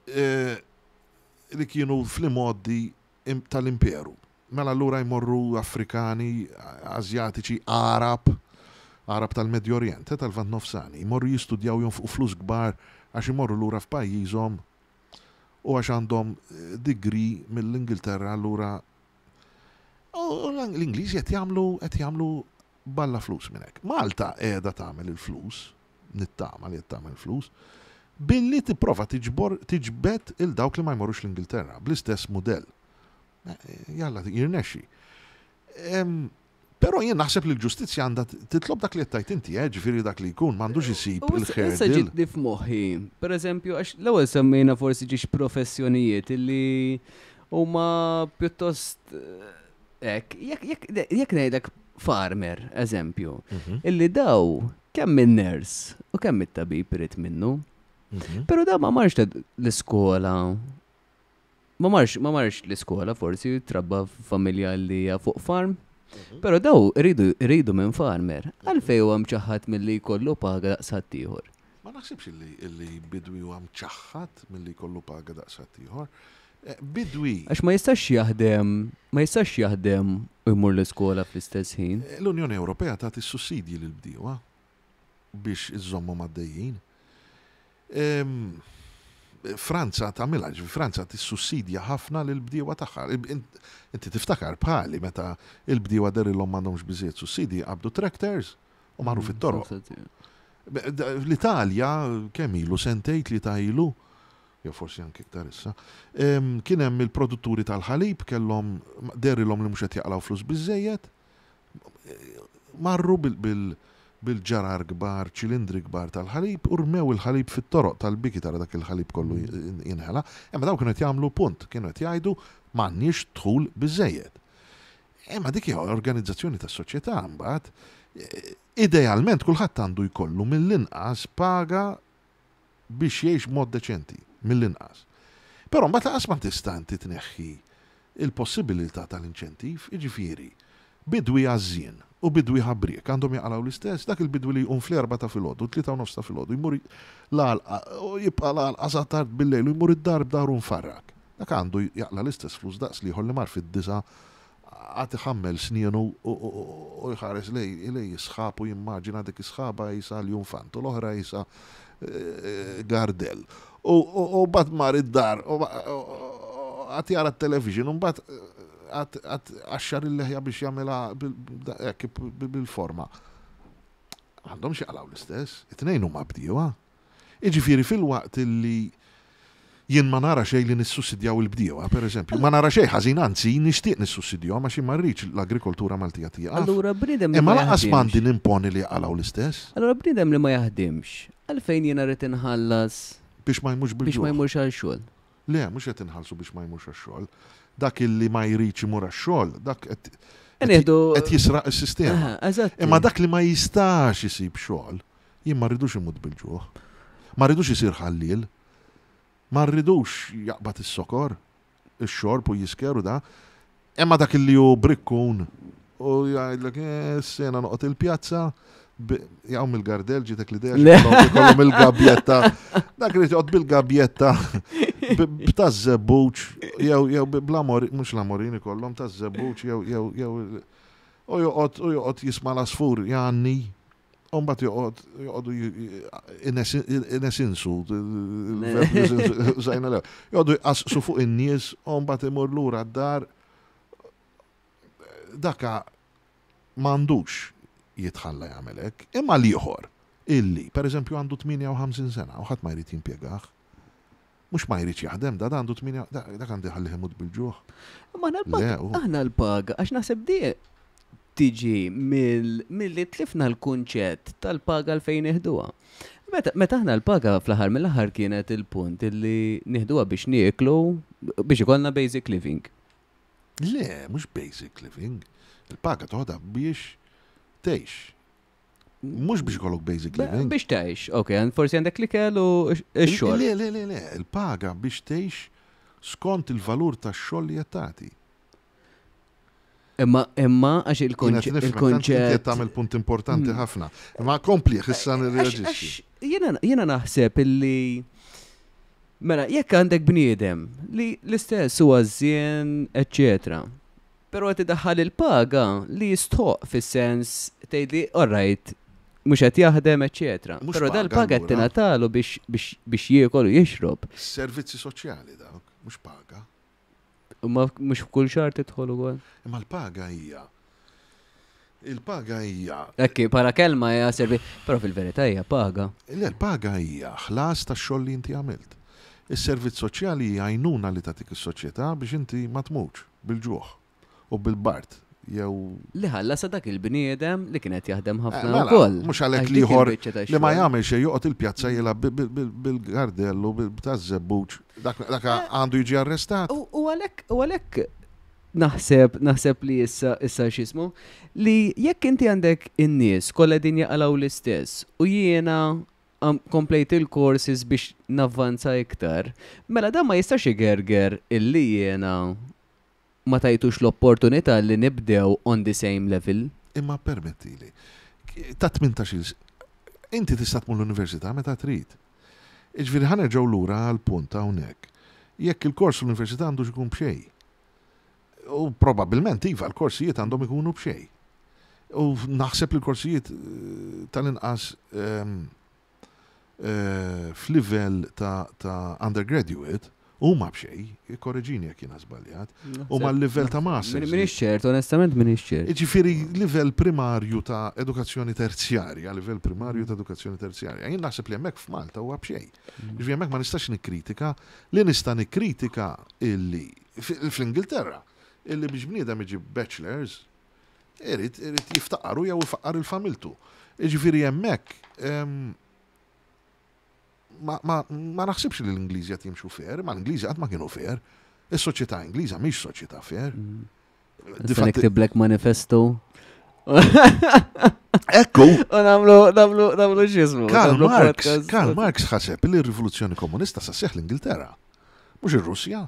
eh, li kienu fl-imgħoddi tal-imperu. Mela allura jmorru Afrikani, Asjatiċi, Għarab, Għarab tal-Medju Orjent, eh, tal-Lvant Nofsani, jmorru jistudjaw jonfqu flus kbar għax imorru lura f'pajjiżhom u għax għandhom eh, degree mill-Ingilterra allura u l-Ingliżi qed jagħmlu qed jagħmlu balla flus minn hekk. Malta qiegħda tagħmel il-flus, nittama li qed tagħmel flus, billi tipprova tiġbor tiġbed il dawk li ma jmorrux l-Ingilterra bl-istess mudell. Eh, jalla jirnexxi. Però jien naħseb li l-ġustizzja għandha titlob dak li qed tgħid inti, eh, ġifieri dak li jkun m'għandux isib il-ħer. Issa ġitni f'moħħi, pereżempju, għax l-ewwel semmejna forsi ġiex professjonijiet illi huma pjuttost eh, hekk, jekk ngħidlek farmer, eżempju, mhm. illi daw kemm in-ners u kemm it-tabib irid minnu. Mhm. Però daw ma marx l-iskola Ma marx, ma marx l-iskola forsi, trabba f'familja li hija fuq farm. Mhm. Però daw iridu iridu minn farmer. Mhm. Għalfej huwa mċaħħad milli jkollu paga daqs ħaddieħor. Ma naħsibx li li bidwi huwa mċaħħad milli jkollu paga daqs ħaddieħor. Eh, bidwi. Għax ma jistax jaħdem, ma jistax jaħdem u jmur l-iskola fl-istess ħin. Eh, L-Unjoni Ewropea tagħti sussidji lill-bdiewa biex iżżommhom għaddejjin. Franza tagħmilha, ġifieri Franza tissussidja ħafna lill-bdiewa tagħha. Inti tiftakar bħali meta l-bdiewa dehrilhom m'għandhomx biżżejjed sussidji qabdu tractors u marru mm, fit-toroq. L-Italja kemm ilu sentejn tlieta ilu, jew forsi anke iktar issa, kien hemm il-produtturi tal-ħalib kellhom dehrilhom li mhux qed jaqlgħu flus biżżejjed, Marru bil-ġarar kbar, ċilindri kbar tal-ħalib u rmew il-ħalib fit-toroq tal-biki tara dak il-ħalib kollu jinħela. Imma dawn kienu qed jagħmlu punt, kienu qed jgħidu m'għandniex dħul biżżejjed. Imma dik hija organizzazzjoni tas-soċjetà mbagħad. Idealment kulħadd għandu jkollu mill-inqas paga biex jgħix b'mod deċenti, mill-inqas. Però mbagħad lanqas ma tista' inti tneħħi l-possibilità tal-inċentiv, jiġifieri, bidwi għażżien u bidwi ħabriek għandhom jaqalgħu l-istess, dak il-bidwi li jqum fl-erbgħa ta' filgħodu, t-tlieta u nofs ta' filgħodu, jmur l-għalqa u jibqa' l-għalqa sa tard bil-lejl u jmur id-dar b'dahru mfarrak. Dak għandu jaqla' l-istess flus daqs l-ieħor li mar fid-disgħa Qagħad iħammel snienu u jħares lejn is-sħab u jimmaġina dik is-sħaba qisha ljunfant u l-oħra qisha gardell. U mbagħad mar id-dar u qagħad jara t-television u mbagħad qagħad qaxxar il-leħja biex jagħmilha hekk bil-forma. M'għandhomx jaqalgħu l-istess, it-tnejn huma bdiewa. Jiġifieri filwaqt li jien ma nara xejn li nissussidjaw il-bdiewa, pereżempju, ma nara xejn ħażin anzi nixtieq nissussidjahom għax jien ma rridx l-agrikoltura Maltija tieqaf. Allura bniedem li Imma ma lanqas jaħdimx. m'għandi nimponi li jaqalgħu l-istess. Allura bniedem li ma jaħdimx, għalfejn jiena rrid inħallas Biex ma jmurx biex ma bil-ġuħ. jmurx għal xogħol? Le, mhux qed inħallsu biex ma jmurx għax-xogħol. Dak illi ma jridx imur għax-xogħol, dak qed qed jisraq is-sistema. Imma dak li ma jistax isib xogħol, jien ma rridux imut bil-ġuħ. Ma rridux isir ħalliel. Ma rridux jaqbad is-sokor, ix-xorb u jisker u da. Imma dak li hu brikkun u jgħidlek eh, sena noqgħod il-pjazza, jgħu mill-gardel ġitek l-idea jkollhom il-gabjetta. Dak li joqgħod bil-gabjetta b'taż-żebbuġ jew jew bl-amor mhux l-amorin ikollhom taż-żebbuġ jew jew jew. U joqgħod u joqgħod jisma' l-għasfur jgħanni, u mbagħad joqgħod joqogħdu inesinsu, użajna l joqogħdu jqasqsu fuq in-nies u mbagħad imur lura d-dar. Daka m'għandux jitħalla jagħmel hekk. Imma l-ieħor illi, pereżempju, għandu 58 sena u ħadd ma jrid jimpjegah, mhux ma jridx jaħdem, da għandu 8, dak għandu jħallih imut bil-ġuħ. Imma aħna l-paga, għax naħseb di tiġi milli tlifna l-kunċett tal-paga l fejn nieħduha. Meta aħna l-paga fl-aħħar mill-aħħar kienet il-punt illi nieħduha biex nieklu, biex ikollna basic living. Le, mhux basic living. Il-paga toħodha biex tgħix. Mhux biex ikollok basic living. Biex tgħix, ok, forsi għandek l-ikel u x-xogħol. Le, le, le, le, il-paga biex tgħix skont il-valur tax-xogħol li qed tagħti. Imma imma għax il-konċett. Tagħmel punt importanti hmm. ħafna. Imma kompli issa nirreaġixxi. Jiena naħseb illi mela jekk għandek bniedem li l-istess huwa żien, eċċetera. Però qed idaħħal il-paga li jistħoq fis-sens tgħidli alright mhux qed jaħdem, eċċetera. Però dal-paga qed tingħatalu biex jiekol u jixrob. Servizzi soċjali dawk, mhux paga. Ma mhux f'kull xahar tidħol ukoll. Imma l-paga hija Il-paga hija. Ekki, para kelma hija servi, però fil-verità hija paga. Le, l-paga hija ħlas tax-xogħol li inti għamilt. Is-servizz soċjali hija għajnuna li tagħtik is-soċjetà biex inti ma tmutx bil-ġuħ u bil-bard jew. Li ħallasha dak il-bniedem li kien qed jaħdem ħafna eh, wkoll. Mhux għalhekk l-ieħor li ma jagħmel xejn joqgħod il-pjazza jilgħab bil-gardellu taż-żebbuġ dak eh, għandu jiġi arrestat. U għalhekk u għalhekk naħseb naħseb li issa issa x'ismu li jekk inti għandek in-nies kollha din jaqalgħu l-istess u jiena komplejt il-courses biex navvanza iktar, mela dan ma jistax igerger illi jiena ma tajtux l-opportunità li nibdew on the same level. Imma permettili, ta' 18 inti tista' tmur l-università meta trid. Jiġifieri ħa nerġgħu lura għall-punt hawnhekk. Jekk il-kors fl-università għandux ikun b'xejn. U probabbilment iva, l-korsijiet għandhom ikunu b'xejn. U naħseb li l-korsijiet eh, tal-inqas ehm, eh, f'livell ta', ta undergraduate huma b'xejn, ikkoreġini jekk jiena żbaljat, huma l-livell ta' masters. Minix ċert, onestament minix ċert. Jiġifieri livell primarju ta' edukazzjoni terzjarja, livell primarju ta' edukazzjoni terzjarja. Jien naħseb li hemmhekk f'Malta huwa b'xejn. Mm. Jiġifieri hemmhekk ma nistax nikkritika, li nista' nikkritika illi fl-Ingilterra illi biex bniedem iġib bachelors irid irid jiftaqaru jew ifaqqar il-familtu. Jiġifieri hemmhekk Ma, ma, ma naħsibx li l-Ingliżi qed jimxu fair, ma l-Ingliżi qatt ma kienu fair. Is-soċjetà Ingliża mhix soċjetà fair. Mm. Nista' niktiblek manifesto. Ekku. U namlu, namlu, namlu xismu. Karl Marx, Karl Marx ħaseb li r-rivoluzzjoni komunista sa seħ l-Ingilterra. Mhux ir-Russja.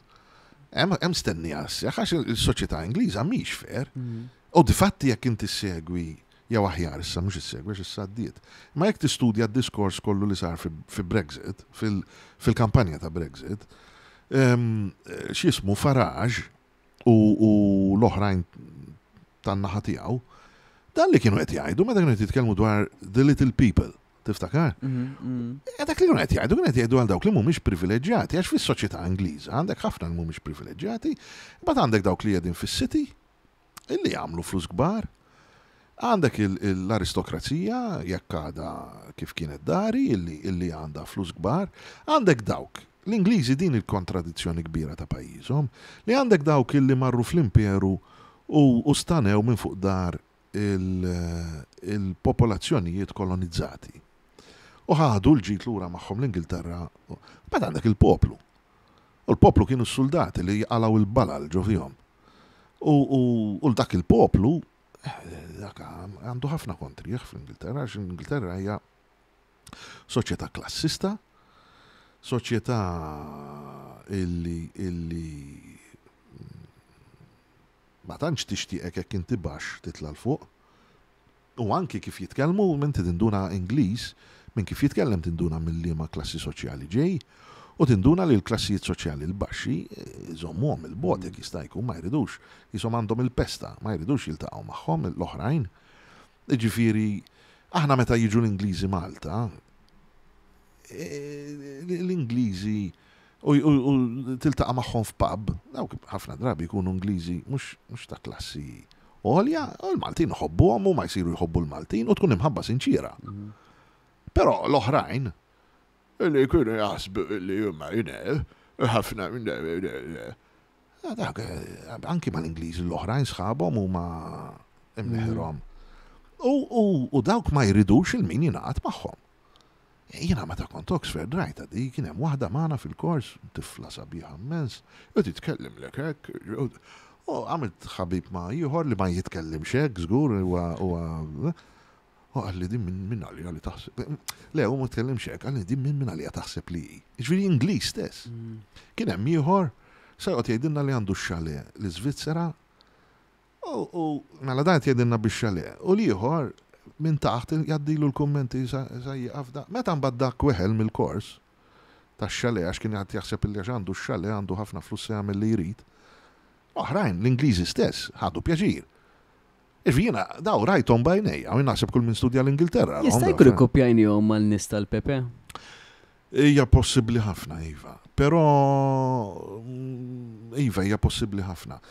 Hemm stennija seħ għax il-soċjetà Ingliża mhix fair. Mm. U difatti jekk inti segwi jew aħjar issa mhux issegwi għax issa għaddiet. Imma jekk tistudja d-diskors kollu li sar fi Brexit, fil-kampanja ta' Brexit, ehm, x'jismu Farage u l-oħrajn tan-naħa tiegħu, dan li kienu qed jgħidu meta kienu qed jitkellmu dwar the little people, tiftakar? Mm, mm. Eh, dak li kienu qed jgħidu kienu qed jgħidu għal dawk li mhumiex privileġġjati, għax fis-soċjetà Ingliża għandek ħafna li mhumiex privileġġjati, imbagħad għandek dawk li qegħdin fis-city, Illi jagħmlu flus kbar. Għandek l-aristokrazija, jekk għadha kif kienet dari, illi għandha flus kbar. Għandek dawk, l-Ingliżi din il-kontradizzjoni kbira ta' pajjiżhom, li għandek dawk illi marru fl-imperu u stanew minn fuq dar il-popolazzjonijiet kolonizzati. U ħadu l-ġid lura magħhom l-Ingilterra. Mbagħad għandek il-poplu. U l-poplu kienu s-suldati li qalgħu l-balal ġo fihom. U l dak il-poplu, dak għandu ħafna kontrih fl-Ingilterra, għax l-Ingilterra hija soċjetà klassista, soċjetà illi illi ma tantx tixtieqek jekk inti baxx titla' 'l fuq. U anki kif jitkellmu, inti tinduna Ingliż, minn kif jitkellem tinduna minn liema klassi soċjali ġej. U tinduna li l-klassijiet soċjali l-baxxi jżommuhom il-bogħod jekk jista' jkun ma jridux, qishom għandhom il-pesta, ma jridux jiltaqgħu magħhom l-oħrajn. Jiġifieri, aħna meta jiġu l-Ingliżi Malta, l-Ingliżi u tiltaqa' magħhom f'pub, dawk ħafna drabi jkunu Ingliżi mhux ta' klassi għolja, u l-Maltin iħobbuhom huma jsiru jħobbu l-Maltin u tkun imħabba sinċiera. Però l-oħrajn li jkunu jaħsbu li huma ħafna dak anki mal-Ingliżi l-oħrajn sħabhom huma imneħirhom. U dawk ma jridux il-min jingħaqad magħhom. Jiena meta kont Oxford rajtha di, kien hemm waħda magħna fil-kors, tifla sabiħa immens, u titkellimlek hekk, u għamilt ħabib ma' ieħor li ma jitkellimx hekk żgur huwa u qalli din minn min għalija li taħseb. Le, hu ma tkellimx hekk, qalli din minn min għalija taħseb li hi. Jiġifieri Ingliż stess. Kien hemm ieħor sa joqgħod jgħidilna li għandu x-chalet l-Iżvizzera U mela dan qed jgħidilna bix-chalet. U l-ieħor minn taħt jgħaddilu l-kummenti sa jieqaf da. Meta mbagħad dak weħel mill-kors tax-chalet għax kien qed jaħseb illi għax għandu x-chalet għandu ħafna flus se jagħmel li jrid. Oħrajn, l-Ingliżi stess, ħadu pjaċir. Jiġifieri jiena daw rajthom b'għajnejja u jien naħseb kull min studja l-Ingilterra. Jista' jkun ikkupjajnihom mal-nies tal-Pepe? Hija possibbli ħafna, iva. Però, iva, hija possibbli ħafna.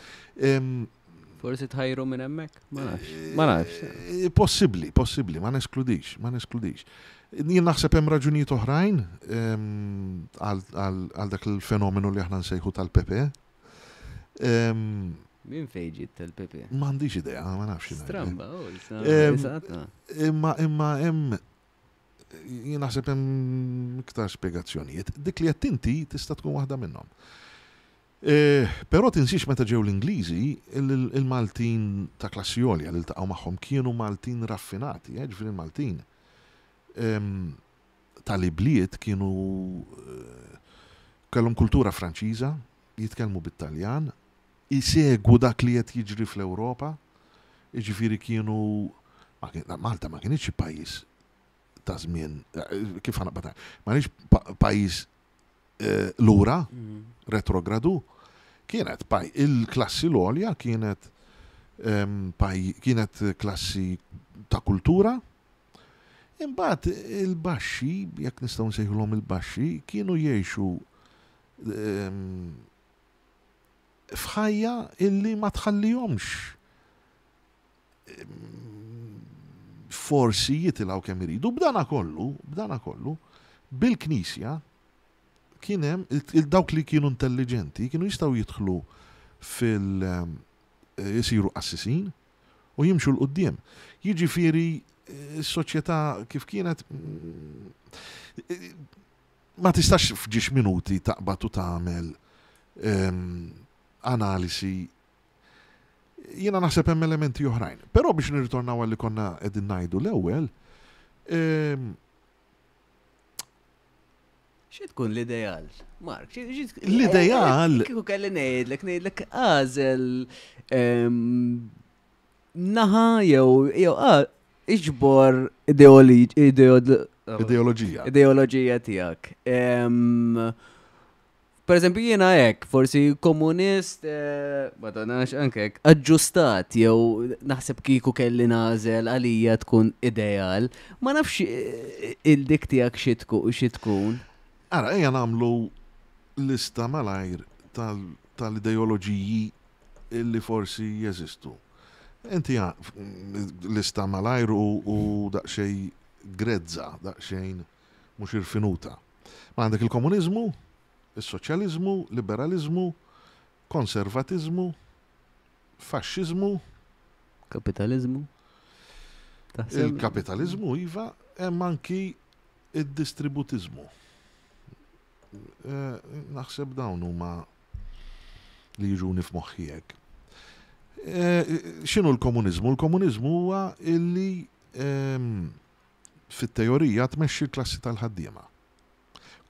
Forsi tħajru minn hemmhekk? Ma nafx. Ma nafx. Eh, possibbli, possibbli, ma neskludix, ma neskludix. Jien naħseb hemm raġunijiet oħrajn għal dak il-fenomenu li aħna nsejħu tal-Pepe. Minn fejn ġiet tal-Pepe? M'għandix idea, ma nafx. Stramba, oh, imma imma hemm Jien naħseb hemm iktar spjegazzjonijiet. Dik li qed inti tista' tkun waħda minnhom. E, però tinsiex meta ġew l-Ingliżi, il-Maltin ta' klassi għolja li ltaqgħu magħhom kienu Maltin raffinati, eh, ġifieri l-Maltin ehm, tal-ibliet kienu eh, kellhom kultura Franċiża, jitkellmu bit-Taljan, isegwu dak li qed jiġri fl-Ewropa, jiġifieri kienu Malta ma kinitx xi pajjiż ta' żmien kif ħa naqbad ma kienx pajjiż eh, lura, mm. retrogradu, kienet paj il-klassi l-għolja kienet ehm, kienet klassi ta' kultura, Imbagħad il-baxxi, jekk nistgħu nsejħulhom il-baxxi, kienu jgħixu ehm, f'ħajja illi ma tħallihomx forsi jitilgħu kemm iridu. B'dana kollu, b'dana kollu, bil-Knisja kien hemm dawk li kienu intelligenti kienu jistgħu jidħlu fil jisiru qassisin u jimxu 'l quddiem. Jiġifieri s-soċjetà kif kienet Ma tistax f'ġiex minuti taqbad u tagħmel analisi. Jiena naħseb hemm elementi oħrajn. Però biex nirritornaw għal li konna qegħdin ngħidu l-ewwel, Xi tkun l-ideal? Mark, l-ideal. Kieku kelli ngħidlek, ngħidlek għażel naħa jew jew iġbor ideoloġija. Ideoloġija tiegħek. Per eżempju jiena hekk, forsi komunist, eh, ma tanax anke hekk, aġġustat jew naħseb kieku kelli nagħżel għalija tkun ideal. Ma nafx eh, il-dik tiegħek xi tkun. Ara, ejja nagħmlu lista malajr tal-ideoloġiji illi forsi jeżistu. Inti lista malajr u daqsxejn grezza, daqsxejn mhux irfinuta. Ma għandek il-komuniżmu, is-soċjaliżmu, liberaliżmu, konservatiżmu, faxxiżmu. Kapitaliżmu. Il-kapitaliżmu, iva, hemm anki id-distributiżmu. Eh, naħseb dawn huma li jiġuni f'moħħi hekk. Eh, x'inhu l-komuniżmu? L-komuniżmu huwa illi ehm, fit-teorija tmexxi l-klassi tal-ħaddiema.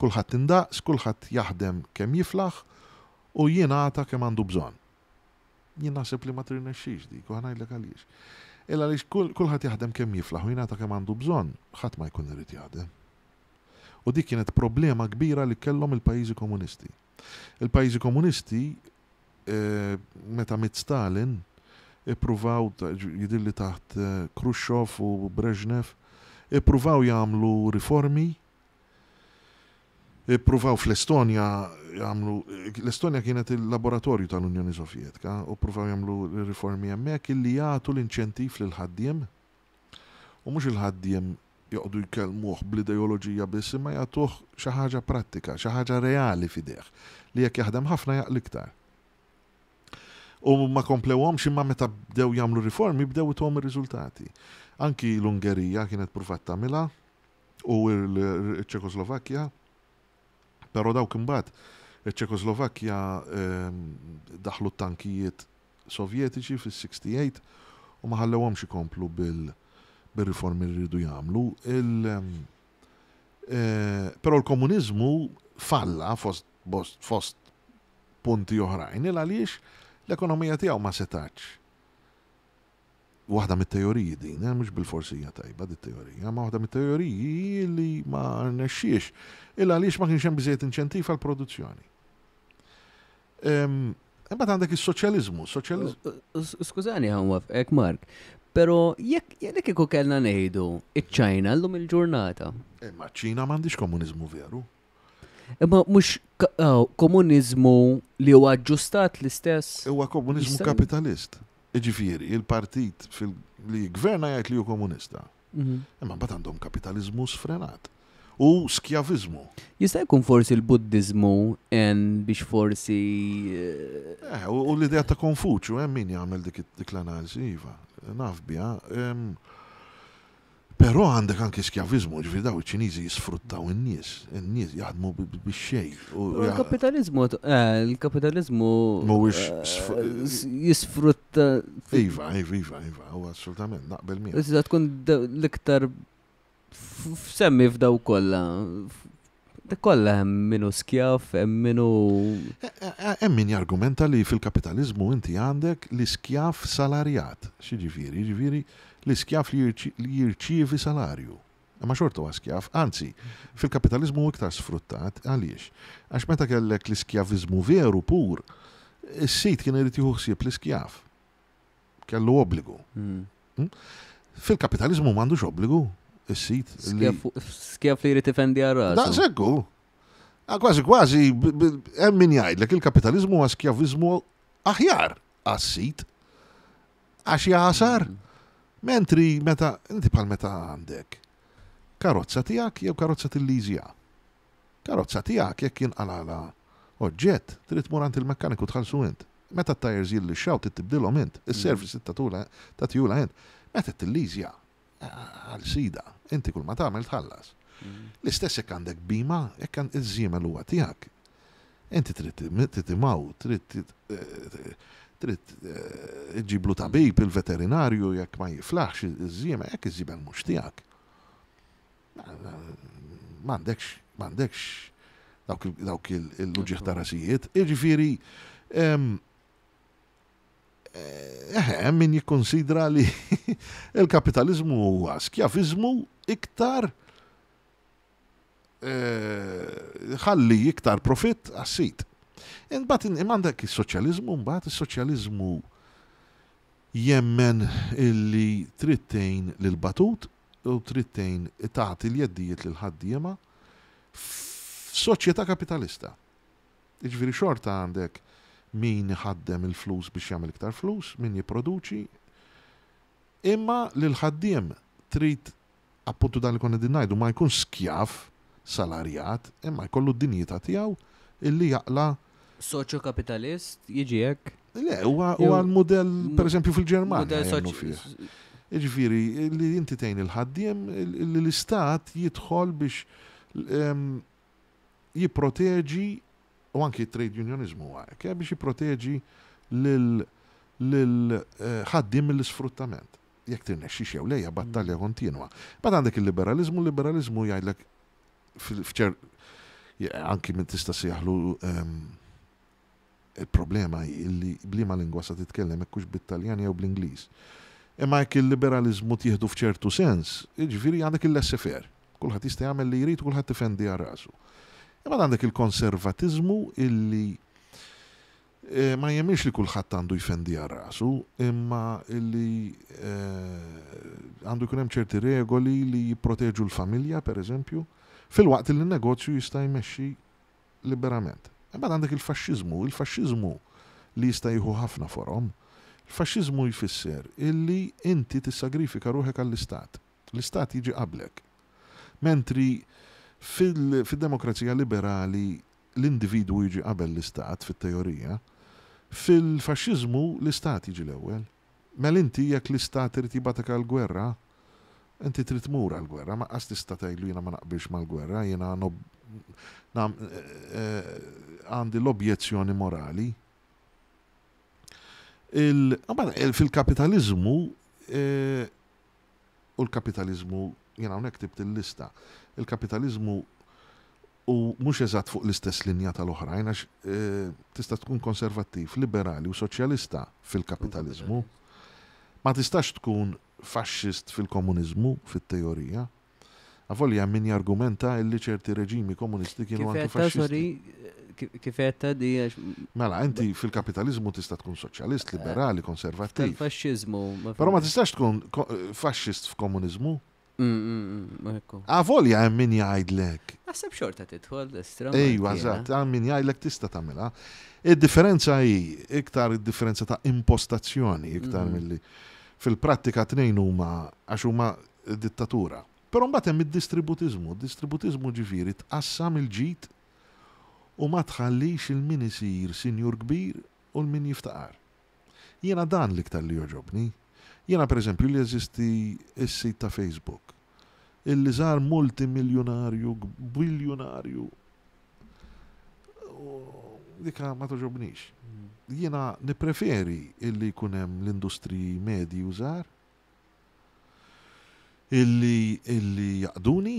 Kulħadd indaqs, kulħadd jaħdem kemm jiflaħ u jingħata kemm għandu bżonn. Jien naħseb li ma tirnexxix dik, u ngħidlek għaliex. Illa għaliex kulħadd jaħdem kemm jiflaħ u jingħata kemm għandu bżonn, ħadd ma jkun irid jaħdem. U dik kienet problema kbira li kellhom il-pajjiżi komunisti. Il-pajjiżi komunisti meta miet Stalin ippruvaw, jidhirli taħt Khrushchev u Brezhnev, ippruvaw jagħmlu riformi, ippruvaw fl-Estonja jagħmlu, l-Estonja kienet il-laboratorju tal-Unjoni Sovjetika, u ppruvaw jagħmlu riformi hemmhekk illi jagħtu l-inċentiv lill-ħaddiem, u mhux il-ħaddiem joqogħdu jkellmuh bl-ideoloġija biss imma jagħtuh xi ħaġa prattika, xi ħaġa reali f'idejh li jekk jaħdem ħafna jaqla' iktar. U ma komplewhomx imma meta bdew jagħmlu riformi bdew ituhom ir-riżultati. Anki l-Ungerija kienet pruvat tagħmilha u l-Ċekoslovakkja, però dawk imbagħad iċ-Ċekoslovakkja daħlu t-tankijiet Sovjetiċi fis-68 u ma ħallewhomx ikomplu bil-riformi li riedu jagħmlu. Però l-komuniżmu falla fost fost punti oħrajn il għaliex l-ekonomija tiegħu ma setax. Waħda mit-teoriji din, eh, mhux bilfors hija tajba dit teorija, ma waħda mit-teoriji hi li ma rnexxiex il għaliex ma kienx hemm biżejjed inċentiv għall-produzzjoni. Imbagħad għandek is-soċjaliżmu, soċjaliżmu. Skużani ħa nwaffqek Mark, però jekk jekk kieku kellna ngħidu iċ-Ċina llum il-ġurnata. Imma ċ-Ċina m'għandix komuniżmu veru. Imma mhux komuniżmu li huwa aġġustat l-istess. Huwa komuniżmu kapitalist. Jiġifieri, il-partit li jiggverna jgħid li hu komunista. Mhm. Imma mbagħad għandhom kapitaliżmu sfrenat u skjaviżmu. Jista' jkun forsi l-Buddiżmu en biex forsi. Eh, u l-idea ta' Konfuċju hemm min jagħmel dik l-analiżi, iva, naf biha. Però għandek anki skjaviżmu, ġifieri daw iċ-Ċiniżi jisfruttaw in-nies, in-nies jaħdmu bix-xejn. Il-kapitaliżmu, eh, il-kapitaliżmu mhuwiex eh, jisfrutta. Iva, iva, iva, iva, u assolutament naqbel miegħek. Iżda tkun l-iktar semmi f'daw kollha. Kollha hemm minu skjav, hemm minu. Eh, eh, hemm min jargumenta li fil-kapitaliżmu inti għandek l-iskjav salarjat. X'jiġifieri? Jiġifieri l-iskjav li jirċievi salarju. Imma xorta huwa skjav. Anzi, fil-kapitaliżmu hu iktar sfruttat. Għaliex? Għax meta kellek l-iskjaviżmu veru pur, is-sid kien irid jieħu ħsieb l-iskjav. Kellu obbligu. Hmm? Hmm? Fil-kapitaliżmu m'għandux obbligu is-sid. Skjav li jrid ifendi għal rasu. Daqshekk hu. Ah, kważi kważi hemm min jgħidlek il-kapitaliżmu huwa skjaviżmu aħjar għas-sid. Għax jagħsar. Mentri meta inti bħal meta għandek karozza tiegħek jew karozza tilliżja. Karozza tiegħek jekk jinqalgħalha oġġett, trid tmur għand il-mekkaniku tħallsu int. Meta t-tajers jillixxaw trid tibdilhom int, is-service trid tagħtula tagħtihulha int. Meta tilliżja għal sida, inti kull ma tagħmel tħallas. L-istess jekk għandek bhima, jekk iż-żiemel huwa tiegħek, inti trid titimgħu, trid trid iġġiblu tabib, il-veterinarju jekk ma jiflaħx iż-żiemel, jekk iż-żiemel mhux tiegħek. M'għandekx, m'għandekx dawk il-uġigħ ta' rasijiet. Jiġifieri, Eħe, hemm min jikkunsidra li l-kapitaliżmu huwa skjaviżmu iktar eh, ħalli iktar profitt għas-sid. Imbagħad imma għandek is-soċjaliżmu, mbagħad is-soċjaliżmu jemmen illi trid tgħin lil batut u trid tgħin tagħti l-jeddijiet lil ħaddiema f'soċjetà kapitalista. Jiġifieri xorta għandek min iħaddem il-flus biex jagħmel iktar flus, min jipproduċi, imma lill-ħaddiem trid appuntu dan li konna qegħdin ngħidu ma jkunx skjav salarjat, imma jkollu d-dinjità tiegħu illi jaqla' Soċjokapitalist jiġi hekk? Le, huwa l-mudell pereżempju fil-Ġermanja jemmnu fih. Jiġifieri li inti tgħin il-ħaddiem li l-istat jidħol biex jipproteġi, u anki t-trade unionizmu huwa hekk, eh, biex jipproteġi lil ħaddiem mill-isfruttament. Jekk tirnexxix jew le hija battalja kontinwa. Mbagħad għandek il-liberaliżmu, il-liberaliżmu jgħidlek f'ċer anki min tista' sejjaħlu ehm, il-problema hi li b'liema lingwa sa titkellem hekk hux bit-Taljan jew bl-Ingliż. Imma jekk il-liberaliżmu tieħdu f'ċertu sens, jiġifieri għandek il-laissez-faire. Kulħadd jista' jagħmel li jrid u kulħadd ifendi għal rasu. Imbagħad għandek il-konservatiżmu illi eh, ma jemminx li kulħadd għandu jfendi għal rasu, imma illi eh, għandu jkun hemm ċerti regoli li jipproteġu l-familja, per eżempju, filwaqt li n-negozju jista' jmexxi liberament. Imbagħad għandek il-faxxiżmu, il-faxxiżmu li jista' jieħu ħafna forom. Il-faxxiżmu jfisser illi inti tissagrifika ruħek għall-istat. L-istat jiġi qablek. Mentri fil-demokrazija liberali l-individwu jiġi qabel l-istat fit-teorija, fil-faxxiżmu l-istat jiġi l-ewwel. Mela inti jekk l-istat irid jibgħatek għall-gwerra, inti trid tmur għall-gwerra, ma qas tista' tgħidlu jiena ma naqbilx mal-gwerra, jiena għandi l-objezzjoni morali. Fil-kapitaliżmu u l-kapitaliżmu, jiena hawnhekk ktibt il-lista, il-kapitaliżmu u mhux eżatt fuq l-istess linja tal-oħrajn għax tista' tkun konservattiv, liberali u soċjalista fil-kapitaliżmu. Ma tistax tkun faxxist fil-komuniżmu, fit-teorija. Avolja hemm min jargumenta illi ċerti reġimi komunisti kienu anki faxxisti. Kif għedta di għax. Mela, inti fil-kapitaliżmu tista' tkun soċjalist, liberali, konservattiv. Tal-faxxiżmu. Però ma tistax tkun faxxist f'komuniżmu. Avolja hemm min jgħidlek. Naħseb xorta tidħol estra. Ejwa, eżatt, hemm min jgħidlek tista' tagħmilha. Id-differenza hi iktar id-differenza ta' impostazzjoni iktar milli fil-prattika tnejn huma għax huma dittatura. Però mbagħad hemm id-distributiżmu. Id-distributiżmu ġifieri tqassam il-ġid u ma tħallix il min isir sinjur kbir u l min jiftaqar. Jiena dan l-iktar li jogħġobni. Jiena pereżempju li jeżisti s-sit ta' Facebook illi sar multimiljunarju, biljunarju, dika ma togħġobnix. Jiena nippreferi illi jkun hemm l-industriji medji u żgħar illi illi jaqduni,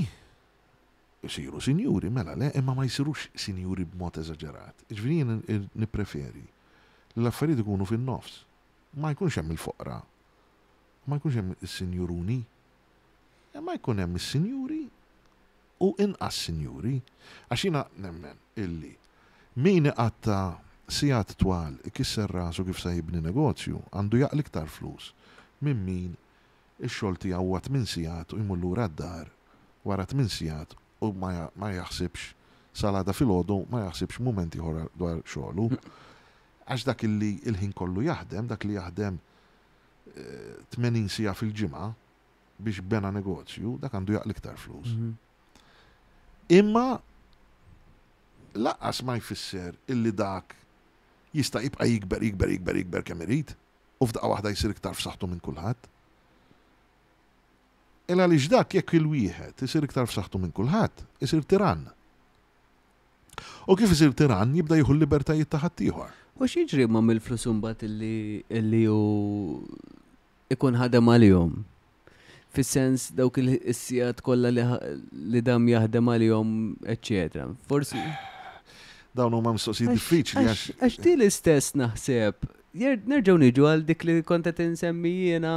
isiru sinjuri, mela le, imma ma jsirux sinjuri b'mod eżaġerat. Jiġifieri jien nippreferi li l-affarijiet ikunu fin-nofs. Ma jkunx hemm il-foqra, ma jkunx hemm is-sinjuruni, imma jkun hemm is-sinjuri u inqas sinjuri. Għax jiena nemmen illi min iqatta' sigħat twal ikisser rasu kif sa jibni negozju għandu jaqla' iktar flus minn min ix-xogħol tiegħu huwa tmien sigħat u jmur lura d-dar wara tmien sigħat u ma jaħsibx sal-għada filgħodu ma jaħsibx mument ieħor dwar xogħlu. Għax dak illi l-ħin kollu jaħdem, dak li jaħdem 80 siegħa fil-ġimgħa biex bena negozju, dak għandu jaqla' iktar flus. Imma lanqas ma jfisser illi dak jista' jibqa' jikber, jikber, jikber, jikber kemm irid u f'daqqa waħda jsir iktar f'saħħtu minn kulħadd. Il għaliex dak jekk il-wieħed isir iktar f'saħħtu minn kulħadd, isir tirann. U kif isir tirann jibda jieħu l-libertajiet ta' ħaddieħor. U x'jiġri ma mill-flus imbagħad illi illi hu ikun ħadem għalihom? Fis-sens dawk il-sigħat kollha li, li dam jaħdem għalihom, eċċetera. Forsi. Dawn huma mistoqsijiet diffiċli għax. Għax di l-istess naħseb. Nerġgħu niġu għal dik li kont qed insemmi jiena.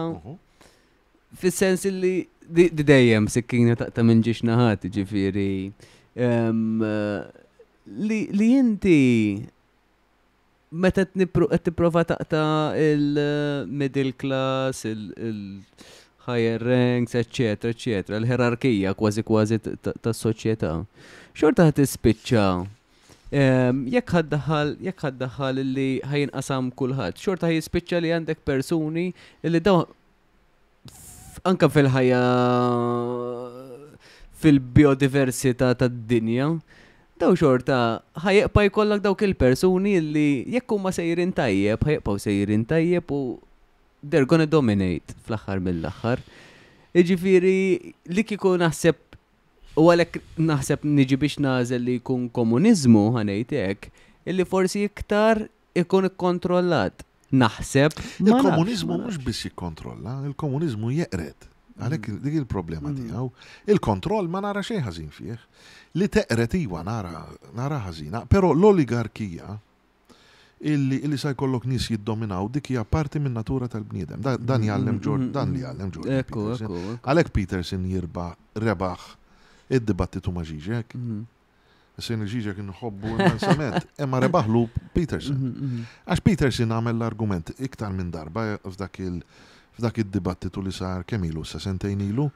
Fis-sens li di dejjem sikkina taqta' minn ġiex naħat, ġifieri. Li inti meta qed tipprova taqta' il-middle class, il-higher ranks, eċċetera, eċċetera, l-ħerarkija kważi kważi tas-soċjetà. Xorta ħa tispiċċa jekk ħaddaħħal jekk ħaddaħħal li ħajinqasam kulħadd, xorta ħjispiċċa li għandek persuni li dawn anka fil-ħajja fil-biodiversità tad-dinja, daw xorta ħajibqa' jkollok dawk il-persuni li jekk huma sejrin tajjeb, ħajibqgħu sejrin tajjeb u they're gonna dominate fl-aħħar mill-aħħar. Jiġifieri li kieku naħseb u għalhekk naħseb niġi biex nagħżel li jkun komuniżmu ħa ngħid hekk, illi forsi iktar ikun ikkontrollat. Naħseb. Il-komuniżmu mhux biss jikkontrolla, il-komuniżmu jeqred. Għalhekk mm. dik il-problema mm. tiegħu. Il-kontroll ma nara xejn ħażin fih. Li teqred iwa nara nara ħażina, però l-oligarkija illi illi sa jkollok nies jiddominaw dik hija parti minn natura tal-bniedem. Dan mm, jgħallem Jordan, dan li jgħallem Jordan. Għalhekk Peterson jirba rebaħ Id-dibattitu ma' Žižek. Issa jien Žižek nħobbu immensament, imma rebaħlu Peterson. Għax Peterson għamel l-argument iktar minn darba f'dak il- f'dak id-dibattitu li sar kemm ilu, sa sentejn ilu.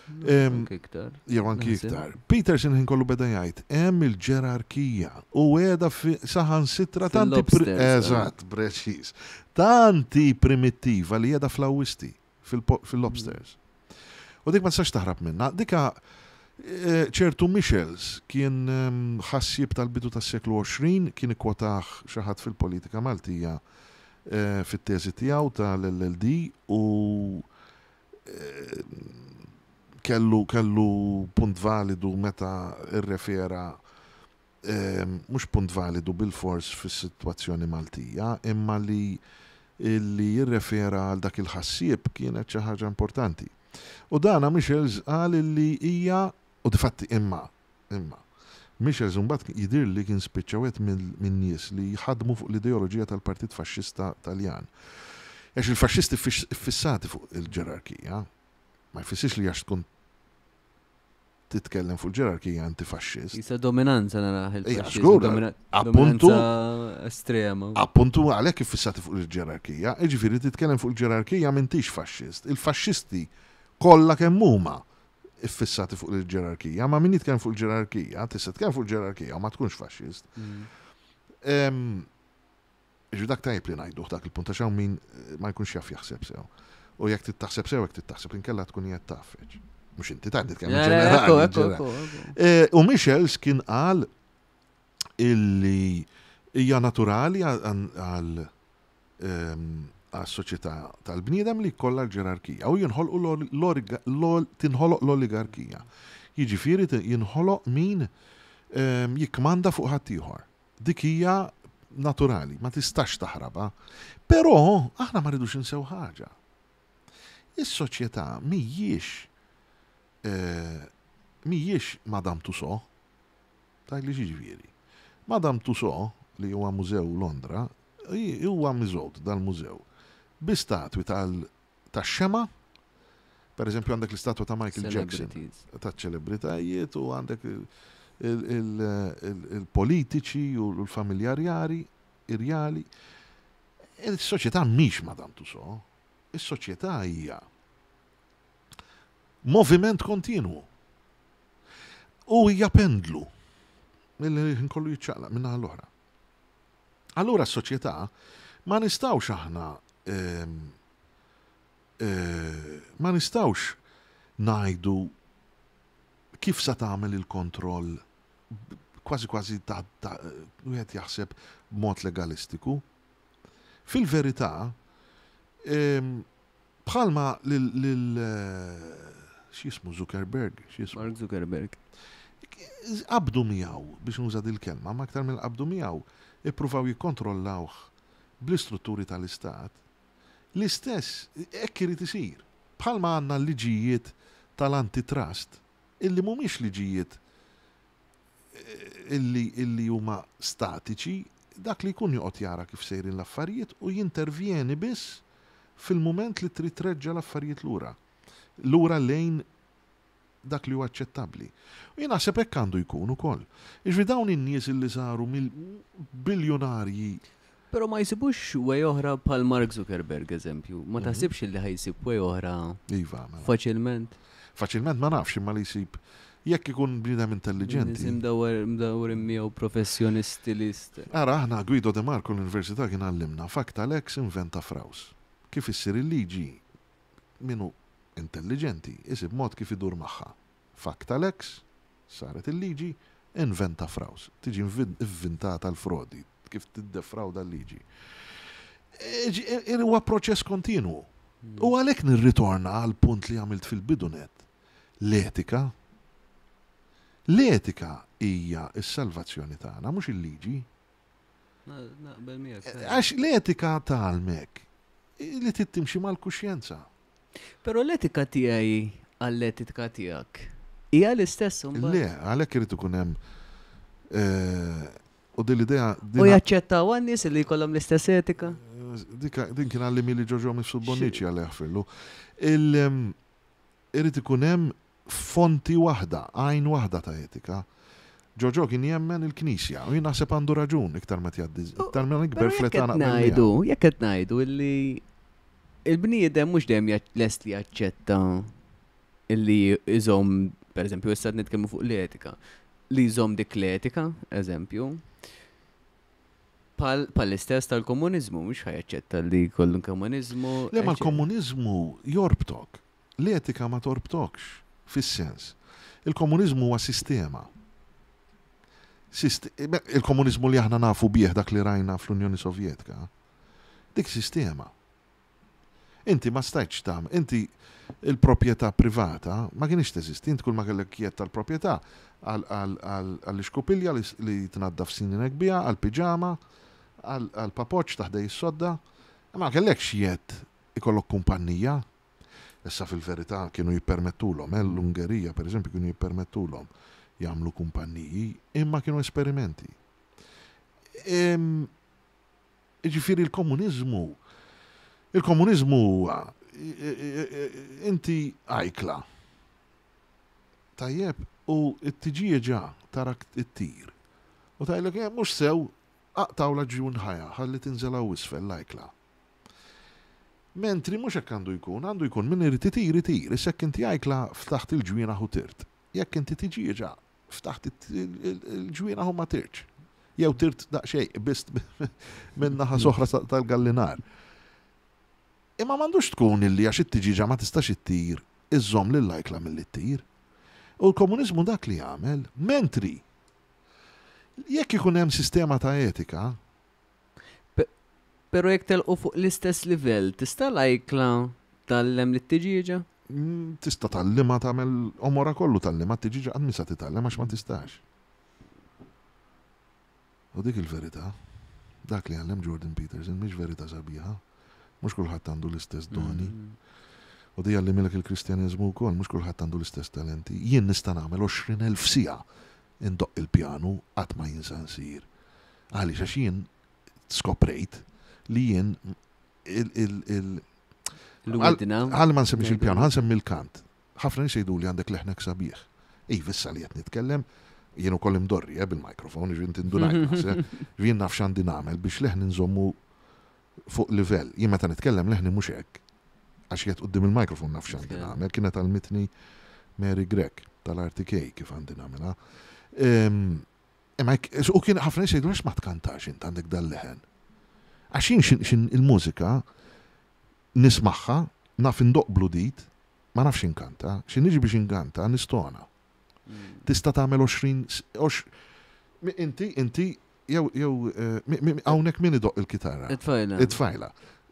Anki iktar. Jew anki Naħseb. iktar. Peterson ħin kollu beda jgħid hemm il-ġerarkija u qiegħda saħansitra tanti Fil-lobsters, Eżatt, preċiż. Tanti primittiva li qiegħda fl-awisti, fil-lobsters. U dik ma tistax taħrab minna. Dika ċertu Michels kien ħassieb tal-bidu tas-seklu 20, kien ikkwotah xi ħadd fil-politika Maltija fit-teżi tiegħu tal-LLD u kellu punt validu meta rrefera, mhux punt validu bil-fors fis-sitwazzjoni Maltija, imma li li jirrefera għal dak il-ħassieb kienet xi ħaġa importanti. U dana Michels qal li hija, u difatti imma Michels imbagħad jidhir li kien spiċċa wieħed minn nies li ħadmu fuq l-ideoloġija tal-Partit Faxxista Taljan. Għax il-faxxisti fissati fuq il-ġerarkija, ma jfissirx li għax tkun titkellem fuq il-ġerarkija antifaxxist. Jisa dominanza naraħ Ija, il-faxxiżmu, żgur, appuntu. dominanza estrema. Appuntu għalhekk iffissati fuq il-ġerarkija, jiġifieri titkellem fuq il-ġerarkija m'intix faxxist. Il-faxxisti kollha kemm huma iffissati fuq il-ġerarkija, ma min jitkellem fuq il-ġerarkija, tista' titkellem fuq il-ġerarkija u ma tkunx faxxist. Ġu dak tajjeb li ngħiduh dak il-punt għax hawn min ma jkunx jaf jaħseb sew. U jekk trid taħseb sew, jekk trid taħseb inkella tkun qiegħed tafeġ. Mhux inti tgħid nitkellem Le, le, ġenerali, ekku, ekku, ġenerali. ekku, ekku. U Michels kien qal illi hija naturali għas-soċjetà tal-bniedem li jkollha l-ġerarkija u jinħolqu tinħoloq l-oligarkija. Jiġifieri jinħoloq min jikkmanda fuq ħaddieħor. Dik hija naturali, ma tistax taħrabha. Però aħna ma rridux insew ħaġa. Is-soċjetà mhijiex Madame Tussauds. Tajt li xiġifieri. Madame Tussauds, li huwa mużew Londra, huwa miżgħud dal-mużew bi statwi tax-xema. Per eżempju għandek l-istatwa ta' Michael Jackson, Celebrities. ta' ċelebritajiet, u għandek il-politiċi u l-familjarjari, irjali. Il-soċjetà mhix Madame Tussauds. Is-soċjetà hija moviment kontinwu. U hija pendlu illi nkollu jiċċaqlaq minn naħa l-oħra. Allura s-soċjetà ma nistgħux aħna ma nistgħux ngħidu kif sa tagħmel il-kontroll kważi kważi ta' wieħed jaħseb b'mod legalistiku. Fil-verità, bħalma lil x'jismu Zuckerberg, x'jismu? Mark Zuckerberg. Qabdu miegħu, biex nuża dil-kelma, ma aktar mill qabdu miegħu, ippruvaw jikkontrollawh bl-istrutturi tal-istat. L-istess, hekk irid isir. Bħalma għandna liġijiet tal-antitrust, illi mhumiex liġijiet illi huma statiċi, dak li jkun joqgħod jara kif sejrin l-affarijiet u jintervjeni biss fil-mument li trid treġġa' l-affarijiet lura. Lura lejn dak li huwa aċċettabbli. U jien naħseb hekk għandu jkun ukoll. Jiġifieri dawn in-nies illi saru mill-biljonarji. Però ma jsibux way oħra bħal Mark Zuckerberg, eżempju. Ma taħsibx li ħa jsib way oħra Iva, mela. faċilment? Faċilment ma nafx, imma li jsib jekk ikun bniedem intelligenti. Nies imdawwar miegħu professjonisti list. Ara, aħna Guido De Marco l-Università kien għallimna facta lex inventa fraus. Kif issir il-liġi minu intelligenti, isib mod kif idur magħha. Facta lex, saret il-liġi, inventa fraus. Tiġi inventata l-frodi, kif tiddefrawda l-liġi. Huwa proċess kontinwu. U għalhekk nirritorna għal punt li għamilt fil-bidunet. L-etika. L-etika hija s-salvazzjoni tagħna, mhux il-liġi. Naqbel miegħek. Għax l-etika tgħallmek li trid timxi mal-kuxjenza. Però l-etika tiegħi għall-etika tiegħek hija l-istess imbagħad. Le, għalhekk irid ikun hemm u din l-idea U jaċċettaw għan-nies li jkollhom l-istess etika? Din kien għalli mili Ġoġo Mifsud Bonnici għalih fillu. Irid ikun hemm fonti waħda, għajn waħda ta' etika. Ġoġo kien jemmen il-Knisja u jien naħseb għandu raġun iktar ma tjaddi, iktar ma nikber fl-età naqbel ngħidu, jekk qed ngħidu illi il-bniedem mhux dejjem lest li jaċċetta illi iżomm, pereżempju issa qed nitkellmu fuq l-etika, li jżomm dik l-etika, eżempju, pal l-istess tal-komuniżmu, mhux ħajaċċetta li jkollu komuniżmu. Le ma l-komuniżmu jorbtok. L-etika ma torbtokx, fis-sens. Il-komuniżmu huwa sistema. Il-komuniżmu li aħna nafu bih dak li rajna fl-Unjoni Sovjetika, dik sistema. Inti ma stajtx tagħmel, inti il-proprjetà privata ma kienx teżisti, inti kull ma kellek jedd tal-proprjetà għall-ixkupilja li tnaddaf sninek biha, għall-piġama, għall-papoċċ ta' ħdej is-sodda, ma kellekx jedd ikollok kumpannija. Issa fil-verità kienu jippermettulhom, eh, l-Ungerija pereżempju kienu jippermettulhom jagħmlu kumpanniji, imma kienu esperimenti. Jiġifieri l-komuniżmu, il-komuniżmu huwa inti ajkla. Tajjeb, u t-tiġieġa tarak ittir. U tgħidlek, eh, mhux sew, aqtgħulha ġwinħajha ħalli tinżel hawn isfel l-ajkla. Mentri mhux hekk għandu jkun, għandu jkun min irid itir itir, issa jekk inti ajkla ftaħt il-ġwienaħ u tirt. Jekk inti tiġieġa ftaħt il-ġwienaħ u ma tirtx. Jew tirt daqsxejn, qbist minn naħa soħra tal-gallinar. Imma m'għandux tkun illi għax it-tiġieġa ma tistax ittir, iżżomm lill-ajkla milli ttir. U l-komuniżmu dak li jagħmel, mentri jekk ikun hemm sistema ta' etika, Pero jekk telqu fuq l-istess livell, tista' l-ajkla tgħallem lit-tiġieġa? Mm, tista' tgħallimha tagħmel omora kollu tgħallimha t-tiġieġa qatt misa titgħallem għax ma tistax. U dik il-verità, dak li għallem Jordan Peterson mhix verità sabiħa, mhux kulħadd għandu l-istess doni. U di għallimilek il-Kristjaneżmu wkoll, mhux kulħadd għandu l-istess talenti. Jien nista' nagħmel 20,000 siegħa indoqq il-pjanu qatt ma jinsa nsir. Għaliex għax jien skoprejt li jien il il il Għal ma nsemmix il-pjanu, għan semmi l-kant. Ħafna nies jgħidu li għandek leħnek sabiħ. Iva issa li qed nitkellem, jien ukoll imdorri eh, bil-mikrofon, ġifieri inti ndunajt eh. Jien naf x'għandi nagħmel biex leħni nżommu fuq livell. Jien meta nitkellem leħni mhux hekk. Għax jgħid quddiem il-mikrofon naf x'għandi nagħmel. Kienet għalmitni Mary Grech tal-RTK kif għandi nagħmilha. Ehm, imma u kien ħafna nies jgħidu għax ma tkantax int għandek dal-leħen. Għax jien xin il-mużika nismagħha, naf indoqq bludit, ma nafx inkanta, xi niġi biex inkanta nistona. Mm. Tista' tagħmel 20 inti inti Jew, jew, eh, hawnhekk min idoqq il-kitarra? It-tfajla. It-tfajla.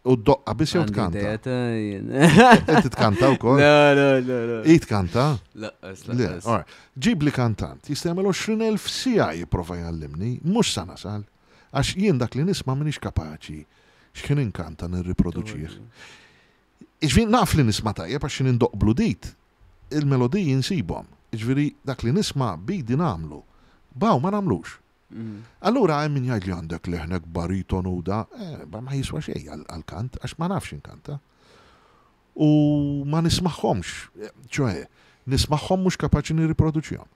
U doqqa biss jew tkanta? Inti tkanta wkoll? Le, le, le, le. I tkanta? Laqqas, laqqas. Ġib li kantant, jista' jagħmel 20,000 siegħa jipprova jgħallimni, mhux sa nasal. Għax jien dak li nisma' m'iniex kapaċi x'ħin inkanta nirriproduċih. Iġifieri naf li nisma' tajjeb għax x'ħin indoqq bludit, il-melodiji nsibhom. Iġifieri dak li nisma' b'idi nagħmlu. B'hawn ma nagħmlux. Allura hemm min jgħid li għandek leħnek baritonu u da, eh, ma jiswa xejn għall-kant għax ma nafx inkanta. U ma nismagħhomx, ċoe, nismagħhom mhux kapaċi nirriproduċihom.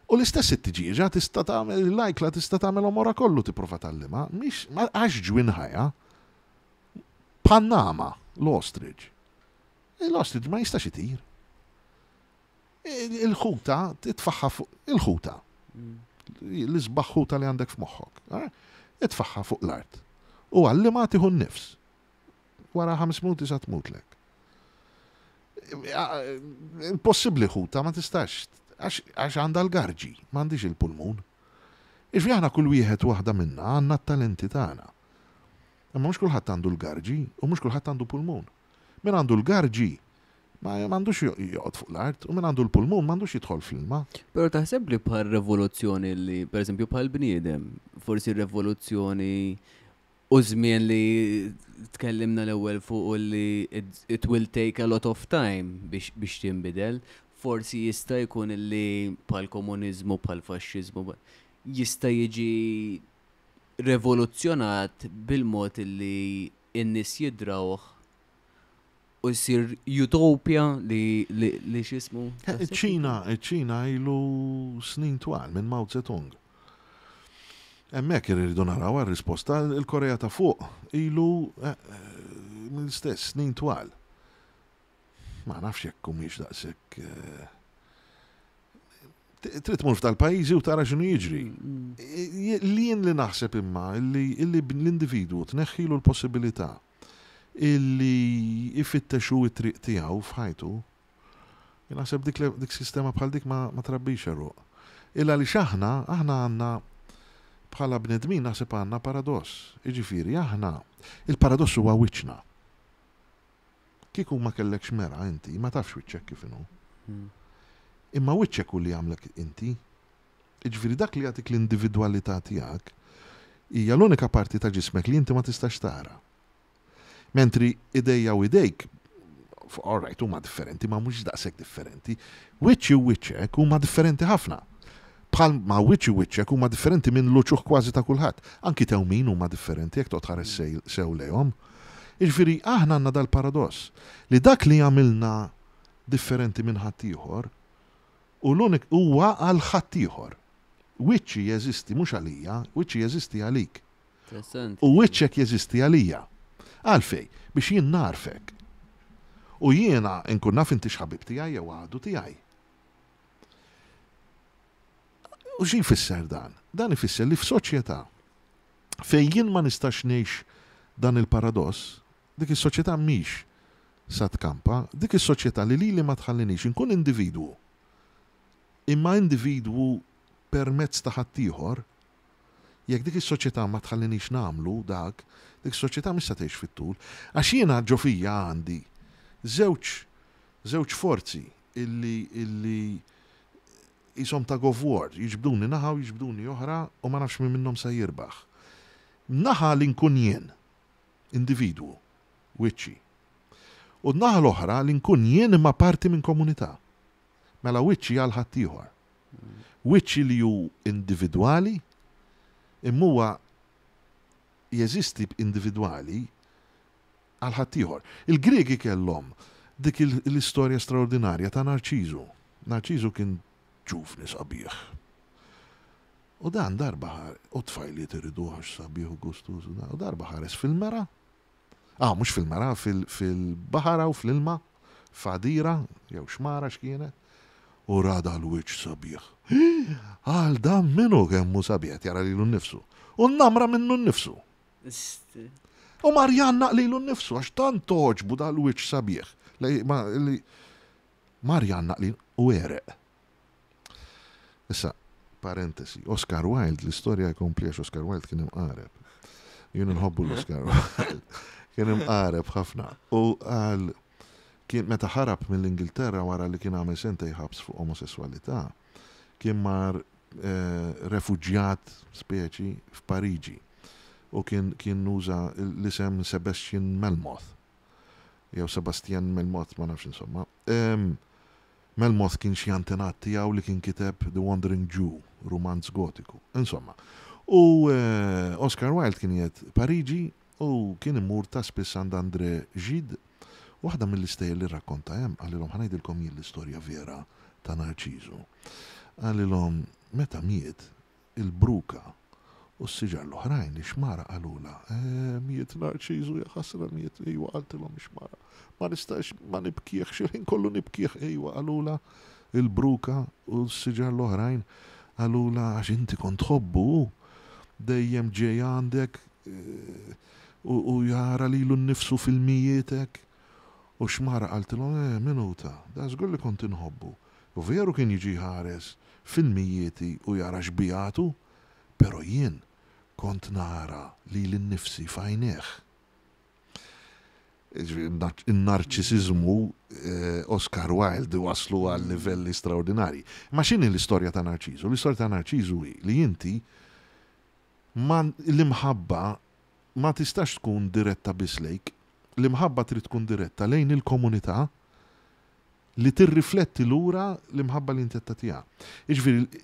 U l-istess it-tiġieġa tista' tagħmel l-ajkla tista' tagħmel omora kollu tipprova tgħallimha, mhix għax ġwinħajha Panama, l-ostrich. L-ostrich ma jistax itir. Il-ħuta titfaħħa fuq il-ħuta. L-isbaħ ħuta li għandek f'moħħok. Eh? Itfaħħa fuq l-art. U għallima tieħu n-nifs. Wara ħames minuti sa tmutlek. Impossibbli ħuta ma tistax għax għandha l-garġi, m'għandix il-pulmun. Iġvi aħna kull wieħed waħda minna għandna t-talenti tagħna. Imma mhux kulħadd għandu l-garġi u mhux kulħadd għandu pulmun. Min għandu l-garġi Ma m'għandux joqgħod fuq l-art u min għandu l-pulmun m'għandux jidħol fl-ilma. Però taħseb li bħal revoluzzjoni li, per eżempju, bħal bniedem, forsi revoluzzjoni u żmien li tkellimna l-ewwel fuq u li it will take a lot of time biex, biex tinbidel, forsi jista' jkun li bħal komuniżmu, bħal faxxiżmu, jista' jiġi revoluzzjonat bil-mod li n-nies jidrawh. U jsir utopia li li x'ismu. Iċ-Ċina, iċ-Ċina ilu snin twal minn Mao Zedong. Hemmhekk irridu naraw għar-risposta il-Korea ta' fuq ilu eh, mill-istess snin twal. Ma nafx jekk humiex daqshekk eh, trid tmur f'tal-pajjiżi u tara x'inhu jiġri. Mm. Li jien li naħseb imma li l-individwu tneħħilu l-possibilità illi ifittex hu t-triq tiegħu f'ħajtu, jien naħseb dik, dik sistema bħal dik ma, ma trabbix għeruq. Illa għaliex aħna, aħna għandna bħala bnedmin naħseb għandna paradoss. Jiġifieri aħna, il-paradoss huwa wiċċna. Kieku ma kellekx mera inti, ma tafx wiċċek kif inhu. Hmm. Imma wiċċek hu li jagħmlek inti. Jiġifieri dak li jagħtik l-individwalità tiegħek hija l-unika parti ta' ġismek li inti ma tistax tara. Mentri idejja u idejk, all right, huma differenti, ma mhux daqshekk differenti. Wiċċi u wiċċek huma differenti ħafna. Bħal ma wiċċi u wiċċek huma differenti minn l-uċuħ kważi ta' kulħadd. Anki tewmin huma differenti jekk toqgħod tħares sew lejhom. Jiġifieri aħna għandna dal-paradoss li dak li jagħmilna differenti minn ħaddieħor U l-unik huwa għal ħaddieħor. Wiċċi jeżisti mhux għalija, wiċċi jeżisti għalik. U wiċċek jeżisti għalija. Għalfejn? Biex jien nagħrfek. U jiena nkun naf intix ħabib tiegħi jew għadu tiegħi. U xi jfisser dan? Dan ifisser li f'soċjetà fejn jien ma nistax ngħix dan il-paradoss, Dik is-soċjetà mhix sa tkampa, dik is-soċjetà li lili ma tħallinix inkun individwu, imma individwu permezz ta' ħaddieħor, jekk dik is-soċjetà ma tħallinix nagħmlu dak, dik is-soċjetà mhix sa tgħix fit-tul. Għax jiena ġo fija għandi żewġ żewġ forzi illi illi qishom tug of war, jiġbduni naħa u jiġbduni oħra u ma nafx min minnhom sa jirbaħ. Naħa li nkun jien, individwu, wiċċi. U n-naħa l-oħra li nkun jien imma parti minn komunità. Mela wiċċi għal ħaddieħor. Wiċċi li hu individwali, imma huwa jeżisti individwali għal ħaddieħor. Il-Griegi kellhom dik l-istorja straordinarja ta' Narċiżu. Narċiżu kien ġuvni sabiħ. U dan darba ħar, u t-tfajliet iriduh għax sabiħ u gustuż u dan, u darba ħares fil-mera, ah, mhux fil-mera, fil-baħar u fl-ilma, f'għadira, jew xmara x'kienet, u ra dal-wiċċ sabiħ. Għal dan minnu kemm hu sabiħ, qed jara lilu nnifsu. U nnamra minnu nnifsu. U mar jgħannaq lilu nnifsu għax tant għoġbu dal-wiċċ sabiħ li mar jgħannaq lilu u għereq. Issa, parentesi, Oscar Wilde, l-istorja jkompli għax Oscar Wilde kien imqareb. Jien nħobbu l-Oscar Wilde. Kien imqareb ħafna. U għal kien meta ħarab mill-Ingilterra wara li kien għamel sentej ħabs fuq omosessualità, kien mar eh, refuġjat speċi f'Pariġi u kien kien uża l-isem Sebastian Melmoth. Jew Sebastian Melmoth, ma nafx insomma. Melmoth kien xi antenat tiegħu li kien kiteb The Wandering Jew, rumanz Gotiku. Insomma. U Oscar Wilde kien qiegħed Pariġi u kien imur ta' spiss għand André Gide. Waħda mill-istejjer li rrakkonta hemm qalilhom ħa ngħidilkom jien l-istorja vera ta' Narċiżu. Qalilhom meta miet il-bruka u s-siġar l-oħrajn, ix-xmara qalulha, Eh, miet Narċiżu, ja ħasra miet, ejwa qaltilhom ix-xmara. Ma nistax ma nibkihx, il-ħin kollu nibkih, ejwa qalulha il-bruka u s-siġar l-oħrajn qalulha għax inti kont tħobbu hu dejjem ġej għandek eh, u jara lilu nnifsu fil-mijietek. U x-xmara qaltilhom, eh, min hu ta? Da żgur li kont inħobbu. U veru kien jiġi jħares fil-mijieti u jara xbijatu, però jien kont nara lili nnifsi f'għajnejh. Jiġifieri n-narċisiżmu Oscar Wilde wasslu għal livelli straordinarji. Imma x'inhi l-istorja ta' Narċiżu? L-istorja ta' Narċiżu hi li inti ma l-imħabba ma tistax tkun diretta biss lejk. L-imħabba trid tkun diretta lejn il-komunità li tirrifletti lura l-imħabba li inti qed tagħtiha. Jiġifieri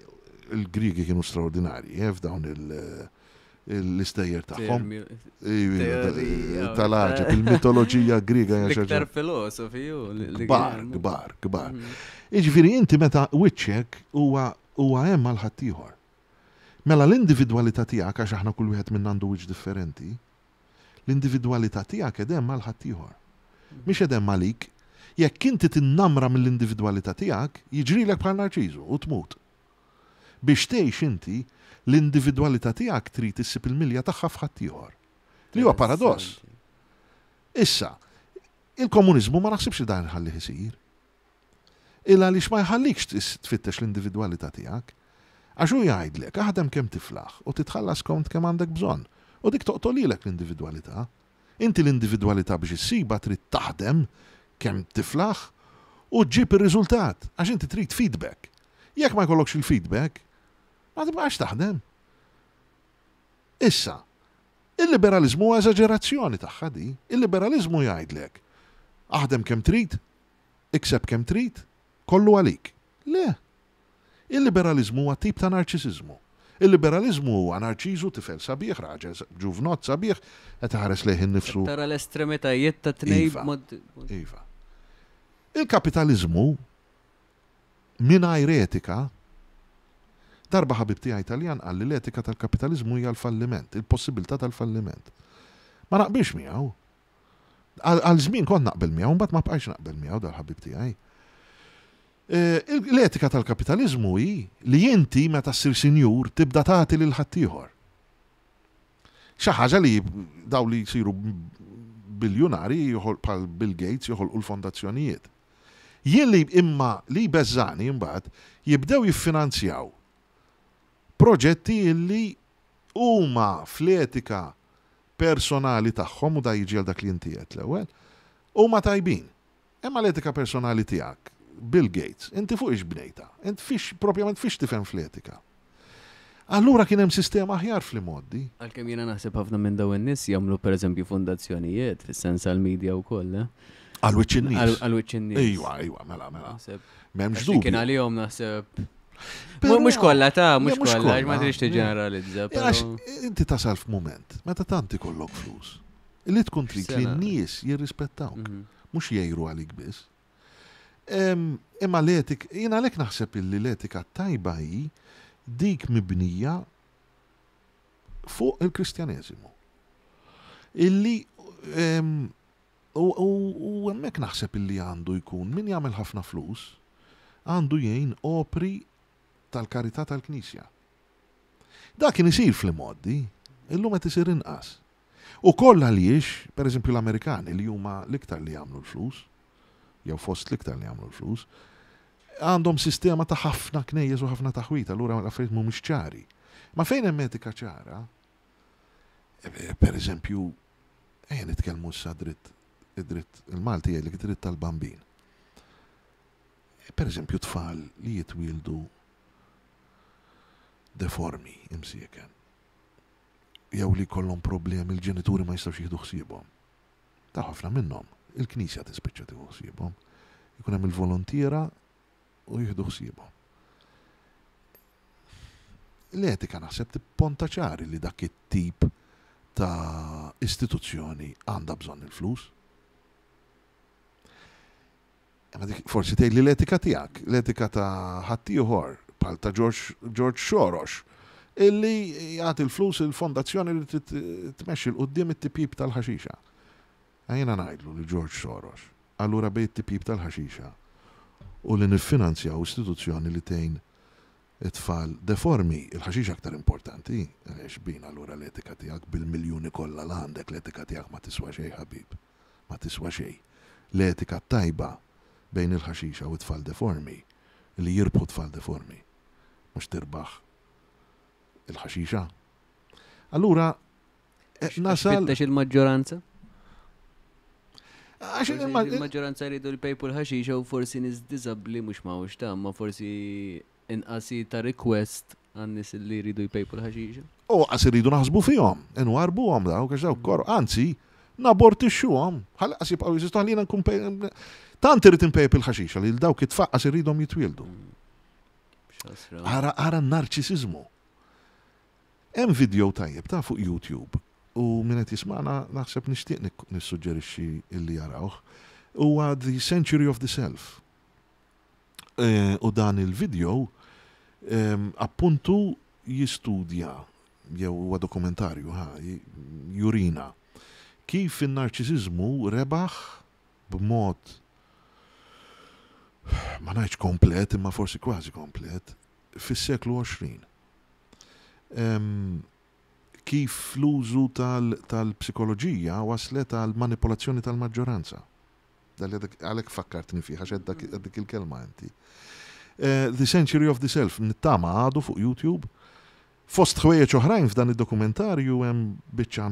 l-Griegi kienu straordinarji eh, f'dawn il l-istejjer tagħhom. Tal-għaġeb, il-mitoloġija Griega hija Iktar filosofi Kbar, kbar, kbar. Mhm. Jiġifieri inti meta wiċċek huwa huwa hemm għal ħaddieħor. Mela l-individwalità tiegħek għax aħna kull wieħed minna għandu wiċċ differenti, l-individwalità tiegħek qed hemm għal ħaddieħor. Mhm. Mhix qed hemm għalik. Jekk inti tinnamra mill-individwalità tiegħek, jiġrilek bħal Narċiżu u tmut. Biex tgħix inti, l-individwalità tiegħek trid issib il-milja tagħha f'ħaddieħor. Li huwa paradoss. Issa, il-komuniżmu ma naħsibx li dan iħallih isir. Il għaliex ma jħallikx tfittex l-individwalità tiegħek. Għax hu jgħidlek, aħdem kemm tiflaħ u titħallas skont kemm għandek bżonn. U dik toqtolilek l-individwalità. Inti l-individwalità biex issibha trid taħdem kemm tiflaħ u ġġib ir-riżultat għax inti trid feedback. Jekk ma jkollokx il-feedback, ma tibqax taħdem. Issa, il-liberaliżmu huwa eżaġerazzjoni tagħha di. Il-liberaliżmu jgħidlek aħdem kemm trid, ikseb kemm trid, kollu għalik. Le. Il-liberaliżmu huwa tip ta' narċisiżmu. Il-liberaliżmu huwa Narċiżu, tifel sabiħ, raġel ġuvnott sabiħ, qed iħares lejh innifsu. Tara l-estremitajiet ta' tnejn iva. b'mod. Iva. Il-kapitaliżmu mingħajr etika, darba ħabib tiegħi Taljan qal li l-etika tal-kapitaliżmu hija l-falliment, il-possibilità tal-falliment. Ma naqbilx miegħu. Għal żmien kont naqbel miegħu, mbagħad ma bqajtx naqbel miegħu dal-ħabib tiegħi. L-etika tal-kapitaliżmu hi li inti meta ssir sinjur tibda tagħti lil ħaddieħor. Xi ħaġa li daw li jsiru biljunari bħal Bill Gates joħolqu l-fondazzjonijiet. Jien li imma li jbeżżani mbagħad jibdew jiffinanzjaw proġetti illi huma fl-etika personali tagħhom u da jiġi għal dak li inti għedt l-ewwel, huma tajbin. Imma l-etika personali tiegħek, Bill Gates, inti fuq ix bnejtha? Int fiex, propjament fiex tifhem fl-etika? Allura kien hemm sistema aħjar fl-imgħoddi. Għalkemm jiena naħseb ħafna minn dawn in-nies jagħmlu pereżempju fundazzjonijiet fis-sens għall-media wkoll, eh? Għal wiċċ in-nies. Għal wiċċ in-nies. Ejwa, ejwa, mela, mela. M'hemmx dubju. Kien għalihom naħseb. Mhux kollha ta' mhux kollha, ma tridx tiġġeneralizza. Għax inti tasal f'mument meta tant ikollok flus. Li tkun trid li n-nies jirrispettawk, mhm. mhux jgħiru għalik biss. Imma l-etik, jien għalhekk naħseb illi l-etika tajba hi dik mibnija fuq il-Kristjaneżimu. Illi u hemmhekk naħseb illi għandu jkun min jagħmel ħafna flus għandu jgħin opri tal-karità tal-Knisja. Dak kien isir fl-imgħoddi, illum qed isir inqas. Ukoll għaliex, pereżempju l-Amerikani li huma l-iktar li jagħmlu l-flus, jew fost l-iktar li jagħmlu l-flus, għandhom sistema ta' ħafna knejjes u ħafna taħwit, allura l-affarijiet mhumiex ċari. Ma fejn hemm etika ċara, eh, pereżempju, ejja nitkellmu issa dritt, id-dritt il-Malti jgħidlek id-dritt tal-bambin. Pereżempju tfal li jitwieldu deformi imsieken. Jew li jkollhom problemi l-ġenituri ma jistgħux jieħdu ħsiebhom. Ta' ħafna minnhom, il-Knisja tispiċċa tieħu ħsiebhom. Ikun hemm il-volontiera u jieħdu ħsiebhom. L-etika naħseb tipponta ċari li dak it-tip ta' istituzzjoni għandha bżonn il-flus. Imma dik forsi tgħidli l-etika tiegħek, l-etika ta' ħaddieħor bħal ta' George, George Soros, illi jagħti l-flus il-fondazzjoni li trid tmexxi 'l quddiem it-tipjip tal-ħaxixa. Jiena ngħidlu lil George Soros, allura bejn it-tipjip tal-ħaxixa u li niffinanzjaw istituzzjoni li tgħin it-tfal deformi, il-ħaxixa aktar importanti, għaliex bina allura l-etika tiegħek bil-miljuni kollha l għandek l-etika tiegħek ma tiswa xejn ħabib. ma tiswa xejn. L-etika t-tajba bejn il-ħaxixa u t-tfal deformi, li jirbħu t-tfal deformi, mhux tirbaħ il-ħaxixa. Allura, eh, nasal. Fittex il-maġġoranza? Għax il-maġġoranza jridu l-pejpu l-ħaxixa u forsi nies diżabbli mhux mawx ta' ma forsi Inqas hi ta' request għan-nies li jridu jpejpu l-ħaxixa. U qas iridu naħsbu fihom, inwarrbuhom dawk għax dawk koroh, anzi, nabortixxuhom, ħalli qas jibqgħu jeżistu ħalli jiena nkun tant irrid inpejjep il-ħaxixa li lil dawk it-tfal qas irridhom jitwieldu. Ara ara n-narċisiżmu. Hemm video tajjeb ta' fuq YouTube u min qed jismagħna naħseb nixtieq nissuġġerixxi illi jarawh. Huwa The Century of the Self. U dan il-video appuntu jistudja jew huwa dokumentarju ħa jurina kif in-narċisiżmu rebaħ b'mod ma ngħidx komplet imma forsi kważi komplet fis-seklu 20. Kif l-użu tal-psikoloġija waslet għal manipolazzjoni tal-maġġoranza. Għalhekk fakkartni fih għax għedt dik il-kelma inti. The Century of the Self, nittama għadu fuq YouTube. Fost ħwejjeġ oħrajn f'dan id-dokumentarju hemm biċċa,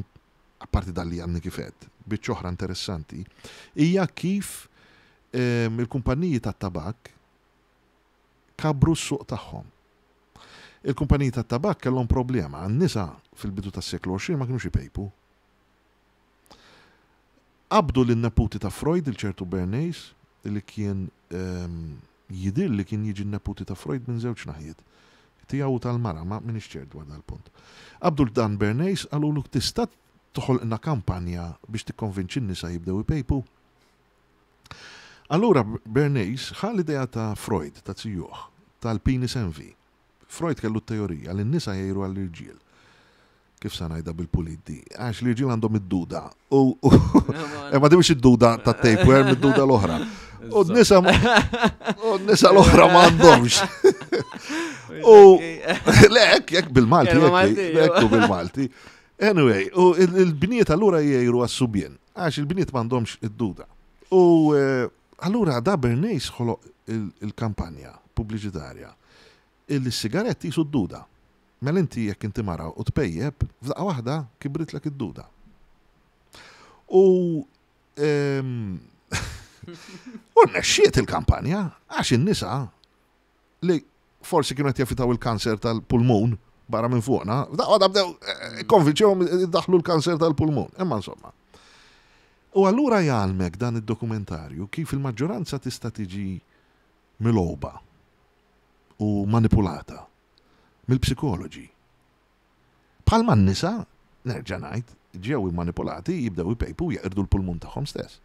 apparti dan li għadni kif għedt, biċċa oħra interessanti, hija kif il-kumpanniji tat-tabakk kabbru s-suq tagħhom. Il-kumpaniji tat-tabakk kellhom problema, n-nisa fil-bidu tas-seklu 20 ma kinux ipejpu. Qabdu lin-neputi ta' Freud, il ċertu Bernays, li kien jidhir li kien jiġi n-neputi ta' Freud minn żewġ naħiet, tiegħu u tal-mara, ma m'iniex ċert dwar dal-punt. Qabdu 'l dan Bernays, qalulu tista' toħolqna kampanja biex tikkonvinċi n-nisa jibdew ipejpu? Allura Bernays ħa l-idea ta' Freud, ta' zijuh, tal-penis envy. Freud kellu t-teorija li n-nisa jgħiru għall-irġiel. Kif sa ngħidha bil-pulit di? Għax l-irġiel għandhom id-duda. U ma di mhux id-duda ta' tapeworm, id-duda l-oħra. U n-nisa u n-nisa l-oħra ma għandhomx. U le hekk hekk bil-Malti, hekk bil-Malti. Anyway, u il-bniet allura jgħiru għas-subien, għax il-bniet m'għandhomx id-duda. U eh, allura da Bernays ħoloq il-kampanja pubbliċitarja illi s-sigaretti jisu d-duda. Mela inti jekk inti mara u tpejjep, f'daqqa waħda kibritlek id-duda. U ehm, u rnexxiet il-kampanja għax in-nisa li forsi kienu qed jevitaw il-kanser tal-pulmun barra minn fuqna, f'daqqa waħda bdew eh, konvinċewhom daħlu l-kanser tal-pulmun. Imma insomma. U allura jgħallmek dan id-dokumentarju kif il-maġġoranza tista' tiġi milgħuba u manipulata mill-psikoloġi. Bħalma n-nisa, nerġa' ngħid, ġew immanipulati jibdew ipejpu u jeqirdu l-pulmun tagħhom stess.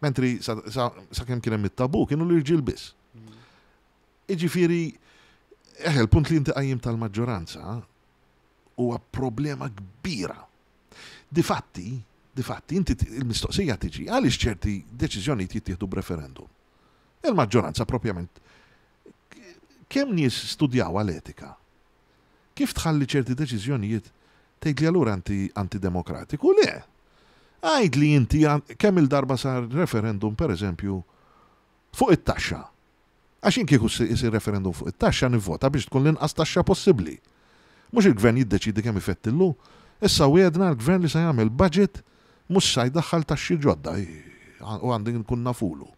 Mentri sakemm kien hemm it-tabu kienu l-irġiel biss. Jiġifieri, eħe, l-punt li inti qajjimt tal-maġġoranza huwa problema kbira. Difatti, difatti, inti il-mistoqsija tiġi għaliex ċerti deċiżjonijiet jittieħdu b'referendum. Il-maġġoranza propjament kemm nies studjaw għal-etika? Kif tħalli ċerti deċiżjonijiet tgħid li allura inti antidemokratiku? Le. Għid li inti kemm il-darba sar referendum pereżempju fuq it-taxxa. Għax jien kieku jsir referendum fuq it-taxxa nivvota biex tkun l-inqas taxxa possibbli. Mhux il-gvern jiddeċiedi kemm ifettillu. Issa wiegħdna l-gvern li se jagħmel budget mhux sa jdaħħal taxxi ġodda u għandi nkun nafulu.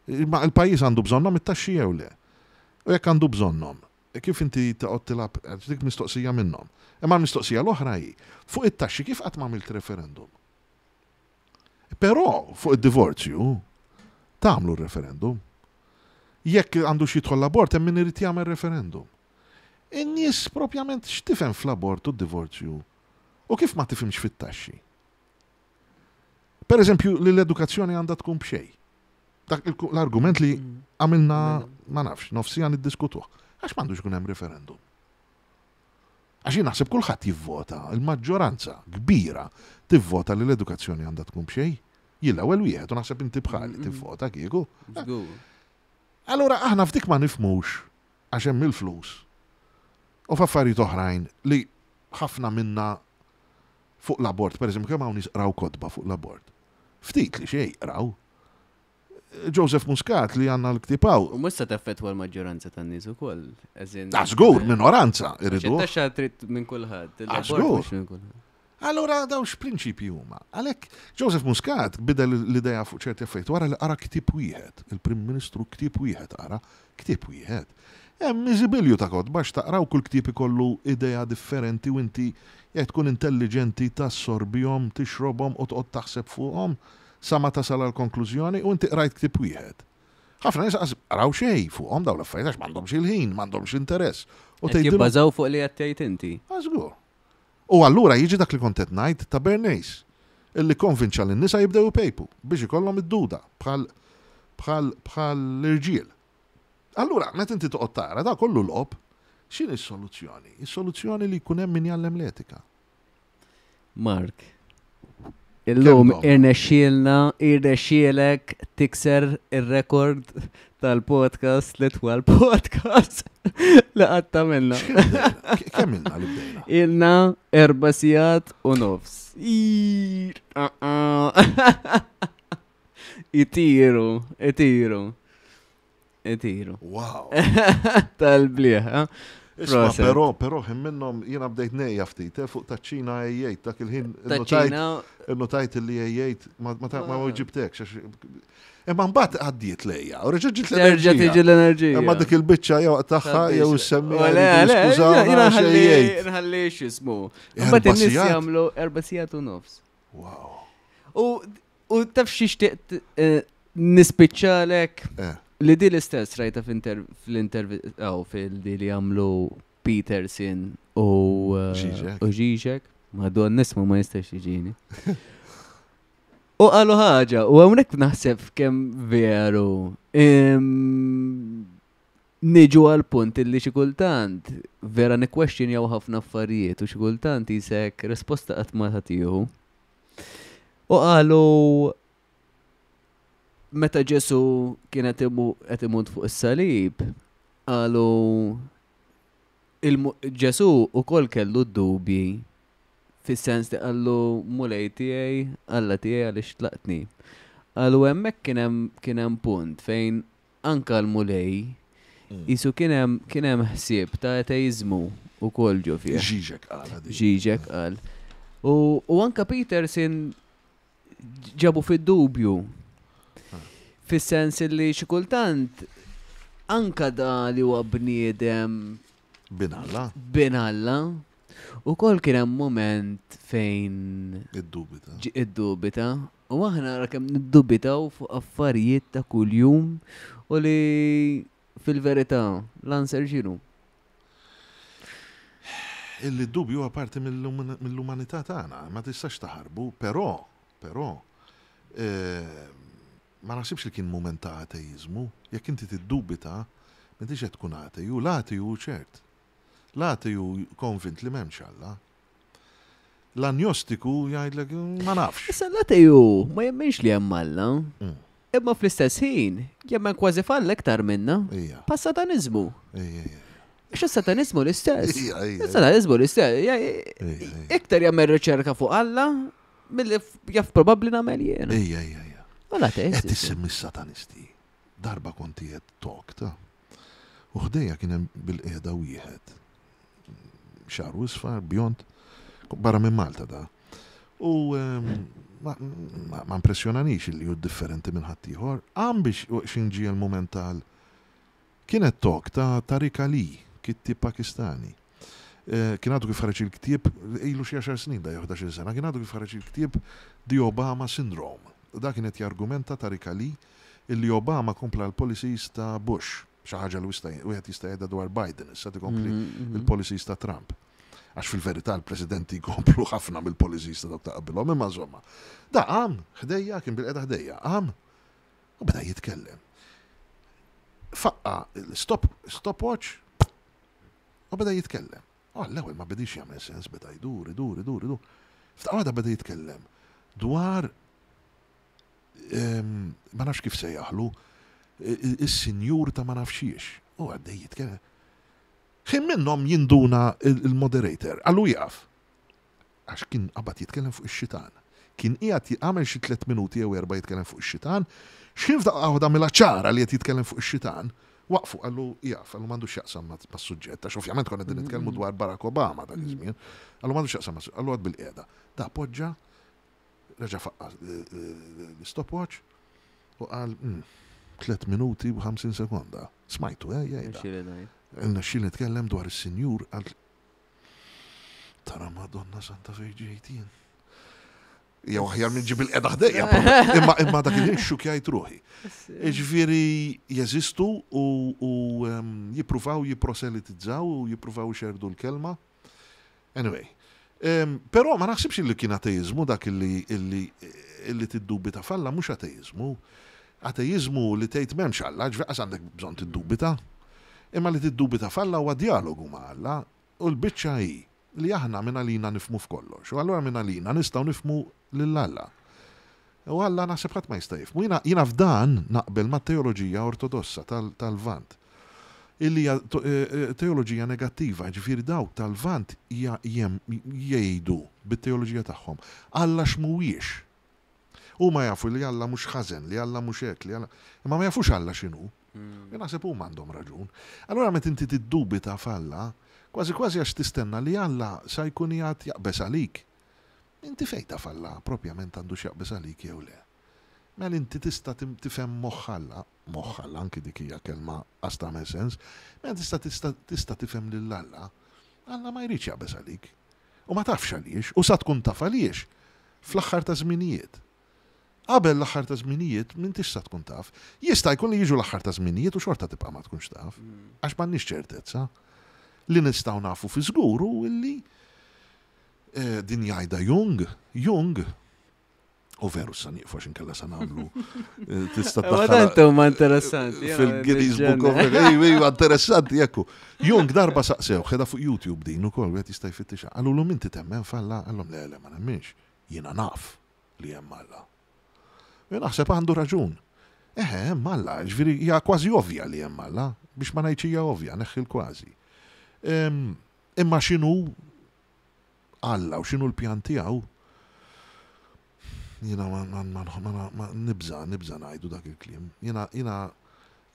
Imma il-pajjiż għandu bżonnhom it-taxxi jew le? U jekk għandu bżonnhom, kif inti toqgħod tilgħab, dik mistoqsija minnhom. Imma l-mistoqsija l-oħra hi, fuq it-taxxi kif qatt m'għamilt referendum? Però fuq id-divorzju tagħmlu r-referendum. Jekk għandux jidħol l-abort hemm min irid jagħmel referendum. In-nies propjament x'tifhem fl-abort u d-divorzju u kif ma tifhimx fit-taxxi? Per eżempju, li l-edukazzjoni għandha tkun b'xejn. Dak l-argument li mm. għamilna ma nafx, nofsija niddiskutuh. Għax m'għandux ikun hemm referendum. Għax jien naħseb kulħadd jivvota, il-maġġoranza kbira tivvota li l-edukazzjoni għandha tkun b'xejn. Jien l-ewwel wieħed u naħseb inti bħali mm. tivvota kieku. Allura aħna f'dik ma nifmux għax hemm il-flus u f'affarijiet oħrajn li ħafna minna fuq l-abort, per eżempju, kemm hawn nies qraw kotba fuq l-abort? Ftit li xejn qraw. Joseph Muscat li għandna l-ktieb hawn. U mhux se teffettwa l-maġġoranza tan-nies ukoll. Ah, żgur, minoranza irridu. Taxxa trid minn kulħadd. Ah, żgur. Allura daw x'prinċipji huma? Għalhekk Joseph Muscat bidel l-idea fuq ċerti affarijiet wara li qara ktieb wieħed, il-Prim Ministru ktieb wieħed qara, ktieb wieħed. Hemm miżibilju ta' kotba x'taqra u kull ktieb ikollu idea differenti u inti jekk tkun intelliġenti tassorbihom, tixrobhom u toqgħod taħseb fuqhom sa ma tasal għal konklużjoni u inti qrajt ktieb wieħed. Ħafna nies qas qraw xejn fuqhom dawn l-affarijiet għax m'għandhomx il-ħin, m'għandhomx interess. U tgħidilhom. Jibbażaw fuq li qed tgħid inti. Ah, żgur. U allura jiġi dak li kont qed ngħid ta' Bernays, illi kkonvinċa lin-nisa jibdew ipejpu biex ikollhom id-duda bħal bħal bħal l-irġiel. Allura, meta inti toqgħod tara, da kollu logħob, x'inhi s-soluzzjoni? Is-soluzzjoni li jkun hemm min jgħallem l-etika. Mark, illum irnexxielna, irnexxielek tikser ir-rekord tal-podcast li twal podcast li qatt tagħmilna. Kemm ilna li bdejna? Ilna erba' sigħat u nofs. Ah, ah. Itiru, itiru. Itiru. Wow. Tal-bliħ, eh? Isma, però, però, ħin minnhom jiena bdejt nejja ftit, eh, fuq taċ-Ċina ejjejt, dak il-ħin innotajt li ejjejt ma ma ġibtekx. Imma mbagħad għaddiet lejja, u reġa' ġiet l-enerġija. Terġa' tiġi l-enerġija. Imma dik il-biċċa jew tagħha jew semmi. Le, le, nħalli x'ismu. Mbagħad in-nies jagħmlu erba' sigħat u nofs. Wow. U U taf xi xtieqt eh, nispiċċalek eh. li di l-istess rajta fl-intervista fil-di li għamlu Peterson u eh, u Žižek. Madon nismu ma jistax jiġini. U qalu ħaġa, u hawnhekk naħseb kemm veru. Niġu għal punt illi xi kultant vera nikkwestjonjaw ħafna affarijiet u xi kultant jisek risposta qatt ma tagħtihu. U qalu meta Ġesu kien qed imut fuq is-salib, qalu Ġesu ukoll kellu d-dubji fis-sens li qallu Mulej tiegħi, Alla tiegħi għaliex tlaqtni. Qalu hemmhekk kien hemm punt fejn Anka l-Mulej, qisu kien hemm kien hemm ħsieb ta' ateiżmu wkoll ġo fih. Žižek qal din. Žižek qal. U, u anka Peterson ġabu fid-dubju. Fis-sens li xi kultant anka da li huwa bniedem Bin Alla. Bin Alla. Ukoll kien hemm mument fejn Iddubita. Iddubita. U aħna ara kemm niddubitaw fuq affarijiet ta' kuljum u li fil-verità l-answer x'inhu? Illi d-dubju huwa parti mill-umanità tagħna, ma tistax taħarbu, però, però, eh, ma naħsibx li kien mument ta' ateiżmu. Jekk inti tiddubita, m'intix qed tkun ateju, l-ateju ċert. L-ateju konvint li m'hemmx Alla. L-anjostiku jgħidlek ma nafx. Issa l-ateju ma jemminx li hemm Alla. Imma fl-istess ħin jemmen kważi f'Alla iktar minna. Bħas-sataniżmu. Għax is-sataniżmu l-istess. Is-sataniżmu l-istess. Iktar jagħmel riċerka fuq Alla milli jaf probabbli nagħmel jien. Ija, ija, ija. U l-ateist. Qed issemmi s-satanisti. Darba kont qiegħed talk ta' u ħdejja kien hemm bil-qiegħda wieħed xagħru isfar, bjond, barra minn Malta da. U ehm, ma, ma, ma impressjonanix li hu differenti minn ħaddieħor. Qam biex xin ġie l-mument tal kienet talk ta' Tariq Ali, kittieb Pakistani. Eh, kien għadu kif ħareġ il-ktieb, ilu xi għaxar snin da jew 11 sena, kien għadu kif ħareġ il-ktieb The Obama Syndrome. Da kien qed jargumenta Tariq Ali illi Obama kompla l-policies ta' Bush. Xi ħaġa li wieħed jista' jgħidha dwar Biden issa tikompli il-policies ta' Trump. Għax fil-verità l-presidenti jkomplu ħafna mill-policies ta' dawk ta' qabilhom, imma insomma. Da qam ħdejja, kien bilqiegħda ħdejja, qam u beda jitkellem. Faqqa stop stopwatch u beda jitkellem. U għall-ewwel ma bedix jagħmel sens, beda jdur, idur, idur, idur. F'daqqa waħda beda jitkellem dwar ma nafx kif sejjaħlu, is-sinjur ta' ma nafxiex. U għaddej jitkellem. Ħin minnhom jinduna il-moderator, qallu jieqaf. Għax kien qabad jitkellem fuq ix-xitan. Kien qiegħed għamel xi tliet minuti jew erba' jitkellem fuq ix-xitan, x'ħin f'daqqa waħda għamilha ċara li qed jitkellem fuq ix-xitan, waqfu qallu jieqaf, qallu m'għandux x'jaqsam mas-suġġett, għax ovvjament konna qegħdin nitkellmu dwar Barack Obama dak iż-żmien. Qallu m'għandux x'jaqsam mas-suġġett, qallu għad bilqiegħda. Da poġġa Reġa' faqqa' l-istopwatch u qal, 3 minuti u 50 sekonda. Smajtu, eh, jgħidha. Irnexxieli nitkellem dwar is-Sinjur għal Tara Madonna Santa fejn ġejt jien. Jew aħjar minn ġib il-qeda ħdejja. Imma imma dak il-ħin xukjajt ruħi. Ġifieri jeżistu u jippruvaw jipproselitizzaw u jippruvaw ixerrdu l-kelma. Anyway. Però ma naħsibx li kien ateizmu dak illi illi illi tiddubita f'Alla mhux ateizmu. Ateizmu li tgħid m'hemmx Alla, ġifieri qas għandek bżonn tiddubita. Imma li tiddubita f'Alla huwa djalogu ma' Alla u l-biċċa hi li aħna mingħalina nifhmu f'kollox u allura mingħalina nistgħu nifhmu lil Alla. U Alla naħseb ħadd ma jista' jifhmu. Jiena jiena f'dan naqbel mat-teoloġija ortodossa tal-Lvant. Illi hija teoloġija negattiva, jiġifieri dawk tal-Lvant jgħidu bit-teoloġija tagħhom Alla x'mhuwiex. Huma jafu li Alla mhux ħażen, li Alla mhux hekk, li Alla imma ma jafux Alla x'inhu. Jien naħseb huma għandhom raġun. Allura meta inti tiddubita f'Alla, kważi kważi għax tistenna li Alla sa jkun qiegħed jaqbeż għalik. Inti fejn taf Alla propjament għandu x'jaqbeż għalik jew le? Mela inti tista' tifhem moħħ Alla, moħħ Alla anki dik hija kelma qas tagħmel sens, mela tista' tista' tista' tifhem lil Alla. Alla ma jridx jaqbeż għalik. U ma tafx għaliex, u sa tkun taf għaliex fl-aħħar taż-żminijiet. Qabel l-aħħar taż-żminijiet m'intix sa tkun taf. Jista' jkun li jiġu l-aħħar taż-żminijiet u xorta tibqa' ma tkunx taf. Għax m'għandniex ċertezza. Li nistgħu nafu fi żgur hu illi eh, din jgħidha Jung, Jung U veru sa nieqfu għax inkella sa nagħmlu. Eh, tista' tdaħħal. huma interessanti. Fil-Guinness Book of Iva, interessanti jekku. Jung darba saqsew, ħeda fuq YouTube din ukoll wieħed jista' jfittixa. Qalulu minti temmen falla, qallhom le le ma nemminx. Jiena naf li hemm Alla. U naħseb għandu raġun. Eħe, hemm Alla, ġifieri hija kważi ovvja li hemm Alla, biex ma ngħidx hija ovvja, neħħi l-kważi. Imma x'inhu Alla u x'inhu l-pjan tiegħu, jiena ma nibża' nibża' ngħidu dak il-kliem. Jiena jiena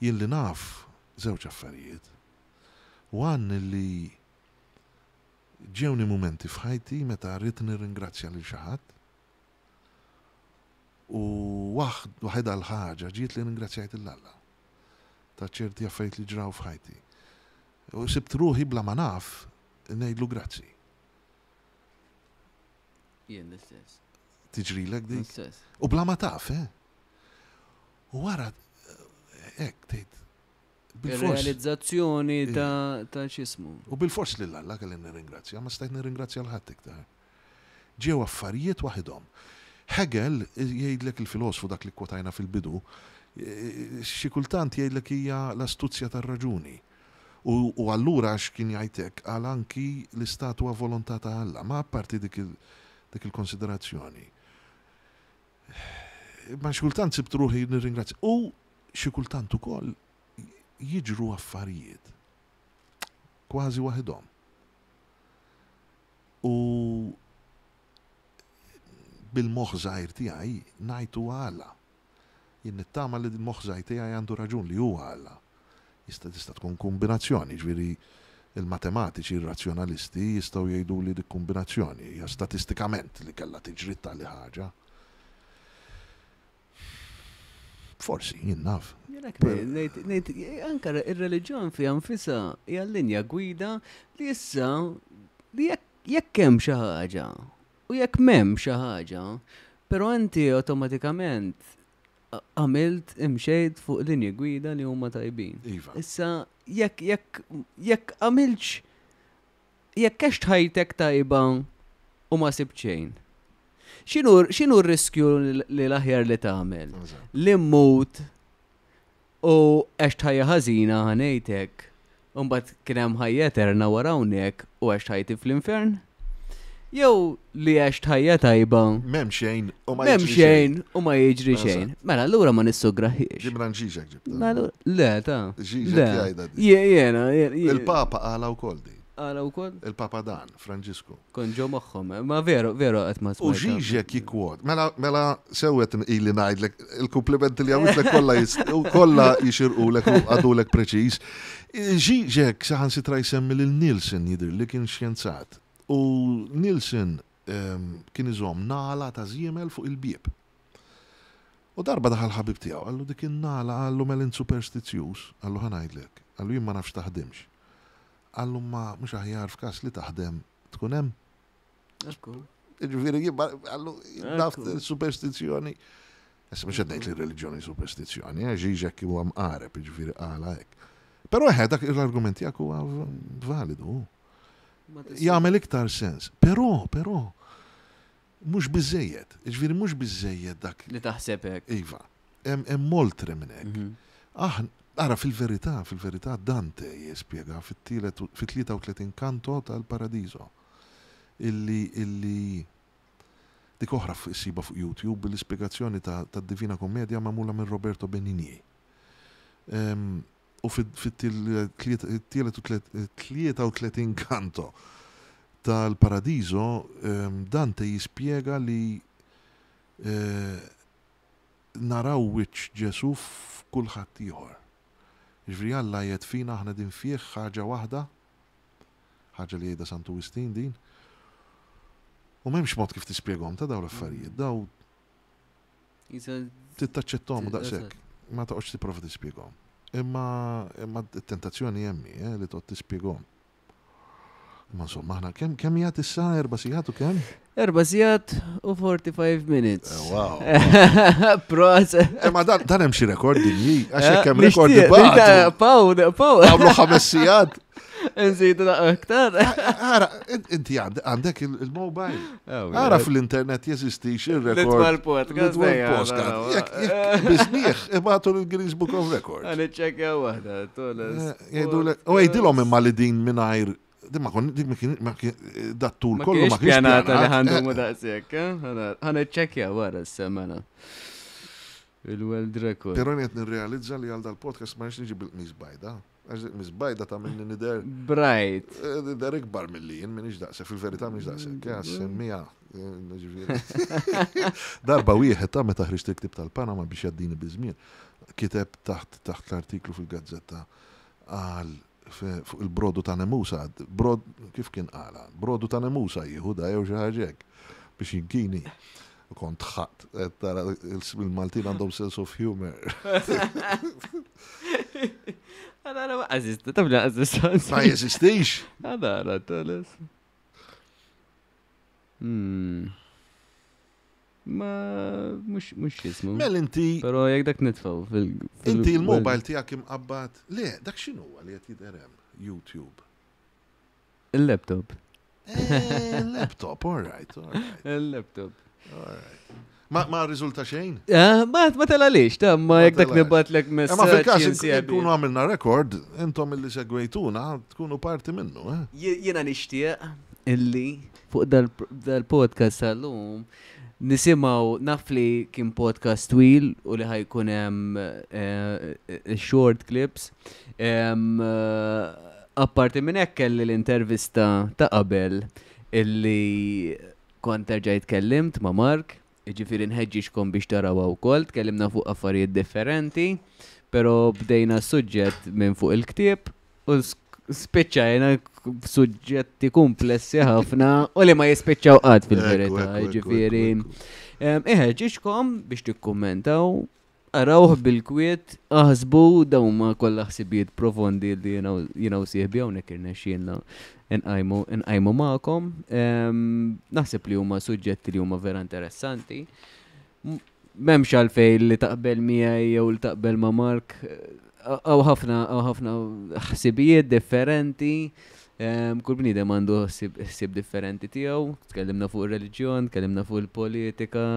jien li naf żewġ affarijiet. One li ġewni mumenti f'ħajti meta rrid nirringrazzja lil xi ħadd u waħedha l-ħaġa ġiet li ringrazzjajt 'l Alla ta' ċerti affarijiet li ġraw f'ħajti. U sibt ruħi bla ma naf ngħidlu grazzi. Jien l-istess. Tiġrilek dik? L-istess. U bla ma taf, eh? U wara hekk tgħid Realizzazzjoni ta' ta' x'ismu. U bilfors lil Alla kelli nirringrazzja, ma stajt nirringrazzja 'l ħadd iktar. Ġew affarijiet waħidhom. Hegel jgħidlek il-filosfu dak li kkwotajna fil-bidu, xi kultant jgħidlek hija l-astuzzja tar-raġuni. U, u allura għax kien jgħid hekk, qal anki l-istat huwa volontà ta' Alla. Ma apparti dik il, dik il-konsiderazzjoni. Ma xi kultant sibt ruħi nirringrazzja. U xi kultant ukoll jiġru affarijiet kważi waħidhom. U bil-moħħ żgħir tiegħi ngħid huwa Alla. Jien nittama li l-moħħ żgħir tiegħi għandu raġun li huwa Alla. Jista' tista' tkun kombinazzjoni, jiġifieri il-matematiċi, ir-razzjonalisti jistgħu jgħiduli dik kombinazzjoni hija statistikament li kellha tiġri tali ħaġa. Forsi, jien naf. Ngħid, anke ir-reliġjon fiha nfisha hija linja gwida li issa li jekk hemm xi ħaġa u jekk m'hemm xi ħaġa, però inti awtomatikament għamilt imxejt fuq linji gwida li huma tajbin. Iva. Issa jekk jekk jekk għamilx jekk għext ħajtek tajba u ma sibt xejn. X'inhu r-riskju li l-aħjar li tagħmel? Li mmut U għext ħajja ħażina ħa ngħid hekk, u mbagħad kien hemm ħajja eterna wara hawnhekk u għext ħajti fl-infern? Jew li għext ħajja tajba. M'hemm xejn u ma jiġri xejn. u ma jiġri xejn. Mela allura ma nissugraħiex. Ġibna nġiġek ġibta. Mela le ta. Ġiġek jgħidha. Jiena. Il-Papa qala wkoll din. Qala wkoll? Il-Papa dan, Franġisku. Kont ġo moħħhom, ma veru, veru qed ma U Žižek jikkwot. Mela, mela sewet ili ngħidlek il-kumplimenti li għamiltlek kollha kollha jixirqulek u għadulek preċiż. Žižek saħansitra jsemmi lil Nielsen jidhir li kien xjenzat. U Nielsen ehm, kien iżomm nagħla ta' żiemel fuq il-bieb. U darba daħal ħabib tiegħu, qallu dik in-nagħla qallu mela int superstizzjuż, qallu ħa ngħidlek, qallu jien ma nafx taħdimx. Qallu ma mhux aħjar f'każ li taħdem tkun hemm? Ekku. Ġifieri għallu naf superstizzjoni. Issa mhux qed ngħid li reliġjoni superstizzjoni, eh, Žižek huwa mqareb, ġifieri qala hekk. Però eħe dak l-argument tiegħek huwa validu. Jagħmel iktar sens. Però, però, mhux biżejjed. Ġifieri mhux biżejjed dak. Li taħseb hekk. Iva. Hemm oltre minn hekk. Mhm. Aħna Ara, fil-verità, fil-verità Dante jispjega fit-33 kanto tal-Paradiso illi illi dik oħra ssibha fuq YouTube l-ispjegazzjoni tad-Divina Commedia magħmula minn Roberto Benigni. U fit-33 kanto tal-Paradiso Dante jispjega li naraw wiċċ Ġesù f'kulħadd ieħor. Jiġifieri Alla qiegħed fina aħna qegħdin fih ħaġa waħda, ħaġa li jgħidha Santu Wistin din. U m'hemmx mod kif tispjegahom ta' dawn l-affarijiet, daw trid taċċettahom u daqshekk. Ma toqgħodx tipprova tispjegahom. Imma imma t-tentazzjoni hemm hi, eh, li toqgħod tispjegahom. Ma insomma, aħna kemm kemm jgħat issa erba' sigħat u kemm? Erba' sigħat u 45 minutes. Eh, wow. Proset. Eh, ma dan dan hemm xi rekord dinji, għax hekk hemm rekord ibagħtu. Paw, paw. Għamlu ħames sigħat. Nżidu daqqa aktar. Ara, inti għandek il-mobile. Ara fl-internet jeżistix il-rekord. L-itwal podcast. L-itwal podcast. Jekk jekk biżnieħ ibagħtu l-Guinness Book of Records. Għan iċċekkja waħda, tolas. U għidilhom imma li din mingħajr din ma kon dik ma kien dat-tul kollu ma kienx pjanata li ħandumu daqshekk, eh? Ħa niċċekkja wara s-semana. Il-world record. Però qed nirrealizza li għal dal-podcast ma niġi bil-qmis bajda. Għax il-qmis bajda ta' minni nider. Bright. Eh, nider ikbar mill-li jien minix daqshekk, fil-verità minix daqshekk, eh, semmija. Darba wieħed ta' meta ħriġt il-ktib tal-Panama biex jaddini biż-żmien, kiteb taħt taħt l-artiklu fil-gazzetta qal fuq il-brodu ta' nemusa, brod, kif kien qala, brodu ta' nemusa jieħu da jew xi ħaġa hekk biex jinkini. U kont ħadd, tara il-Maltin għandhom sense of humor. Għadara ma għazista, tabla għazista. Ma jeżistix. Għadara, toles. Hmm. Ma mhux mhux jismu. Mel inti. Però jekk dak nitfgħu fil. Inti il-mobile tiegħek imqabbad. Le, dak x'inhu li qed jidher hemm YouTube. Il-laptop. Eh, il-laptop, all right, all right. Il-laptop. All right. Ma, ma riżulta xejn? Eh, ma, ma telalix, ta' ma jek dak nibatlek messaġġ. Ma fil-każ ikunu għamilna rekord, intom illi segwejtuna tkunu parti minnu, eh? Jiena nixtieq illi fuq dal-podcast tal-lum nisimgħu naf li kien podcast twil u li ħajkun hemm eh, eh, short clips. Eh, apparti minn hekk kelli l-intervista ta' qabel illi kont erġajt tkellimt ma' Mark, jiġifieri nħeġġiġkom biex tarawha wkoll, tkellimna fuq affarijiet differenti, però bdejna s-suġġett minn fuq il-ktieb u spiċċajna f'suġġetti kumplessi ħafna u li ma jispiċċaw qatt fil-verità, jiġifieri. Iħeġġiġkom biex tikkummentaw Arawh bil-kwiet, aħsbu, dawn huma kollha ħsibijiet profondi li jiena u sieħbi hawnhekk irnexxielna nqajmu nqajmu magħkom. Naħseb li huma suġġetti li huma vera interessanti. M'hemmx għalfejn li taqbel miegħi jew li taqbel ma' Mark. Hawn ħafna hawn ħafna ħsibijiet differenti. Kull bniedem għandu ħsieb differenti tiegħu. Tkellimna fuq ir-reliġjon, tkellimna fuq il-politika,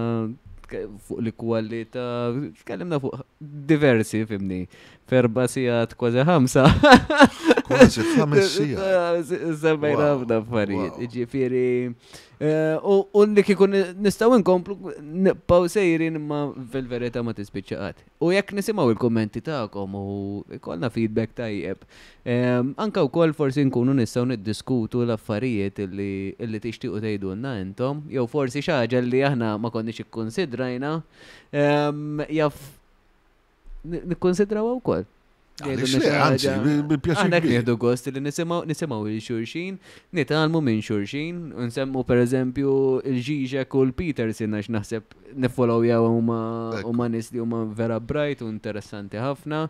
fuq l-ikwalità, tkellimna fuq diversi, fimni. F'erba' sigħat kważi ħamsa. Kważi ħames sigħat. Semmejna ħafna affarijiet. Ġifieri, eh, u li kieku nistgħu nkomplu nibqgħu sejrin imma fil-verità ma tispiċċa qatt. U jekk nisimgħu il-kummenti tagħkom u jkollna feedback tajjeb, anke wkoll forsi nkunu nistgħu niddiskutu l-affarijiet li tixtiequ tgħidulna intom, jew forsi xi ħaġa li aħna ma konniex ikkunsidrajna, jaf nikkunsidrawha wkoll. Għaliex le, anzi, bi pjaċir. Aħna nieħdu gost li nisimgħu nisimgħu lil xulxin, nitgħallmu minn xulxin, nsemmu pereżempju il-Žižek u l-Peterson għax naħseb nifollowjaw huma huma nies li huma vera bright u interessanti ħafna.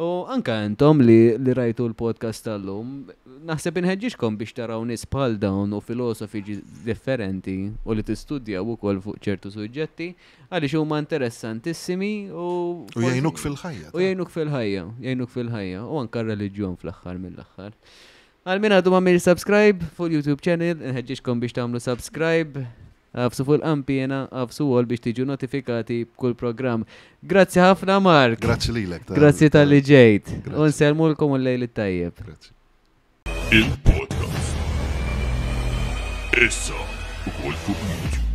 U anka intom li, li rajtu l-podcast tal-lum, naħseb inħeġġiġkom biex taraw nies bħal dawn u filosofi differenti u li tistudjaw ukoll fuq ċertu suġġetti għaliex huma interessantissimi u U jgħinuk fil-ħajja. U jgħinuk fil-ħajja, jgħinuk fil-ħajja u anka r-reliġjon fl-aħħar mill-aħħar. Għal min għadu ma subscribe fuq YouTube channel, nħeġġiġkom biex tagħmlu subscribe, agħfsu fuq il-qampina, agħfsu all biex tiġu notifikati b'kull programm. Grazzi ħafna Mark. Grazzi lilek. Grazzi talli ġejt. U nsellmulkom u l-lejl it-tajjeb. Grazzi. Il-podcast. Issa ukoll fuq YouTube.